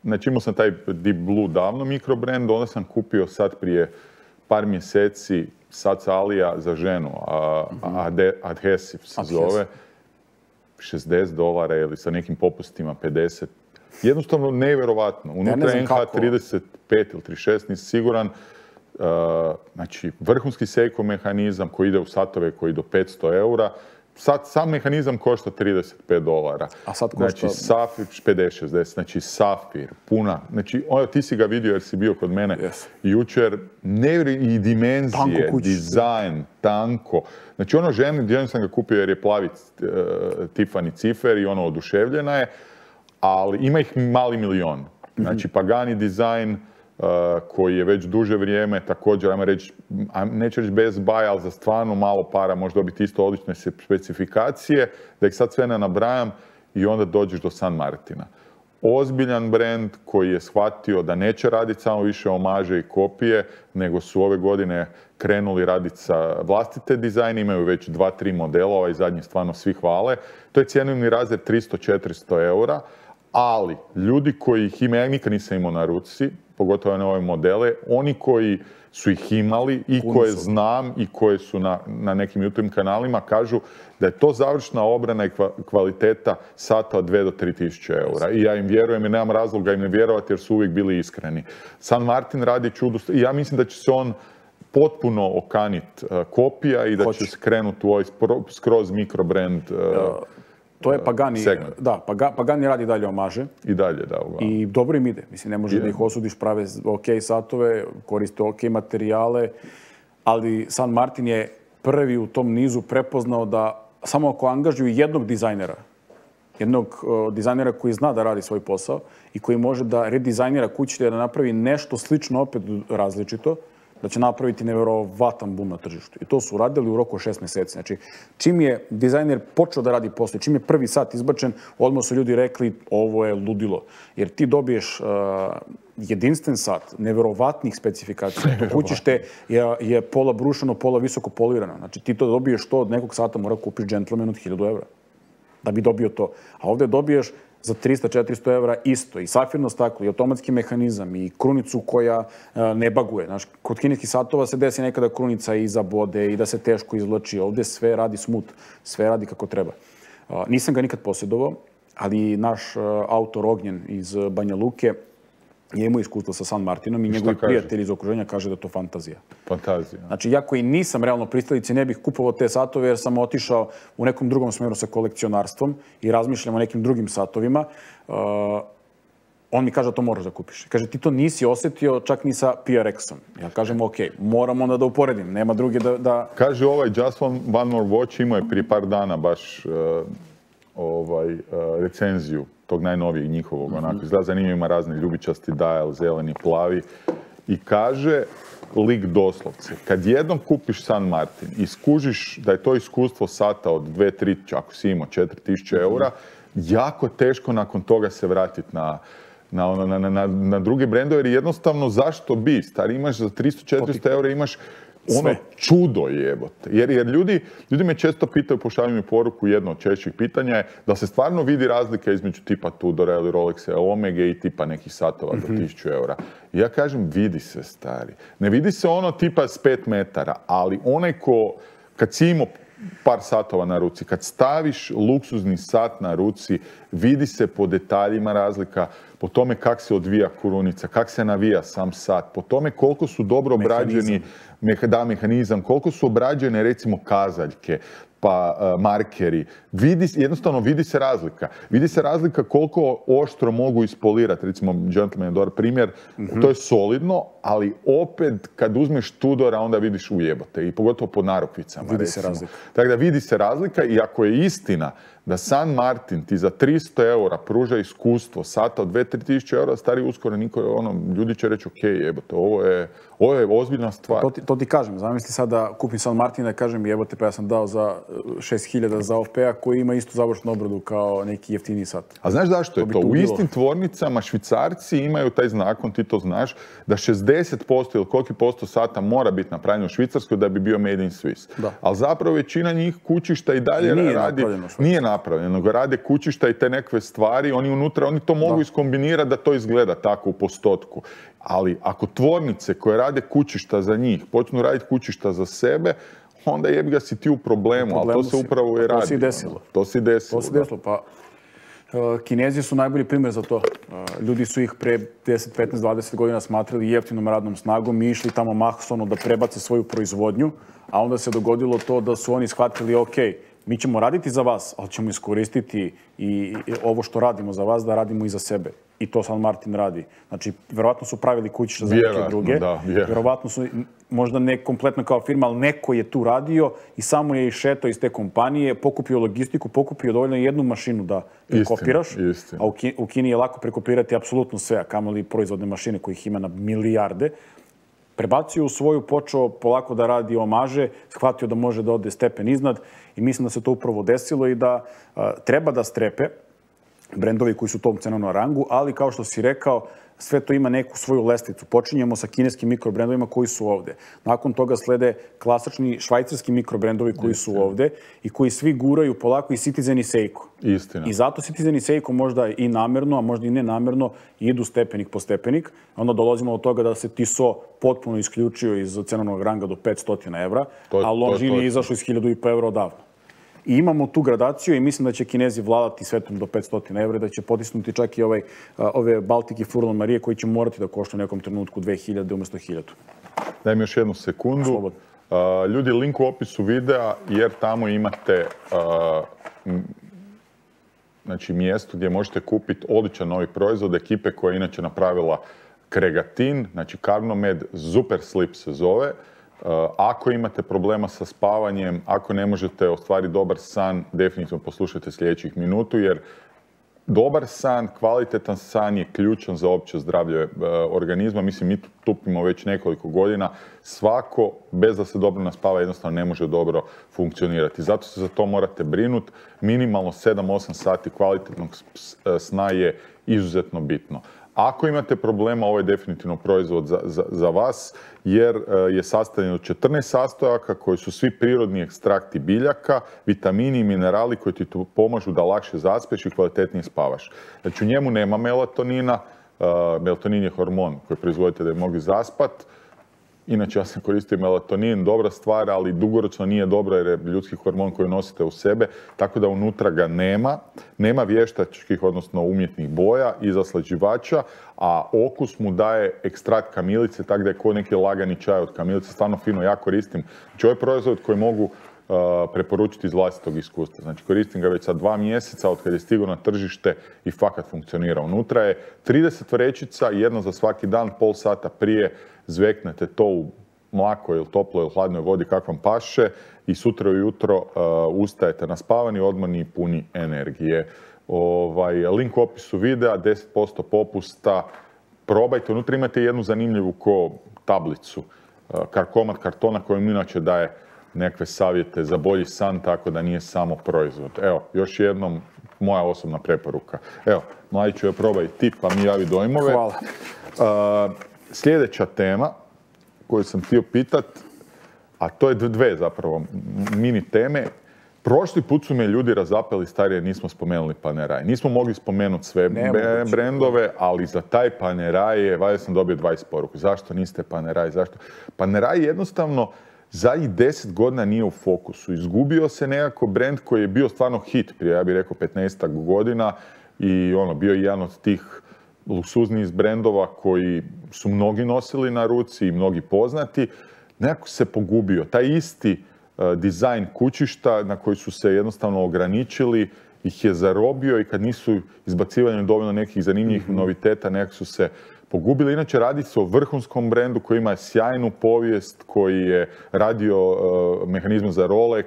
znači imao sam taj Deep Blue davno mikrobrend, onda sam kupio sad prije par mjeseci sad sa Alija za ženu, Adhesive se zove, $60 ili sa nekim popustima 50. Jednostavno nevjerovatno. Unutra NH 35 ili 36, nisam siguran. Znači, vrhunski Seiko mehanizam koji ide u satove koji do 500 eura. Sad sam mehanizam košta $35. A sad košta? Znači, Safir, 50-60, znači Safir, puna. Znači, ti si ga vidio jer si bio kod mene jučer. I dimenzije, dizajn, tanko. Znači, ženu sam ga kupio jer je plavi Tiffany cifer i oduševljena je, ali ima ih mali milion. Znači, Pagani dizajn, koji je već duže vrijeme, također, ajmo reći, neću reći Best Buy, ali za stvarno malo para može dobiti isto odlične specifikacije, da ih sad sve ne nabrajam i onda dođeš do San Martina. Ozbiljan brend koji je shvatio da neće raditi samo više omaže i kopije, nego su ove godine krenuli raditi sa vlastite dizajne, imaju već 2-3 modela, ovaj zadnji stvarno svi hvale. To je cjenovni razred 300-400 eura, ali ljudi koji ih imaju, ja nikad nisam imao na ruci, pogotovo na ove modele, oni koji su ih imali i koje znam i koje su na nekim YouTube kanalima kažu da je to završna obrana i kvaliteta sata od 2 do 3 tisuće eura. I ja im vjerujem i nemam razloga im ne vjerovati jer su uvijek bili iskreni. San Martin radi čudo i ja mislim da će se on potpuno okanit kopija i da će skrenuti u ovaj skroz mikrobrand to je Pagani, da, Pagani radi dalje omaže. I dalje, da. I dobro im ide. Mislim, ne možeš da ih osudiš, prave ok satove, koriste ok materijale, ali San Martin je prvi u tom nizu prepoznao da samo ako angažuju jednog dizajnera koji zna da radi svoj posao i koji može da redizajnira kuću da napravi nešto slično, opet različito, da će napraviti nevjerovatan bum na tržištu. I to su radili u roku 6 mjeseci. Znači, čim je dizajner počeo da radi posao, čim je prvi sat izbačen, odmah su ljudi rekli ovo je ludilo. Jer ti dobiješ jedinstven sat, nevjerovatnih specifikacija. Kućište je pola brušeno, pola visoko polirano. Znači, ti to dobiješ to od nekog sata, mora kupiš džentlmen od 1000 eura da bi dobio to. A ovdje dobiješ za 300-400 eura isto. I safirno staklo, i automatski mehanizam, i krunicu koja ne baguje. Znaš, kod kineskih satova se desi nekada krunica i zabode i da se teško izvlači. Ovdje sve radi smooth, sve radi kako treba. Nisam ga nikad posjedovao, ali naš autor Ognjen iz Banja Luke je imao iskustvo sa San Martinom i njegovi prijatelji iz okruženja kaže da je to fantazija. Fantazija. Znači, ja koji nisam realno pristalici, ne bih kupovao te satove jer sam otišao u nekom drugom smjeru sa kolekcionarstvom i razmišljam o nekim drugim satovima. On mi kaže da to moraš da kupiš. Kaže, ti to nisi osjetio čak ni sa PRX-om. Ja kažem, ok, moram onda da uporedim, nema druge da... Kaže ovaj Just One More Watch imao je prije par dana baš recenziju tog najnovijeg njihovog, onako, izgleda zanimljivo, ima razni ljubičasti dial, zeleni, plavi, i kaže lik doslovce, kad jednom kupiš San Martin i skužiš da je to iskustvo sata od 2-3, ako si imao 4000 eura, jako teško nakon toga se vratiti na druge brendove, jer jednostavno zašto bi? Stari, imaš za 300-400 eura, imaš ono čudo jebote. Jer ljudi me često pitaju, pošalju mi poruku, jedno od češćih pitanja je da se stvarno vidi razlika između tipa Tudora ili Rolexa, Omega i tipa nekih satova do 1000 eura. I ja kažem, vidi se, stari. Ne vidi se ono tipa s 5 metara, ali onaj kad si imao par satova na ruci, kad staviš luksuzni sat na ruci, vidi se po detaljima razlika, po tome kak se odvija krunica, kak se navija sam sat, po tome koliko su dobro obrađeni mehanizam, koliko su obrađene recimo kazaljke. pa markeri. Jednostavno vidi se razlika. Vidi se razlika koliko oštro mogu ispolirati. Recimo, Gentleman je dobar primjer. To je solidno, ali opet kad uzmeš Tudora, onda vidiš ujebote. I pogotovo po narukvicama. Vidi se razlika. Tako da vidi se razlika i ako je istina da San Martin ti za 300 eura pruža iskustvo sata od 2-3 tisuće eura, stari uskoro ljudi će reći ok, jebote, ovo je ozbiljna stvar. To ti kažem, zamisli sad da kupim San Martin da kažem jebote pa ja sam dao za 6.000 za OFP-a koji ima istu završnu obradu kao neki jeftiniji sat. A znaš zašto je to? U istim tvornicama Švicarci imaju taj zakon, ti to znaš, da 60% ili koliki posto sata mora biti napravljeno u Švicarskoj da bi bio made in Swiss. Ali zapravo većina njih kućišta i dalje radi. Nije napravljeno, nego rade kućišta i te nekakve stvari, oni to mogu iskombinirati da to izgleda tako u postotku. Ali ako tvornice koje rade kućišta za njih počnu raditi kućišta za sebe, onda jebi ga si ti u problemu, ali to se upravo i radi. To se i desilo. To se desilo, pa Kinezi su najbolji primjer za to. Ljudi su ih pre 10, 15, 20 godina smatrali jeftinom radnom snagom i išli tamo masovno da prebace svoju proizvodnju, a onda se dogodilo to da su oni shvatili ok, mi ćemo raditi za vas, ali ćemo iskoristiti i ovo što radimo za vas da radimo i za sebe. I to San Martin radi. Znači, verovatno su pravili kućište za neke druge. Verovatno su, možda ne kompletno kao firma, ali neko je tu radio i samo je išetao iz te kompanije, pokupio logistiku, pokupio dovoljno jednu mašinu da prekopiraš. A u Kini je lako prekopirati apsolutno sve, a kamoli proizvodne mašine kojih ima na milijarde. Prebacio u svoju, počeo polako da radi omaže, shvatio da može da ode stepen iznad i mislim da se to upravo desilo i da treba da strepe brendovi koji su u tom cenovnom rangu, ali kao što si rekao, sve to ima neku svoju lestvicu. Počinjemo sa kineskim mikrobrendovima koji su ovde. Nakon toga slede klasični švajcarski mikrobrendovi koji su ovde i koji svi guraju polako i Citizen i Seiko. Istina. I zato Citizen i Seiko možda i namerno, a možda i nenamerno idu stepenik po stepenik. Onda dolazimo do toga da se Tissot potpuno isključio iz cenovnog ranga do 500 evra, a Longines je izašao iz 1.500 evra odavno. I imamo tu gradaciju i mislim da će Kinezi vladati svetom do 500 evra, da će potisnuti čak i ove Baltic i Furlan Marije koji će morati da košta u nekom trenutku 2.000 umjesto 1.000. Daj mi još jednu sekundu. Ljudi, link u opisu videa jer tamo imate mjesto gdje možete kupiti odličan novi proizvod ekipe koja je inače napravila Kregatin, znači Carnomed, Super Sleep se zove. Ako imate problema sa spavanjem, ako ne možete ostvariti dobar san, definitivno poslušajte sljedećih minutu, jer dobar san, kvalitetan san je ključan za opće zdravlje organizma. Mislim, mi tupimo već nekoliko godina. Svako, bez da se dobro naspava, jednostavno ne može dobro funkcionirati. Zato se za to morate brinuti. Minimalno 7-8 sati kvalitetnog sna je izuzetno bitno. Ako imate problema, ovo je definitivno proizvod za vas, jer je sastavljen od 14 sastojaka koji su svi prirodni ekstrakti biljaka, vitamini i minerali koji ti pomažu da lakše zaspeš i kvalitetnije spavaš. Znači, u njemu nema melatonina. Melatonin je hormon koji proizvodite da bi mogli zaspati. Inače, ja sam koristio melatonin, dobra stvar, ali dugoročno nije dobro jer je ljudski hormon koji nosite u sebe, tako da unutra ga nema. Nema vještačkih, odnosno umjetnih boja i zaslađivača, a okus mu daje ekstrakt kamilice, tako da je ko neki lagani čaj od kamilice. Stvarno fino, ja koristim. Znači, ovo je proizvod koji mogu preporučiti iz vlastitog iskustva. Znači, koristim ga već sad 2 mjeseca od kad je stigao na tržište i fakat funkcionira. Unutra je 30 vrećica, jedna za svaki dan, pol sata prije zveknete to u mlakoj ili toploj ili hladnoj vodi kak vam paše i sutra ujutro ustajete naspavani, odmorni i puni energije. Link u opisu videa, 10% popusta. Probajte, unutra imate jednu zanimljivu tablicu, komad kartona kojom inače daje nekakve savjete za bolji san, tako da nije samo proizvod. Evo, još jednom, moja osobna preporuka. Evo, Mladiću, probaj ti pa mi javi dojmove. Hvala. Sljedeća tema koju sam htio pitat, a to je dve zapravo mini teme. Prošli put su me ljudi razapeli starije, nismo spomenuli Panerai. Nismo mogli spomenuti sve brendove, ali za taj Panerai valjda sam dobio 20 poruku. Zašto niste Panerai? Zašto? Panerai jednostavno zadnjih 10 godina nije u fokusu. Izgubio se nekako brend koji je bio stvarno hit prije, ja bih rekao, 15 godina i bio je jedan od tih luksuznijih brendova koji su mnogi nosili na ruci i mnogi poznati. Nekako se pogubio. Taj isti dizajn kućišta na koji su se jednostavno ograničili, ih je zarobio i kad nisu izbacivali dovoljno nekih zanimljivih noviteta, nekak su se pogubili. Inače, radi se o vrhunskom brendu koji ima sjajnu povijest, koji je radio mehanizme za Rolex.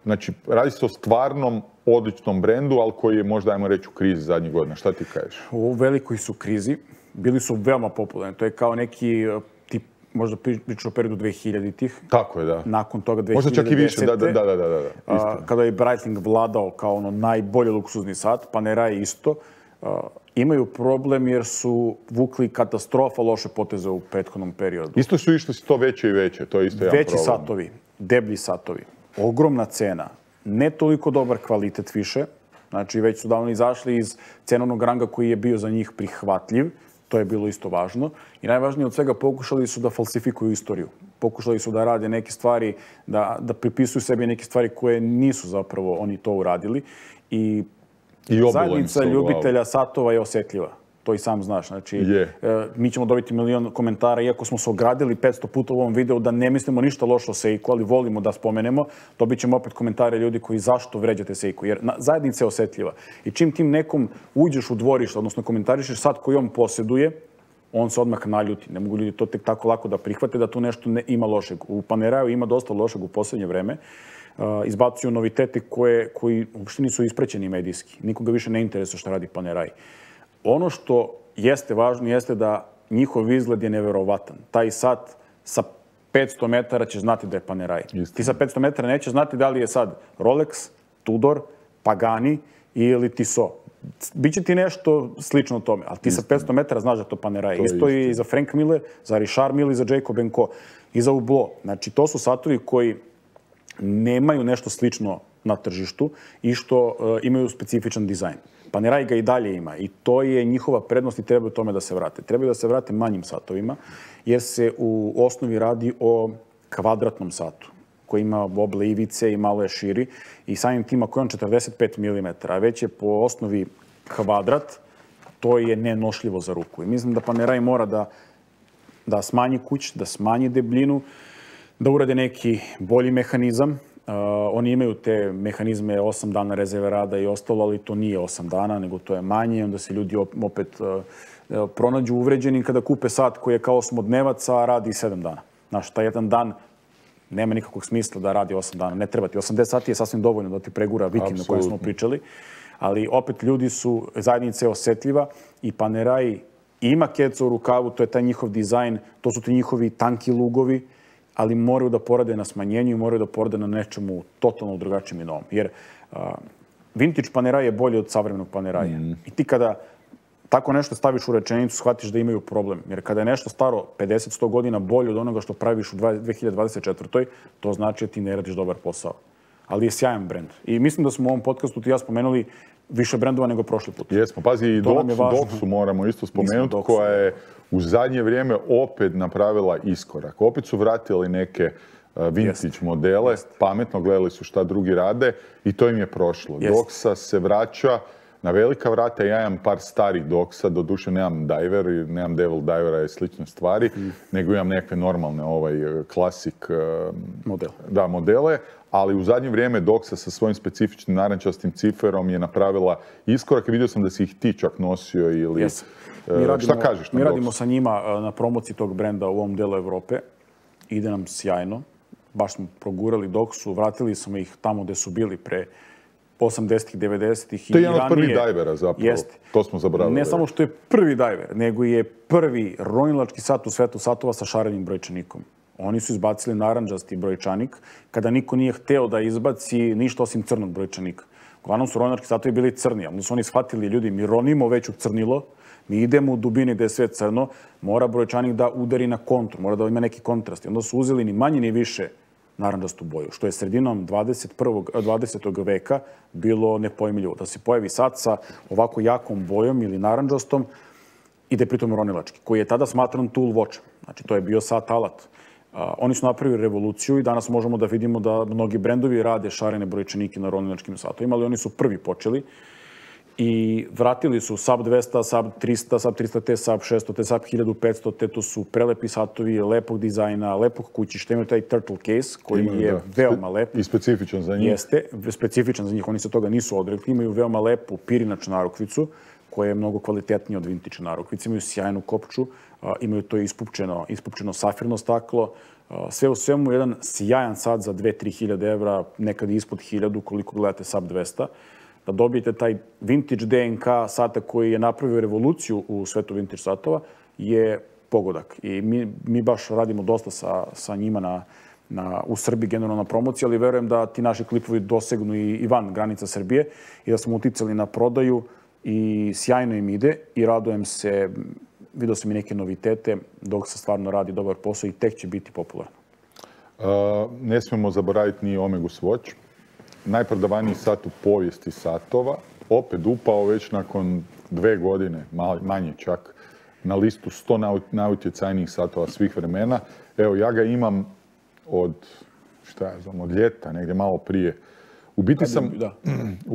Znači, radi se o stvarnom odličnom brendu, ali koji je možda, ajmo reći, u krizi zadnjih godina. Šta ti kažeš? U velikoj su krizi. Bili su veoma popularni. To je kao neki tip, možda pričaš o periodu 2000-ih. Tako je, da. Nakon toga 2010. Možda čak i više, da. Kada je Breitling vladao kao ono najbolji luksuzni sat, Panerai isto. Imaju problem jer su vukli katastrofa loše poteze u prethodnom periodu. Isto su išli to veće i veće, to je isto jedan problem. Veći satovi, deblji satovi, ogromna cena, ne toliko dobar kvalitet više. Znači, već su davno izašli iz cenovnog ranga koji je bio za njih prihvatljiv. To je bilo isto važno. I najvažnije od svega, pokušali su da falsifikuju istoriju. Pokušali su da rade neke stvari, da pripisuju sebi neke stvari koje nisu zapravo oni to uradili. I zajednica ljubitelja satova je osjetljiva. To i sam znaš. Znači, mi ćemo dobiti milion komentara, iako smo se ogradili 500 puta u ovom videu da ne mislimo ništa loše o Seiko, ali volimo da spomenemo, dobit ćemo opet komentare ljudi koji zašto vređate Seiko. Jer zajednica je osjetljiva. I čim tim nekom uđeš u dvorište, odnosno komentarišeš sat koji on posjeduje, on se odmah naljuti. Ne mogu ljudi to tek tako lako da prihvate da tu nešto ima lošeg. U Paneraju ima dosta lošeg u posljednje vreme. Izbacuju novitete koji uopšte nisu isprećeni medijski. Nikoga više ne interesuje što radi Panerai. Ono što jeste važno jeste da njihov izgled je neverovatan. Taj sat sa 500 metara će znati da je Panerai. Ti sa 500 metara neće znati da li je sad Rolex, Tudor, Pagani ili Tissot. Biće ti nešto slično tome, ali ti sa 500 metara znaš da je to Panerai. Isto i za Frank Miller, za Richard Mille i za Jacob & Co. I za Hublot. Znači, to su satovi koji nemaju nešto slično na tržištu i što imaju specifičan dizajn. Panerai ga i dalje ima i to je njihova prednost i trebaju tome da se vrate. Trebaju da se vrate manjim satovima jer se u osnovi radi o kvadratnom satu koji ima oble ivice i malo je širi i samim tim ako je on 45 mm, a već je po osnovi kvadrat, to je nenošljivo za ruku. I mislim da Panerai mora da smanji kuć, da smanji debljinu, da urade neki bolji mehanizam. Oni imaju te mehanizme 8 dana rezerve rada i ostalo, ali to nije 8 dana, nego to je manje. Onda se ljudi opet pronađu uvređeni kada kupe sat koji je kao osmodnevac, a radi 7 dana. Znaš, taj jedan dan nema nikakvog smisla da radi 8 dana. Ne treba ti. 80 sati je sasvim dovoljno da ti pregura vikend o kojem smo pričali. Ali opet ljudi su, zajednica je osjetljiva i Panerai ima keca u rukavu, to je taj njihov dizajn, to su ti njihovi tanki lugovi, ali moraju da porade na smanjenju i moraju da porade na nečemu totalno drugačijem i novom. Jer vintage Panerai je bolji od savremenog Paneraia. I ti kada tako nešto staviš u rečenicu, shvatiš da imaju problem. Jer kada je nešto staro 50-100 godina bolje od onoga što praviš u 2024. to znači da ti ne radiš dobar posao. Ali je sjajan brend. I mislim da smo u ovom podcastu ti ja spomenuli više brendova nego prošli put. Jesmo, pazi, i Doxu moramo isto spomenuti, koja je u zadnje vrijeme opet napravila iskorak. Opet su vratili neke vintage modele, pametno gledali su šta drugi rade i to im je prošlo. Doxa se vraća na velika vrata. Ja imam par starih Doxa, doduše nemam Diver, nemam Devil Divera i slične stvari, nego imam nekakve normalne klasik modele. Ali u zadnje vrijeme Doxa sa svojim specifičnim narančastim ciferom je napravila iskorak i vidio sam da si ih ti čak nosio ili... Šta kažeš na Doxu? Mi radimo sa njima na promociji tog brenda u ovom delu Evrope. Ide nam sjajno. Baš smo progurali Doxu, vratili smo ih tamo gde su bili pre 80-ih, 90-ih i ranije. To je jedan od prvih divera zapravo. To smo zaboravili. Ne samo što je prvi diver, nego je prvi ronilački sat u svetu satova sa šarenim brojčanikom. Oni su izbacili narandžasti brojčanik kada niko nije hteo da izbaci ništa osim crnog brojčanika. Uglavnom su ronilački satovi bili crni, ali su oni shvatili ljudi, mi ronimo već u crnilo, mi idemo u dubini gde je sve crno, mora brojčanik da udari na kontru, mora da ima neki kontrast. Onda su uzeli ni manje ni više narandžastu boju, što je sredinom 20. veka bilo nepojmljivo. Da se pojavi sat sa ovako jakom bojom ili narandžastom i da je pritom ronilački, koji je tada smatran tool watch. Znači, to je bio sat alat. Oni su napravili revoluciju i danas možemo da vidimo da mnogi brendovi rade šarene brojčanike na ronilačkim satovima, ali oni su prvi počeli. I vratili su Sub 200, Sub 300, Sub 300T, Sub 600T, Sub 1500T, to su prelepi satovi, lepog dizajna, lepog kućišta. Imaju taj turtle case koji je veoma lep. I specifičan za njih. Jeste, specifičan za njih, oni se toga nisu odrekli. Imaju veoma lepu pirinačnu narukvicu koja je mnogo kvalitetnija od vintage narukvice. Imaju sjajnu kopču, imaju to ispupčeno safirno staklo. Sve u svemu jedan sjajan sat za 2-3 hiljade evra, nekad ispod 1000 koliko gledate Sub 200. Da dobijete taj vintage DNK sata koji je napravio revoluciju u svetu vintage satova je pogodak. I mi baš radimo dosta sa njima u Srbiji generalno na promociji, ali verujem da ti naši klipovi dosegnu i van granica Srbije i da smo uticali na prodaju i sjajno im ide i radujem se, vidio sam i neke novitete dok se stvarno radi dobar posao i tek će biti popularno. Ne smijemo zaboraviti ni Omegus Watch. Najprodavaniji sat u povijesti satova, opet upao već nakon 2 godine, manje čak, na listu 100 najutjecajnijih satova svih vremena. Evo, ja ga imam od ljeta, negdje malo prije. U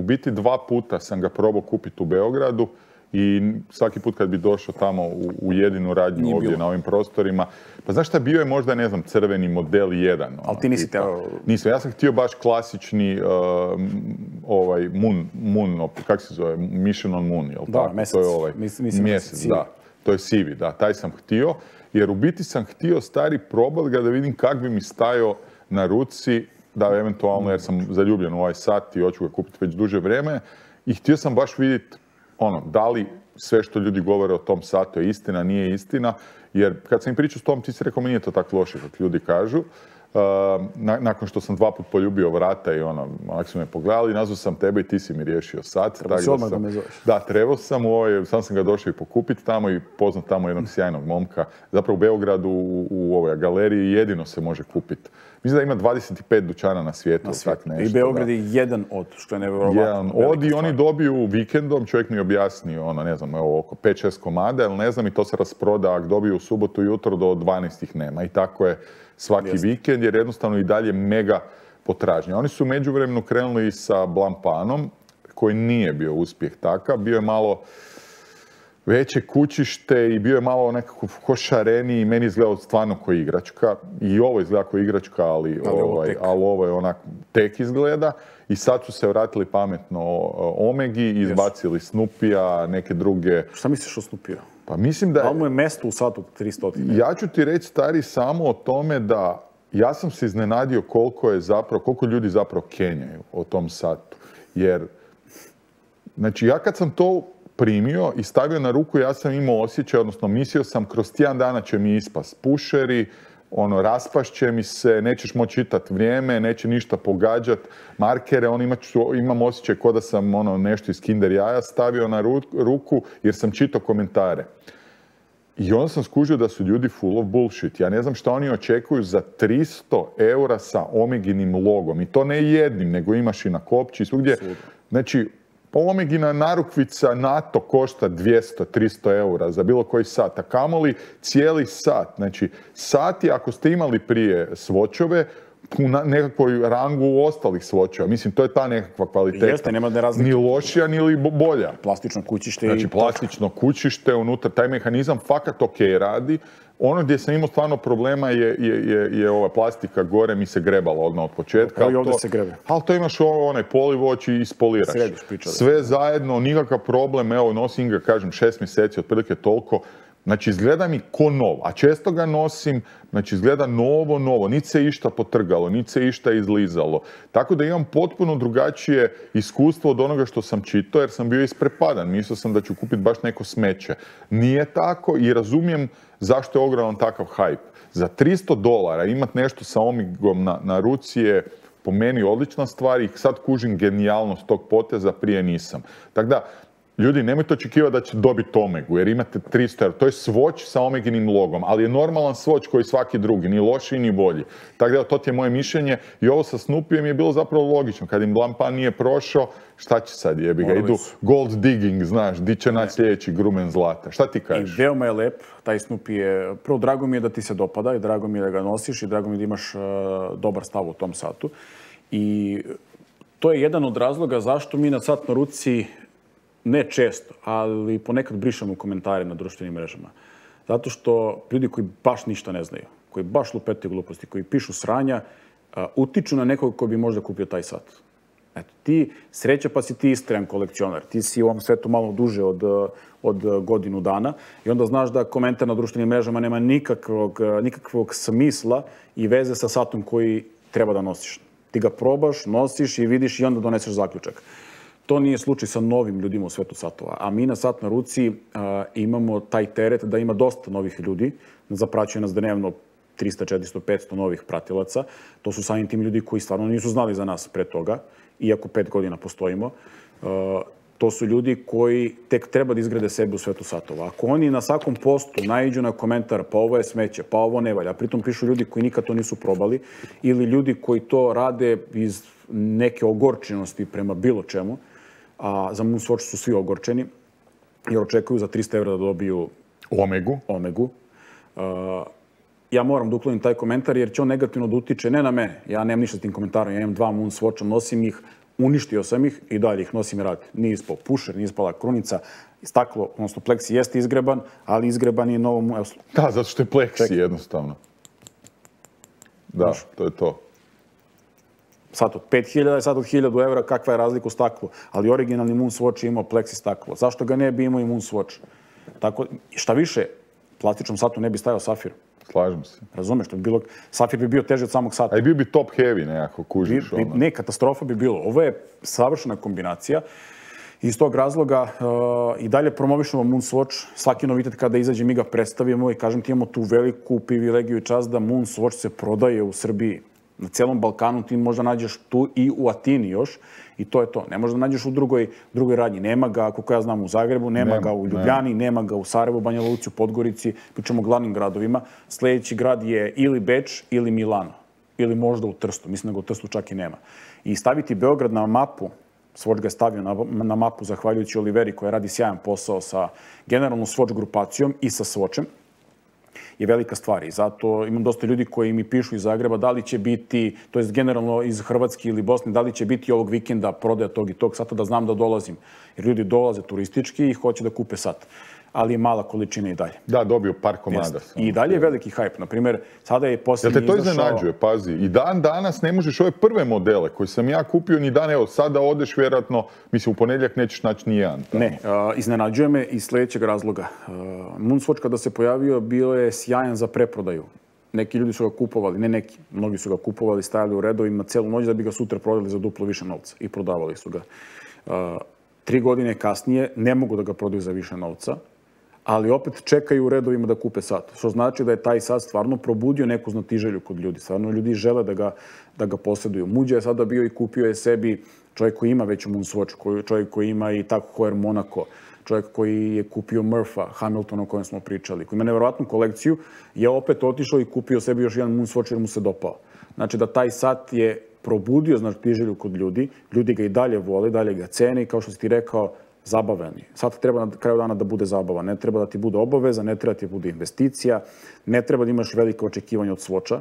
biti 2 puta sam ga probao kupiti u Beogradu i svaki put kad bi došao tamo u jedinu radnju ovdje na ovim prostorima, pa znaš šta, bio je možda, ne znam, crveni model 1. Ali ti nisi teo... Nisam, ja sam htio baš klasični Moon, kako se zove, Mission on Moon, jel' tako? Mjesec. To je mjesec, da. To je sivi, da, taj sam htio, jer u biti sam htio stari probati ga da vidim kak bi mi stajao na ruci, da eventualno, jer sam zaljubljen u ovaj sat i hoću ga kupiti već duže vrijeme, i htio sam baš vidjeti da li sve što ljudi govore o tom satu je istina, nije istina, jer kad sam im pričao s tom, ti si rekao, mi nije to tako loše kako ljudi kažu. Nakon što sam 2 put poljubio vrata i ako su me pogledali, nazvao sam tebe i ti si mi riješio sat. Treba si odmah da me zoveš. Da, trebao sam, sam ga došao i pokupiti tamo i poznat tamo jednog sjajnog momka. Zapravo u Beogradu u ovoj galeriji jedino se može kupiti. Mislim da ima 25 dućana na svijetu. I Beograd je jedan od, što je nevjerovatno. Jedan od i oni dobiju vikendom, čovjek mi objasnio, ne znam, oko 5-6 komada, ali ne znam, i to se rasproda, ako dobiju u subotu jutro do 12 ih nema. I tako je svaki vikend, jer jednostavno i dalje mega potražnja. Oni su u međuvremenu krenuli sa Blampanom, koji nije bio uspjeh takav, bio je malo veće kućište i bio je malo nekako košareniji i meni izgledao stvarno kao igračka. I ovo izgleda kao igračka, ali ovo je onak tek izgleda. I sad su se vratili pametno Omegi, izbacili Snoopija, neke druge... Šta misliš o Snoopiju? Pa mislim da... Ali mu je mesto u satu 300. Ja ću ti reći, stari, samo o tome da ja sam se iznenadio koliko ljudi zapravo kenjaju o tom satu. Jer, znači, ja kad sam to primio i stavio na ruku, ja sam imao osjećaj, odnosno mislio sam, kroz tjedan dana će mi ispast pušeri, raspašće mi se, nećeš moći čitati vrijeme, neće ništa pogađat, markere, imam osjećaj kao da sam nešto iz Kinder jaja stavio na ruku, jer sam čitao komentare. I onda sam skužio da su ljudi full of bullshit. Ja ne znam šta oni očekuju za 300 eura sa Omeginim logom. I to ne jednim, nego imaš i na kopči i svugdje. Znači, Omegina narukvica NATO košta 200-300 eura za bilo koji sat, a kamoli cijeli sat. Znači, sati, ako ste imali prije svočove, u nekakvoj rangu ostalih svočeva. Mislim, to je ta nekakva kvaliteta. Jeste, nema da razlike. Ni lošija, ni bolja. Plastično kućište. Znači, plastično kućište unutra, taj mehanizam fakat ok radi. Ono gdje sam imao stvarno problema je ova plastika gore, mi se grebala odmah od početka. Kao i ovdje se grebe. Ali to imaš onaj polivoć i ispoliraš. Središ priča. Sve zajedno, nikakav problem, evo nosim ga, kažem, 6 mjeseci, otprilike toliko. Znači, izgleda mi ko nov, a često ga nosim, znači, izgleda novo, niti se išta potrgalo, niti se išta izlizalo. Tako da imam potpuno drugačije iskustvo od onoga što sam čitao, jer sam bio isprepadan. Mislio sam da ću kupiti baš neko smeće. Nije tako i razumijem zašto je ogroman takav hype. Za $300 imati nešto sa Omegom na ruci je po meni odlična stvar i sad kužim genijalnost tog poteza, prije nisam. Tako da, ljudi, nemojte očekivati da će dobiti Omegu, jer imate 300 eura. To je Swatch sa Omeginim logom, ali je normalan Swatch koji svaki drugi, ni lošiji ni bolji. Tako da, to ti je moje mišljenje. I ovo sa Snoopijem je bilo zapravo logično. Kad im Blampan nije prošao, šta će sad, jebi ga? Idu gold digging, znaš, di će naći sljedeći grumen zlata. Šta ti kažeš? I veoma je lep, taj Snoopy je... Prvo, drago mi je da ti se dopada i drago mi je da ga nosiš i drago mi je da imaš dobar stav u tom satu. I to je jedan od razloga zašto mi na sat na ruci ne često, ali ponekad brišemo komentare na društvenim mrežama. Zato što ljudi koji baš ništa ne znaju, koji baš lupetaju gluposti, koji pišu sranja, utiču na nekog ko bi možda kupio taj sat. Eto, ti sreća pa si ti istrajan kolekcionar. Ti si u ovom svetu malo duže od godinu dana i onda znaš da komentar na društvenim mrežama nema nikakvog smisla i veze sa satom koji treba da nosiš. Ti ga probaš, nosiš i vidiš i onda doneseš zaključak. To nije slučaj sa novim ljudima u svetu satova. A mi na Sat na ruci imamo taj teret da ima dosta novih ljudi. Zapraćuje nas dnevno 300, 400, 500 novih pratilaca. To su samim tim ljudi koji stvarno nisu znali za nas pre toga, iako 5 godina postojimo. To su ljudi koji tek treba da izgrade sebe u svetu satova. Ako oni na svakom postu naiđu na komentar pa ovo je smeće, pa ovo ne valja, a pritom pišu ljudi koji nikad to nisu probali ili ljudi koji to rade iz neke ogorčenosti prema bilo čemu, a za Moonswatch su svi ogorčeni, jer očekuju za 300 € da dobiju Omegu. Ja moram da uklonim taj komentar jer će on negativno da utiče ne na mene. Ja nemam ništa s tim komentarom, ja imam 2 Moonswatcha, nosim ih, uništio sam ih i dalje ih nosim i radim. Nije ispao pušer, nije ispala krunica, staklo, odnosno pleksi jeste izgreban, ali izgreban je novom... Da, zato što je pleksi jednostavno. Da, to je to. Sat od 5.000 i sat od 1.000 €, kakva je razlika u staklu. Ali originalni Moonswatch je imao pleksi staklo. Zašto ga ne bi imao i Moonswatch? Tako, šta više, plastičnom satu ne bi stajao safir. Slažem se. Razumeš, safir bi bio teži od samog sata. A i bio bi top heavy nekako, kužiš. Ne, katastrofa bi bilo. Ovo je savršena kombinacija. Iz tog razloga i dalje promovišemo Moonswatch. Svaki novitet kada izađe mi ga predstavimo i kažem ti imamo tu veliku privilegiju i čast da Moonswatch se prodaje u Srbiji. Na celom Balkanu ti možda nađeš tu i u Atini još i to je to. Ne možda nađeš u drugoj radnji. Nema ga, kako ja znam, u Zagrebu, nema ga u Ljubljani, nema ga u Sarajevu, Banja Luci, u Podgorici, pričamo o glavnim gradovima. Sljedeći grad je ili Beč ili Milano. Ili možda u Trstu. Mislim da ga u Trstu čak i nema. I staviti Beograd na mapu, Swatch ga je stavio na mapu zahvaljujući Oliveri koja radi sjajan posao sa generalnom Swatch grupacijom i sa Swatchem, je velika stvar i zato imam dosta ljudi koji mi pišu iz Zagreba da li će biti, to jest generalno iz Hrvatske ili Bosne, da li će biti ovog vikenda prodaja tog i tog sata da znam da dolazim. Jer ljudi dolaze turistički i hoće da kupe sat. Ali je mala količina i dalje. Da, dobio par komada. I dalje je veliki hype. Naprimjer, sada je posljednji izašao... Jel te to iznenađuje, pazi? I dan danas ne možeš ove prve modele koje sam ja kupio ni dan, evo sada odeš vjerojatno, mislim u ponedjeljak nećeš naći ni jedan. Ne, iznenađuje me iz sljedećeg razloga. Moonswatch kada se pojavio bio je sjajan za preprodaju. Neki ljudi su ga kupovali, ne neki, mnogi su ga kupovali, stajali u redovima celu noć da bi ga sutra prodali za duplo više novca i prodavali su ga. 3 godine kasnije ne mogu da ga prodaju za više novca, ali opet čekaju u redovima da kupe sat. Što znači da je taj sat stvarno probudio neku znatiželju kod ljudi. Stvarno ljudi žele da ga posjeduju. Muđa je sada bio i kupio je sebi čovjek koji ima već Moonswatch, čovjek koji ima i tako Heuer Monaco, čovjek koji je kupio Murpha, Hamiltona o kojem smo pričali, koji ima nevjerojatnu kolekciju, je opet otišao i kupio sebi još jedan Moonswatch jer mu se dopao. Znači da taj sat je probudio znatiželju kod ljudi, ljudi ga i dalje vole, dalje ga cene i kao što si ti rekao, zabavan je. Sad treba na kraju dana da bude zabava. Ne treba da ti bude obaveza, ne treba da ti bude investicija, ne treba da imaš velike očekivanja od Swatcha.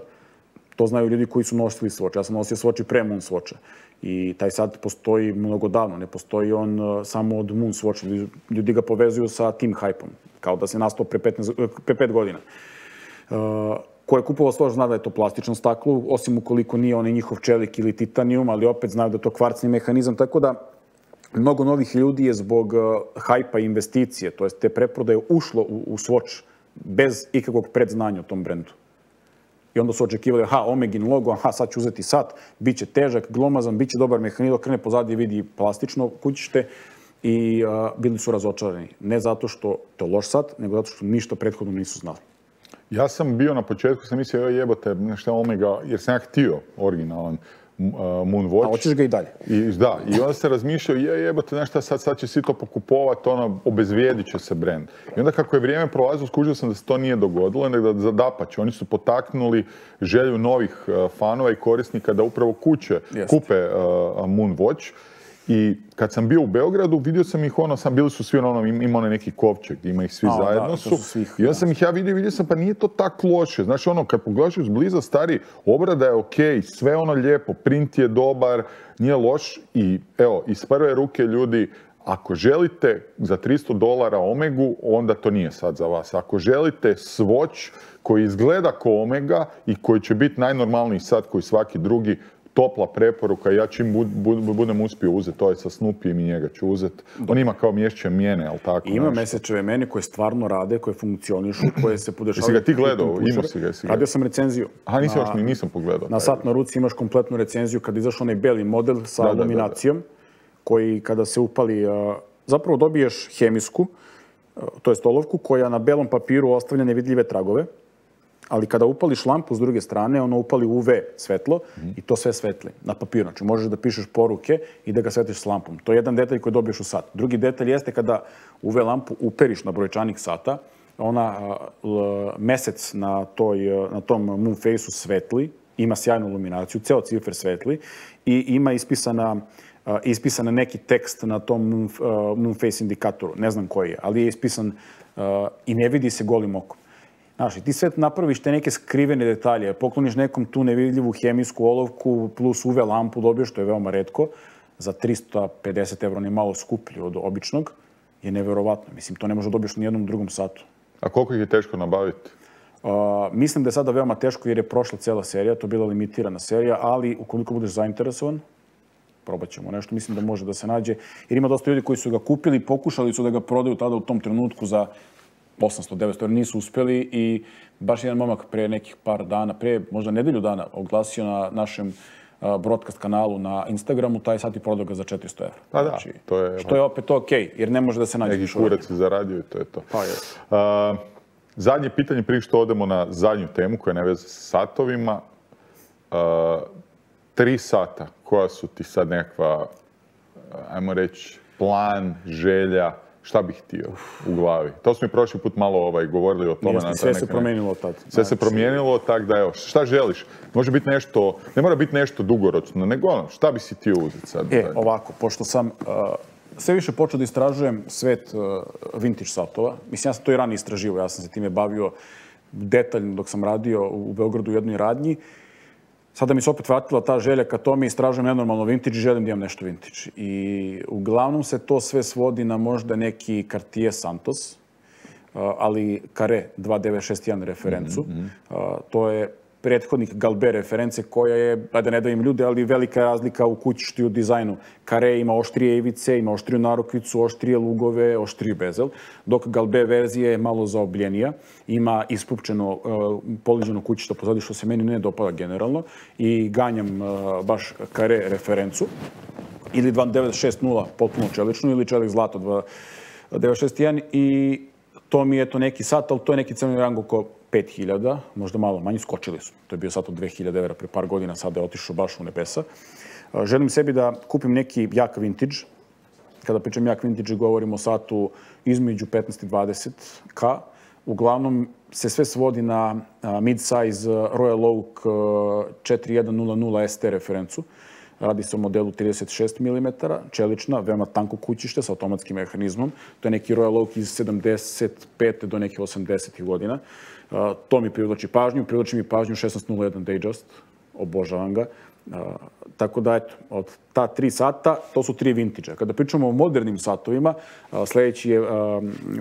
To znaju ljudi koji su nosili Swatch. Ja sam nosio Swatch i pre Moonswatcha. I taj sad postoji mnogo davno. Ne postoji on samo od Moonswatcha. Ljudi ga povezuju sa tim hype-om. Kao da se nastao pre 5 godina. Ko je kupovao Swatch zna da je to plastično staklo, osim ukoliko nije onaj njihov čelik ili titanijum, ali opet znaju da je to kvarcni mehanizam. Tako da mnogo novih ljudi je zbog hajpa i investicije, to jest te preprodaje, ušlo u Swatch bez ikakvog predznanja o tom brendu. I onda su očekivali, Omegin logo, sad ću uzeti sat, bit će težak, glomazan, bit će dobar mehanizam, krene pozadije vidi plastično kućište i bili su razočarani. Ne zato što to je loš sat, nego zato što ništa prethodno nisu znali. Ja sam bio na početku, sam mislio, jebote, nešto Omega, jer sam ja htio originalan Moonwatch. A hoćeš ga i dalje. Da, i onda se razmišljao, jebote, nešto sad će svi to pokupovati, obezvrijedit će se brend. I onda kako je vrijeme prolazilo, skužio sam da se to nije dogodilo, nego da dapače. Oni su potaknuli želju novih fanova i korisnika da upravo kupe Moonwatch. I kad sam bio u Beogradu, vidio sam ih bili su svi ima onaj neki kovčeg, ima ih svi zajedno su. I onda sam ih ja vidio sam pa nije to tako loše. Znaš kad pogledaš izbliza stari, obrada je okej, sve lijepo, print je dobar, nije loš i evo, iz prve ruke ljudi, Ako želite za $300 Omegu, onda to nije sad za vas. Ako želite Swatch koji izgleda ko Omega i koji će biti najnormalniji sat koji svaki drugi, topla preporuka. Ja čim budem uspio uzeti, to je sa Snoopyjem i njega ću uzeti. On ima kao mješće mjene, ali tako Ima mesečeve mjene koje stvarno rade, koje funkcionišu, koje se podešavaju. Jesi ga ti gledao? Imao si ga? Radio sam recenziju. Aha, nisam pogledao. Na sat na ruci imaš kompletnu recenziju kad izašao onaj beli model sa iluminacijom, koji kada se upali, zapravo dobiješ hemijsku, to je olovku, koja na belom papiru ostavlja nevidljive tragove, ali kada upališ lampu s druge strane, ono upali UV svetlo i to sve svetli na papiru. Znači možeš da pišeš poruke i da ga svetliš s lampom. To je jedan detalj koji dobiješ u sat. Drugi detalj jeste kada UV lampu uperiš na brojčanik sata, ona mesec na tom Moonfaceu svetli, ima sjajnu iluminaciju, ceo cifer svetli i ima ispisan neki tekst na tom Moonface indikatoru. Ne znam koji je, ali je ispisan i ne vidi se golim okom. Znaš, ti sve napraviš te neke skrivene detalje, pokloniš nekom tu nevidljivu hemijsku olovku plus UV lampu dobiješ, što je veoma retko, za 350 €, on je malo skuplji od običnog, je neverovatno. Mislim, to ne može dobiješ ni jednom drugom satu. A koliko ih je teško nabaviti? Mislim da je sada veoma teško jer je prošla cijela serija, to je bila limitirana serija, ali ukoliko budeš zainteresovan, probat ćemo nešto, mislim da može da se nađe. Jer ima dosta ljudi koji su ga kupili, pokušali su da ga prodaju tada u tom trenutku za 800-900 €, nisu uspjeli i baš jedan momak pre nekih par dana, pre možda nedelju dana, oglasio na našem broadcast kanalu na Instagramu, taj sat i prodao ga za 400 €. Pa da, to je... Što je opet okej, jer ne može da se nađe. Neki kurac je zaradio i to je to. Pa je. Zadnje pitanje prije što odemo na zadnju temu koja je neveze s satovima. 3 sata, koja su ti sad nekakva, ajmo reći, plan, želja, šta bih htio u glavi? To smo i prošli put malo govorili o tome. Sve se promijenilo tad. Sve se promijenilo, tako da evo, šta želiš? Može biti nešto, ne mora biti nešto dugoročno, nego ono, šta bi si htio uzeti sad? Ovako, pošto sam sve više počeo da istražujem svet vintage satova. Mislim, ja sam to i ranije istraživao, ja sam se time bavio detaljno dok sam radio u Beogradu u jednoj radnji. Sada mi se opet vratila ta želja ka tome, istražujem nenormalno vintage i želim da imam nešto vintage. I uglavnom se to sve svodi na možda neki Cartier Santos, ali Carré 2961 referencu. To je prethodnik Galbert reference koja je, da ne davim ljude, ali velika razlika u kućištu i u dizajnu. Carré ima oštrije ivice, ima oštriju narukvicu, oštrije lugove, oštriji bezel, dok Galbert verzija je malo zaobljenija, ima ispupčeno poliženo kućišto pozadi, što se meni ne dopada generalno, i ganjam baš Carré referencu, ili 2960 potpuno čeličnu, ili čelik zlato 2961, i to mi je to neki sat, ali to je neki cenovni rang oko 5000, možda malo manji, skočili su. To je bio sat od 2000 € pre par godina, sada je otišao baš u nebesa. Želim sebi da kupim neki jak vintage. Kada pričam jak vintage, govorim o satu između 15 i 20K. Uglavnom se sve svodi na mid-size Royal Oak 4100 ST referencu. Radi se o modelu 36 mm, čelična, veoma tanko kućište sa automatskim mehanizmom. To je neki Royal Oak iz 75. do nekih 80. godina. To mi privlači pažnju. Privlači mi pažnju 1601 Datejust. Obožavam ga. Tako da, eto, od ta 3 sata, to su 3 vintage-a. Kada pričamo o modernim satovima, sljedeći je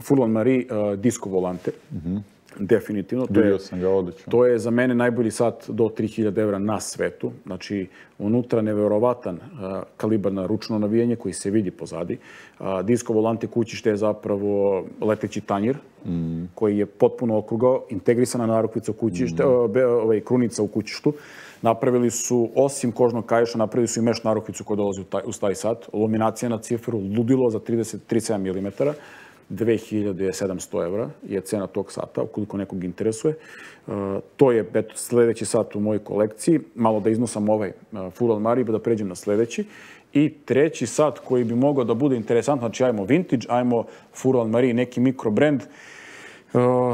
Furlan Marie Disco Volante. Definitivno. Vidio sam ga, odlično. To je za mene najbolji sat do 3000 € na svetu. Znači, unutra neverovatan kalibar na ručno navijanje koji se vidi pozadi. Disco Volante kućište je zapravo leteći tanjir koji je potpuno okrugao, integrisana narukvica u kućište, krunica u kućištu. Napravili su, osim kožnog kaješa, napravili su i meš narukvicu koja dolazi uz taj sat. Iluminacija na ciferu, ludilo za 37 mm. 2700 € je cena tog sata, ukoliko nekog interesuje. To je sljedeći sat u mojoj kolekciji. Malo da iznosam ovaj Furlan Marie, da pređem na sljedeći. I treći sat koji bi mogao da bude interesantno, znači ajmo vintage, ajmo Furlan Marie, neki mikrobrand.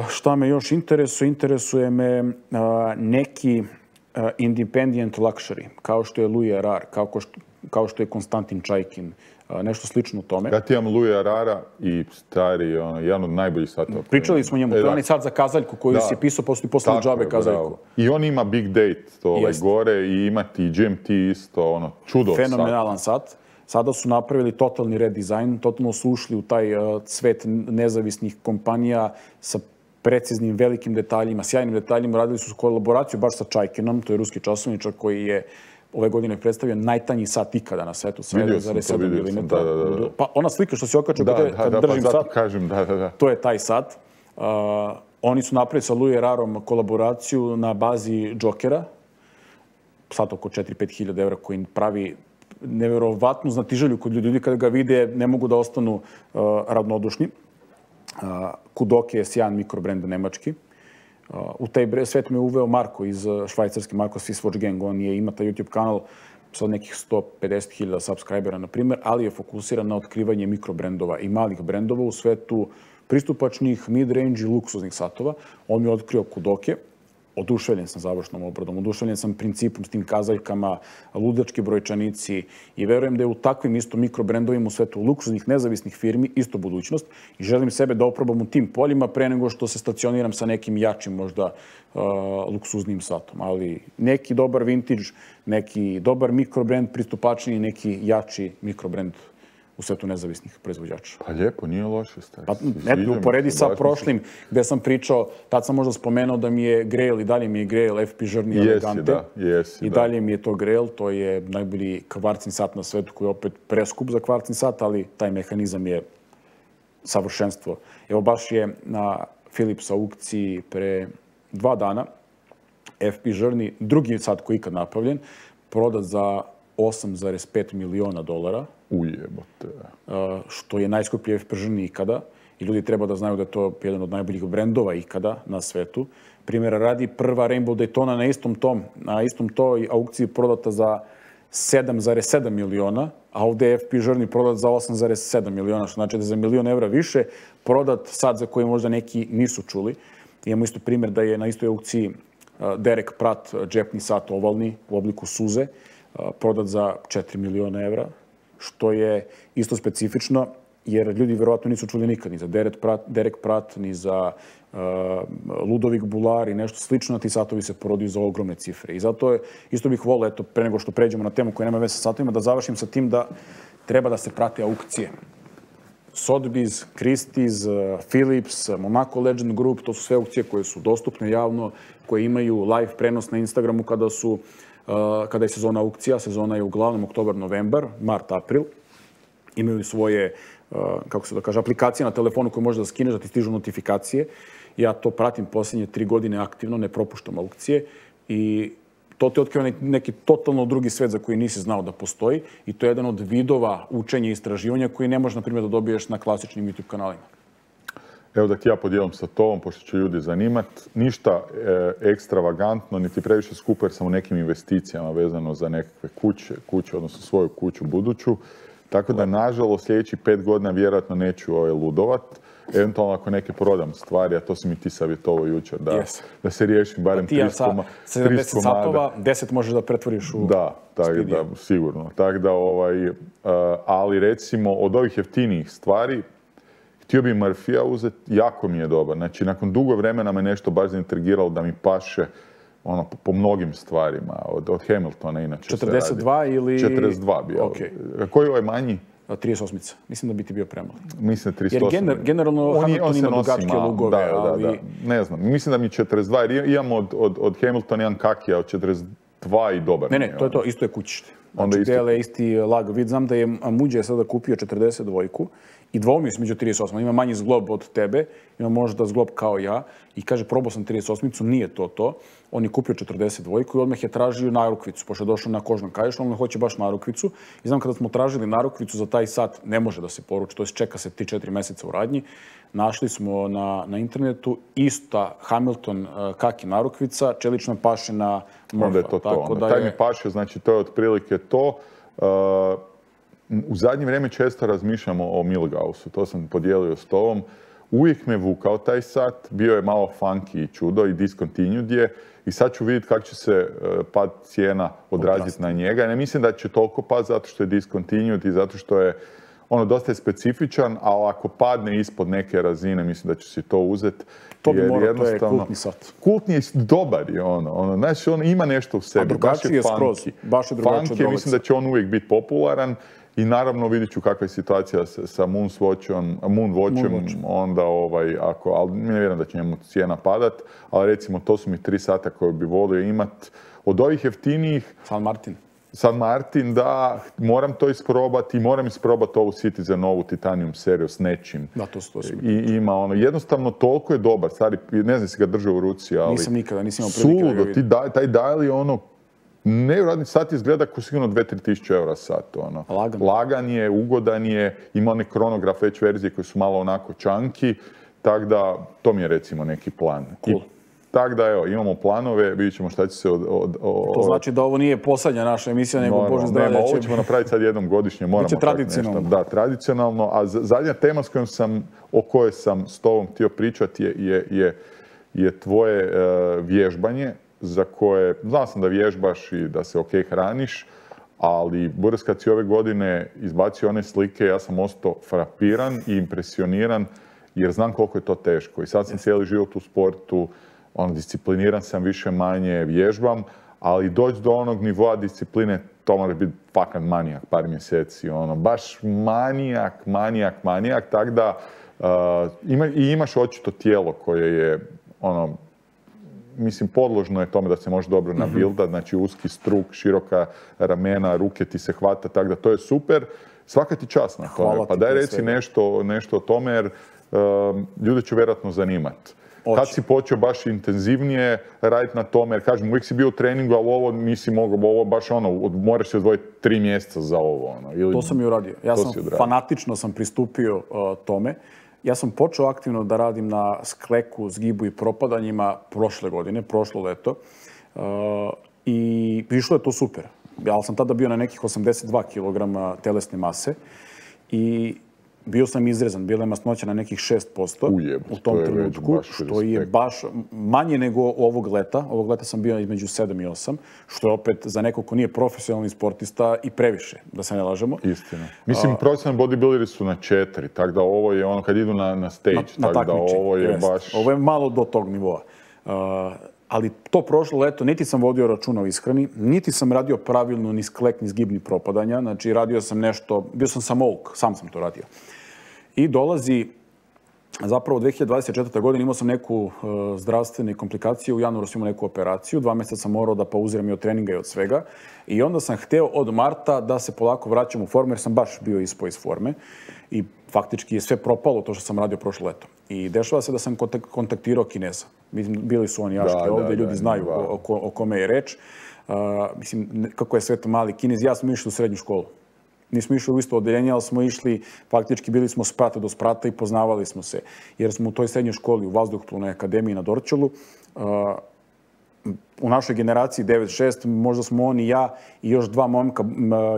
Šta me još interesuje? Interesuje me neki independent luxury, kao što je Louis Erard, kao što je Konstantin Čajkin, nešto slično tome. Ja ti imam Louis Erara i stari, jedan od najboljih satova. Pričali smo njemu, to je onaj sat za kazaljku koju si pisao posle džabe kazaljku. I on ima Big Date gore i ima ti GMT isto, čudo sat. Fenomenalan sat. Sada su napravili totalni redizajn, totalno su ušli u taj svet nezavisnih kompanija sa preciznim, velikim detaljima, sjajnim detaljima. Radili su kolaboraciju baš sa Čajkinom, to je ruski časovničar koji je ove godine predstavio najtanji sat ikada na svetu, sa 1,7 mm. Pa ona slika što se okače kad držim sat, to je taj sat. Oni su napravili sa Louis Erarom kolaboraciju na bazi Jokera, sat oko 4-5 hiljada evra koji pravi neverovatnu znatiželju kod ljudi kada ga vide ne mogu da ostanu ravnodušni. Kudoke je sjajan mikrobrend nemački. U taj svet me uveo Marko iz Švajcarske, Marko Swisswatch Gang. On ima taj YouTube kanal sa nekih 150.000 subscribera, na primjer, ali je fokusiran na otkrivanje mikrobrendova i malih brendova u svetu pristupačnih, mid-range i luksuznih satova. On mi je otkrio Kudoke. Oduševljen sam završnom obradom, oduševljen sam principom s tim kazaljkama, ludački brojčanici i verujem da je u takvim isto mikrobrendovima u svetu luksuznih nezavisnih firmi isto budućnost i želim sebe da oprobam u tim poljima pre nego što se stacioniram sa nekim jačim možda luksuznim satom. Ali neki dobar vintage, neki dobar mikrobrend pristupačniji, neki jači mikrobrend u svetu nezavisnih proizvođača. Pa lijepo, nije loše. Pa, eto, uporedi sa prošlim gde sam pričao, tad sam možda spomenuo da mi je Grail i dalje mi je Grail FP Journey Elegante. I dalje mi je to Grail, to je najbolji kvarcni sat na svetu koji je opet preskup za kvarcni sat, ali taj mehanizam je savršenstvo. Evo baš je na Philips aukciji pre 2 dana FP Journey, drugi sat koji je ikad napravljen, prodat za $8,5 miliona. Ujebote. Što je najskuplji FP Journey ikada. I ljudi treba da znaju da je to jedan od najboljih brendova ikada na svetu. Primjera radi, prva Rainbow Daytona na istom toj aukciji prodata za 7,7 miliona, a ovdje je FP Journey prodat za 8,7 miliona, što znači da je za €1.000.000 više prodat sat za koji možda neki nisu čuli. Imamo isto primjer da je na istoj aukciji Derek Pratt džepni sat ovalni u obliku suze prodat za €4 miliona, što je isto specifično, jer ljudi verovatno nisu čuli nikad ni za Derek Pratt, ni za Ludovic Bular i nešto slično. Ti satovi se prodaju za ogromne cifre. I zato isto bih volio, eto, pre nego što pređemo na temu koja nema veze sa satovima, da završim sa tim da treba da se prate aukcije. Sotheby's, Christie's, Philips, Monaco Legend Group, to su sve aukcije koje su dostupne javno, koje imaju live prenos na Instagramu kada je sezona aukcija. Sezona je uglavnom oktobar, novembar, mart, april. Imaju svoje, kako se da kaže, aplikacije na telefonu koje možeš da skineš, da ti stižu notifikacije. Ja to pratim posljednje 3 godine aktivno, ne propuštam aukcije i to te otkriva neki totalno drugi svet za koji nisi znao da postoji i to je jedan od vidova učenja i istraživanja koji ne možeš, na primjer, da dobiješ na klasičnim YouTube kanalima. Evo da ti ja podijelim sa tobom, pošto će ljudi zanimat. Ništa ekstravagantno, niti previše skupo, jer sam u nekim investicijama vezano za nekakve kuće, odnosno svoju kuću buduću. Tako da, nažalost, sljedećih 5 godina vjerojatno neću ludovat. Eventualno ako neke prodam stvari, a to si mi ti savjetovao jučer, da se riješim barem 30 komada. 70 satova, 10 možeš da pretvoriš u studio. Da, sigurno. Tako da, ali recimo od ovih jeftinijih stvari, htio bi Murphyja uzeti, jako mi je dobar. Znači, nakon dugo vremena me nešto baš zaintrigiralo da mi paše po mnogim stvarima. Od Hamiltona inače 42 ili... 42 bio. Koji je ovaj manji? 38. Mislim da bi ti bio premali. Mislim 38. Jer generalno Hamilton ima dugačke lugove, ali... Da. Ne znam, mislim da mi 42, jer imam od Hamiltona jedan kakija od 42 i dobar. Ne, to je to, isto je kućište. Znači, dele isti lag. Vid, znam da je Amuđe sada kupio 42 i dvoumio se među 38. Ima manji zglob od tebe, ima možda zglob kao ja i kaže, probao sam 38, nije to. On je kupio 42 i odmah je tražio narukvicu, pošto je došao na kožnom kaješ, on ne hoće baš narukvicu. I znam kada smo tražili narukvicu za taj sat, ne može da se poruči, to je čeka se 3-4 mjeseca u radnji. Našli smo na internetu ista Hamilton kaki narukvica, čelično paše na Murpha. Onda je to. Taj mi paše, znači to je otprilike to. U zadnje vrijeme često razmišljamo o Milgausu, to sam podijelio s tobom. Uvijek me vukao taj sat, bio je malo funky i čudo i discontinued je. I sad ću vidjeti kako će se pad cijena odraziti na njega. Ne mislim da će toliko pad zato što je discontinued i zato što je dosta je specifičan, ali ako padne ispod neke razine, mislim da ću si to uzeti. To bi morao, to je kultni sat. Kultni je, dobar je znači ima nešto u sebi. A drugačiji je skroz. Baš je drugačiji od Rolexa. Mislim da će on uvijek biti popularan, I naravno vidit ću kakva je situacija sa Moonwatchem, onda ali ne vjerujem da će njemu cijena padat, ali recimo to su mi 3 sata koje bi volio imat. Od ovih jeftinijih... San Martin, da, moram to isprobati i moram isprobati ovu Citizenovu Titanium seriju s nečim. Da, to I ima jednostavno toliko je dobar, stari, ne znam si ga držao u ruci, ali... Nisam nikada, nisam imao prilike da ga vidim. Taj dial je nevjerojatni sat izgleda kao sigurno 2-3 tisuće eura sat. Lagan je, ugodan je, ima one kronograf već verzije koje su malo onako čanki, tako da to mi je recimo neki plan. Cool. Tako da, evo, imamo planove, vidjet ćemo šta će se To znači da ovo nije posljednja naša emisija, nego Bože zdravlje. Ovo ćemo napraviti sad jednom godišnje, moramo biće tradicionalno. Da, tradicionalno. A zadnja tema o kojoj sam s tobom htio pričati je tvoje vježbanje, za koje, znao sam da vježbaš i da se hraniš, ali Boris, kad si ove godine izbacio one slike, ja sam ostao frapiran i impresioniran, jer znam koliko je to teško. I sad sam cijeli život u sportu, discipliniran sam više manje, vježbam, ali doći do onog nivoa discipline, to mora biti fakat manijak par mjeseci, baš manijak, tako da imaš očito tijelo koje je, mislim, podložno je tome da se može dobro nabildat, znači uski struk, široka ramena, ruke ti se hvata, tako da to je super. Svaka ti čast na tome. Pa daj reci nešto o tome, jer ljude će vjerojatno zanimati. Kad si počeo baš intenzivnije raditi na tome, jer kažem, uvijek si bio u treningu, ali ovo nisi mogao, ovo baš moraš se odvojiti 3 mjeseca za ovo. To sam i uradio. Fanatično sam pristupio tome. Ja sam počeo aktivno da radim na skleku, zgibu i propadanjima prošle godine, prošlo leto. I išlo je to super. Ja sam tada bio na nekih 82 kg telesne mase i bio sam izrezan, bila je masnoća na nekih 6% u tom trenutku, što je baš manje nego ovog leta. Ovog leta sam bio između 7 i 8, što je opet za nekog ko nije profesionalni sportista i previše, da se ne lažemo. Istina. Mislim, profesionalni bodybuilderi su na 4, tako da ovo je kad idu na stage, tako da ovo je baš... Ovo je malo do tog nivoa. Ali to prošlo leto, niti sam vodio računa o ishrani, niti sam radio pravilno ni sklek, ni zgib, ni propadanja. Znači, radio sam nešto, bio sam samouk, sam sam to radio. I dolazi, zapravo 2024. godine imao sam neku zdravstvene komplikacije, u januaru sam imao neku operaciju, 2 mjeseca sam morao da pauziram i od treninga i od svega. I onda sam hteo od marta da se polako vraćam u formu, jer sam baš bio ispao iz forme. I faktički je sve propalo to što sam radio prošlo leto. I dešava se da sam kontaktirao Kineza. Bili su oni jaške ovdje, ljudi znaju o kome je reč. Mislim, kako je sve to mali Kinez. Ja sam išli u srednju školu. Nismo išli u isto odeljenje, ali smo išli, faktički bili smo sprata do sprata i poznavali smo se. Jer smo u toj srednjoj školi u Vazduhoplovnoj akademiji na Dorćolu. U našoj generaciji 9-6, možda smo on i ja i još 2 momka,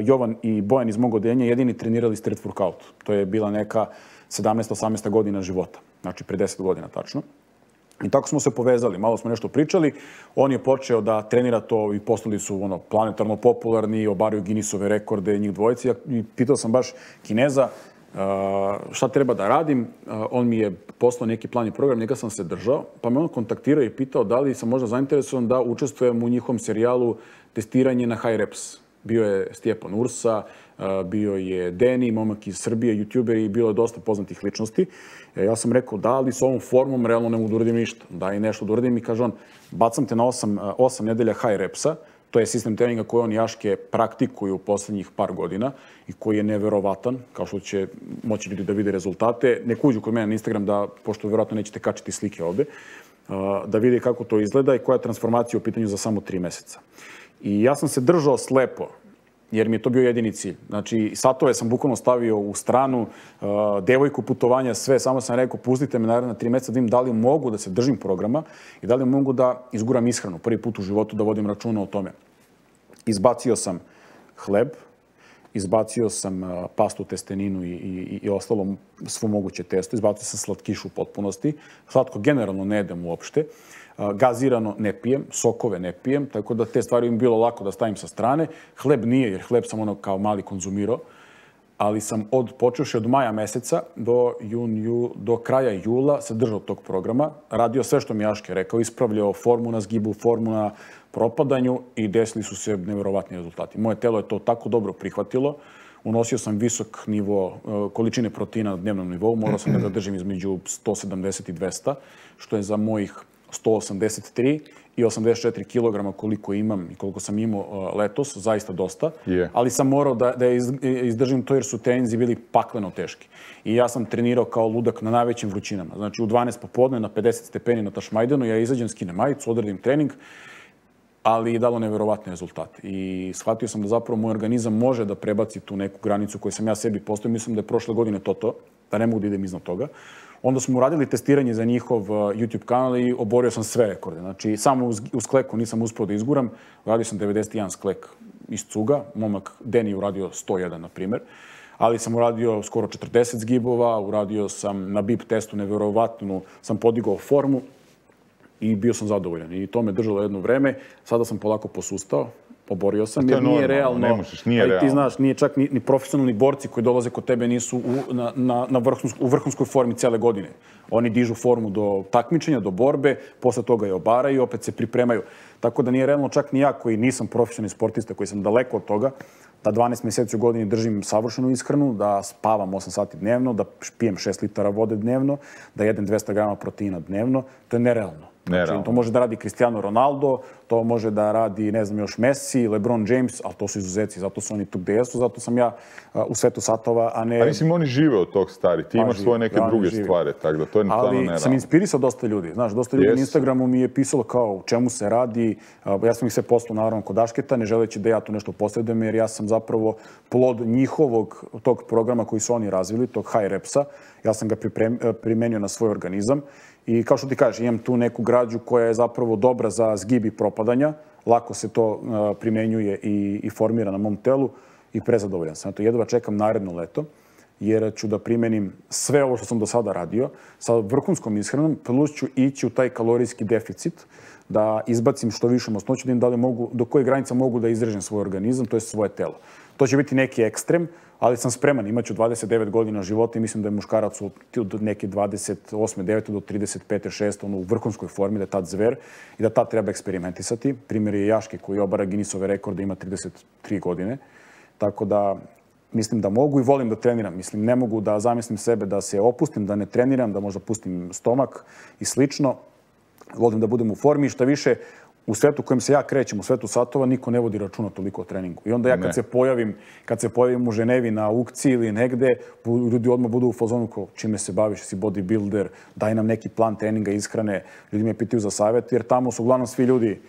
Jovan i Bojan iz mog odeljenja, jedini trenirali street workout. To je bila neka 17-18 godina života. Znači, pre 10 godina tačno. I tako smo se povezali, malo smo nešto pričali. On je počeo da trenira to i postali su planetarno popularni, obaraju Guinnessove rekorde, njih dvojici. I pitao sam baš Kineza šta treba da radim. On mi je poslao neki plan i program, njega sam se držao. Pa me on kontaktirao i pitao da li sam možda zainteresovan da učestvujem u njihovom serijalu testiranje na high reps. Bio je Stjepan Ursa, bio je Deni, momak iz Srbije, youtuber i bilo je dosta poznatih ličnosti. Ja sam rekao da, ali s ovom formom realno ne mogu da uradim ništa. Da i nešto da uradim i kaže on, bacam te na 8 nedelja high repsa. To je sistem treninga koji on jaške praktikuju u posljednjih par godina i koji je neverovatan, kao što će moći ljudi da vide rezultate. Nek uđu kod mene na Instagram, pošto vjerojatno nećete kačiti slike ovdje, da vide kako to izgleda i koja je transformacija u pitanju za samo 3 mjeseca. I ja sam se držao slepo, jer mi je to bio jedini cilj. Znači, satove sam bukvalno stavio u stranu, devojku, putovanja, sve, samo sam rekao, pustite me naravno na 3 mjeseca da vidim da li mogu da se držim programa i da li mogu da izguram ishranu. Prvi put u životu da vodim računa o tome. Izbacio sam hleb, izbacio sam pastu, testeninu i ostalo svo moguće testo, izbacio sam slatkišu u potpunosti. Slatko generalno ne jedem uopšte. Gazirano ne pijem, sokove ne pijem, tako da te stvari im bilo lako da stavim sa strane. Hleb nije, jer hleb sam kao mali konzumirao, ali sam počevši od maja meseca do kraja jula se držao tog programa, radio sve što mi Jaške rekao, ispravljao formu na zgibu, formu na propadanju i desili su se nevjerovatni rezultati. Moje telo je to tako dobro prihvatilo, unosio sam visok nivo količine proteina na dnevnom nivou, morao sam da ga držim između 170 i 200, što je za mojih 183 i 84 kg koliko imam i koliko sam imao letos, zaista dosta. Ali sam morao da izdržim to jer su treninzi bili pakleno teški. I ja sam trenirao kao ludak na najvećim vrućinama. Znači u 12 popodne na 50 stepeni na Tašmajdanu, ja izađem, skinem majicu, odradim trening, ali je dalo neverovatne rezultate. I shvatio sam da zapravo moj organizam može da prebaci tu neku granicu koju sam ja sebi postavio. Mislim da je prošle godine to, da ne mogu da idem iznad toga. Onda smo uradili testiranje za njihov YouTube kanal i oborio sam sve rekorde. Znači, samo uz skleku nisam uspio da izguram. Uradio sam 91 sklek iz cuga. Momak Deni uradio 101, na primjer. Ali sam uradio skoro 40 zgibova. Uradio sam na BIP testu neverovatnu. Sam podigao formu i bio sam zadovoljan. I to me držalo jedno vreme. Sada sam polako posustao. Oborio sam, jer nije realno. Ne možeš, nije realno. Ti znaš, nije čak ni profesionalni borci koji dolaze kod tebe nisu u vrhunskoj formi cele godine. Oni dižu formu do takmičenja, do borbe, posle toga je obaraju i opet se pripremaju. Tako da nije realno čak ni ja koji nisam profesionalni sportista, koji sam daleko od toga, da 12 mjeseci u godini držim savršenu ishranu, da spavam 8 sati dnevno, da pijem 6 litara vode dnevno, da jedem 200 grama proteina dnevno. To je nerealno. Znači, to može da radi Cristiano Ronaldo, to može da radi, ne znam, još Messi, LeBron James, ali to su izuzeci, zato su oni tu gde jesu, zato sam ja u svetu satova, a ne... A mislim, oni žive od tog, stari, ti imaš svoje neke druge stvari, tako da to je stvarno nerealno. Ali sam inspirisao dosta ljudi, znaš, dosta ljudi na Instagramu mi je pisalo kao o čemu se radi, ja sam ih sve poslao naravno kod Dašketa, ne želeći da ja tu nešto posredujem, jer ja sam zapravo plod njihovog tog programa koji su oni razvili, tog High Repsa, ja sam ga primenio na svoj organizam. I kao što ti kažeš, imam tu neku građu koja je zapravo dobra za zgib i propadanja. Lako se to primenjuje i formira na mom telu i prezadovoljan sam. Eto, jedva čekam naredno leto, jer ću da primenim sve ovo što sam do sada radio sa vrhunskom ishranom, plus ću ići u taj kalorijski deficit, da izbacim što više masnoću, da im da li mogu, do koje granica mogu da izrežem svoj organizam, to je svoje telo. To će biti neki ekstrem, ali sam spreman. Imaću 29 godina života i mislim da je muškarac od neke 28. 9. do 35. 6. u vrhunskoj formi, da je tad zver i da tad treba eksperimentisati. Primjer je Jaške koji obara Guinnessove rekorde, ima 33 godine. Tako da mislim da mogu i volim da treniram. Mislim, ne mogu da zamislim sebe da se opustim, da ne treniram, da možda pustim stomak i slično. Volim da budem u formi i šta više, u svetu kojem se ja krećem, u svetu satova, niko ne vodi računa toliko o treningu. I onda ja kad se pojavim u Ženevi na aukciji ili negde, ljudi odmah budu u fazonu kao čime se baviš, si bodybuilder, daj nam neki plan treninga, ishrane, ljudi me pitaju za savjet, jer tamo su uglavnom svi ljudi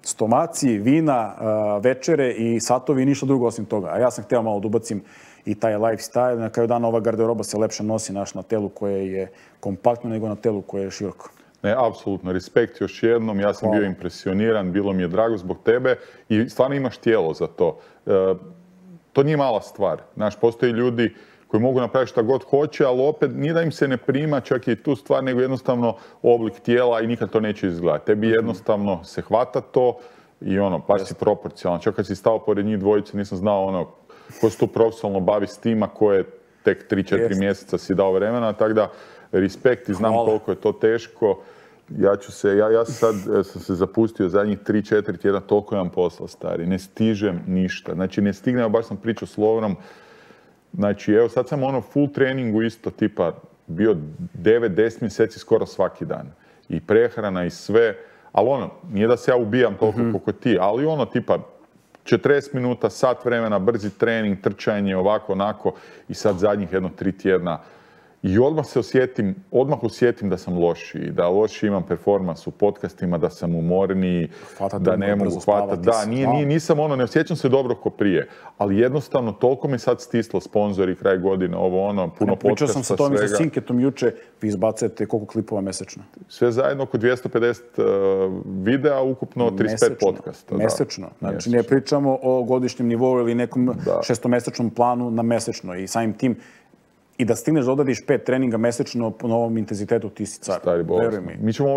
stomaci, vina, večere i satovi i ništa drugo osim toga. A ja sam hteo malo da ubacim i taj lifestyle. Na kraju dana ova garderoba se lepše nosi na telu koje je kompaktno nego na telu koje je široko. Ne, apsolutno. Respekt još jednom. Ja sam bio impresioniran, bilo mi je drago zbog tebe i stvarno imaš tijelo za to. To nije mala stvar. Znaš, postoji ljudi koji mogu napraviti šta god hoće, ali opet nije da im se ne prima čak i tu stvar, nego jednostavno oblik tijela i nikad to neće izgledati. Tebi jednostavno se hvata to i baš si proporcionalan. Čak kad si stao pored njih dvojice, nisam znao ko se tu profesionalno bavi s tima, ko je tek 3-4 mjeseca si dao vremena, tako da respekt i znam koliko je to teško. Ja sad sam se zapustio zadnjih 3-4 tjedna, toliko imam posla, stari. Ne stižem ništa. Znači, ne stignem, baš sam pričao s Lovrom. Znači, evo, sad sam full treningu isto, tipa, bio 9-10 mjeseci skoro svaki dan. I prehrana i sve. Ali nije da se ja ubijam toliko koliko ti, ali tipa, 40 minuta, sat vremena, brzi trening, trčanje, ovako, onako. I sad zadnjih 3 tjedna. I odmah osjetim da sam lošiji, da lošiji imam performans u podcastima, da sam umorniji, da ne mogu hvatati. Da, nisam ne osjećam se dobro ko prije, ali jednostavno toliko me sad stislo sponzori, kraj godine, puno podcasta, svega. Pričao sam sa tom i sa Sinketom juče, vi izbacujete koliko klipova mesečno? Sve zajedno oko 250 videa, ukupno 35 podcasta. Mesečno. Znači ne pričamo o godišnjem nivou ili nekom šestomesečnom planu na mesečno i samim tim i da stigneš da odradiš 5 treninga mesečno po novom intenzitetu, ti si car. Stari bolest. Mi ćemo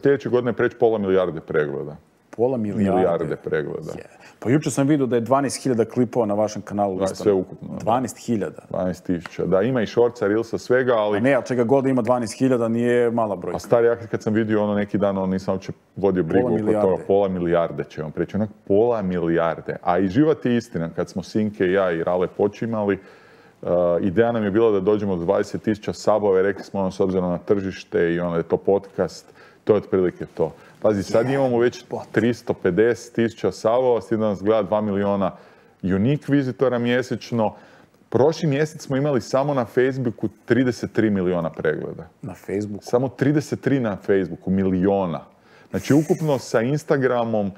sljedeće godine preći 500 milijarde pregleda. Pola milijarde pregleda. Pa jučer sam vidio da je 12.000 klipova na vašem kanalu. Sve ukupno. 12.000. 12.000. Da, ima i shortsa, reelsa, svega, ali... A ne, ali čega god ima 12.000 nije mala brojka. A stari, ja kad sam vidio neki dan, nisam uopće vodio brigu oko toga. Pola milijarde će vam preći. Pola milijarde. A i život je istina. Kad smo Sinke, ja i Rale počimali, ideja nam je bila da dođemo do 20.000 sabova i rekli smo s obzirom na tržište i da je to podcast, to je otprilike to. Pazi, sad imamo već 350.000 sabova, s tim da nas gleda 2 miliona unique vizitora mjesečno. Prošli mjesec smo imali samo na Facebooku 33 miliona pregleda. Na Facebooku? Samo 33 na Facebooku, miliona. Znači, ukupno sa Instagramom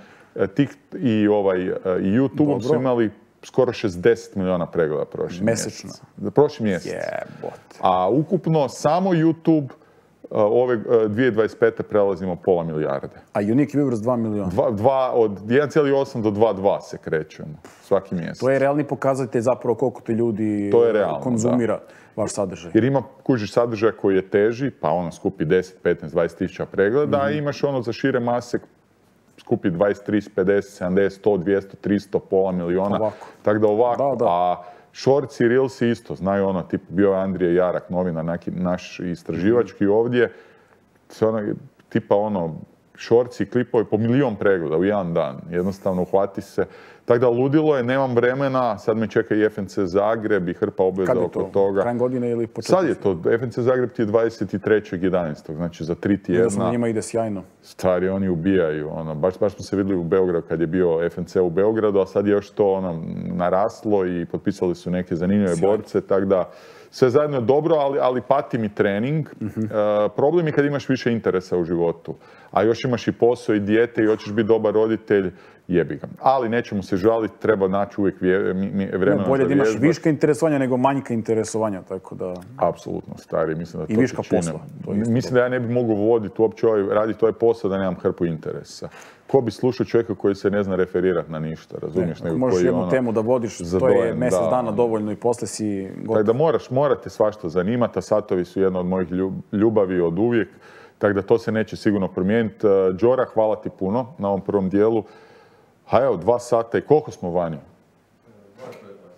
i YouTubeom su imali skoro 60 miliona pregleda prošli mjesec. Mesečno? Prošli mjesec. A ukupno samo YouTube ove 2025. prelazimo pola milijarde. A unique viewers 2 miliona? Od 1,8 do 2,2 se krećemo svaki mjesec. To je realni pokazatelj zapravo koliko ti ljudi konzumira vaš sadržaj. Jer ima, kužiš, sadržaj koji je teži, pa skupi 10, 15, 20 tisuća pregleda, a imaš za šire mase skupi 20, 30, 50, 70, 100, 200, 300, pola miliona. Tako da ovako. A shorts i reelsi isto, znaju bio je Andrije Jarak, novinar, naš istraživački ovdje, tipa shorts i klipovi po milion pregleda u jedan dan. Jednostavno uhvati se. Tako da ludilo je, nemam vremena, sad me čeka i FNC Zagreb i hrpa obveza oko toga. Krajem godine ili početkom? Sad je to, FNC Zagreb ti je 23.11. Znači za 3 tjedna. Vidio njima ide sjajno. Stari, oni ubijaju. Baš smo se vidjeli u Beogradu kad je bio FNC u Beogradu, a sad je još to naraslo i potpisali su neke zanimljive borce, tako da sve zajedno je dobro, ali pati mi trening. Problem je kad imaš više interesa u životu, a još imaš i posao i dijete i hoćeš biti dobar roditelj, jebi ga. Ali nećemo se žaliti, treba naći uvijek vremena za vježbati. Bolje da imaš viška interesovanja nego manjka interesovanja, tako da... Apsolutno, stari, mislim da to i viška posla. Mislim da ja ne bi mogao voditi uopće raditi ovaj posao da nemam hrpu interesa. Ko bi slušao čovjeka koji se ne zna referirati na ništa, razumiješ? Možeš jednu temu da vodiš, to je mjesec dana dovoljno i poslije si gotov. Tako da morate svašta zanimati, a satovi su jedna od mojih ljubavi od uvijek, tako da to se neće sigurno promijeniti. Đora, hvala ti puno na ovom prvom dijelu. A evo, 2 sata i koliko smo vani?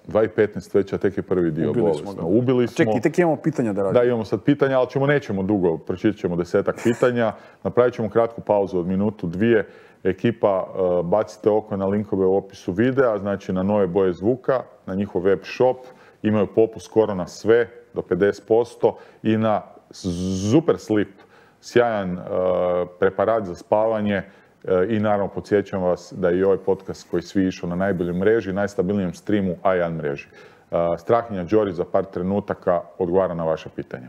2:15 već, a tek je prvi dio. Ubili smo. Čekaj, tek imamo pitanja da radimo. Da, imamo sad pitanja, ali nećemo dugo, pročitat ćemo 10-ak pitanja. Napravit ćemo kratku pauzu od minutu, 2. Ekipa, bacite oko na linkove u opisu videa, znači na Nove boje zvuka, na njihov web shop. Imaju popust skoro na sve, do 50%, i na Super Sleep, sjajan preparat za spavanje. I naravno podsjećam vas da je i ovaj podcast koji svi išao na najboljoj mreži, najstabilnijem streamu A1 mreži. Strahinja Đori za par trenutaka odgovara na vaše pitanje.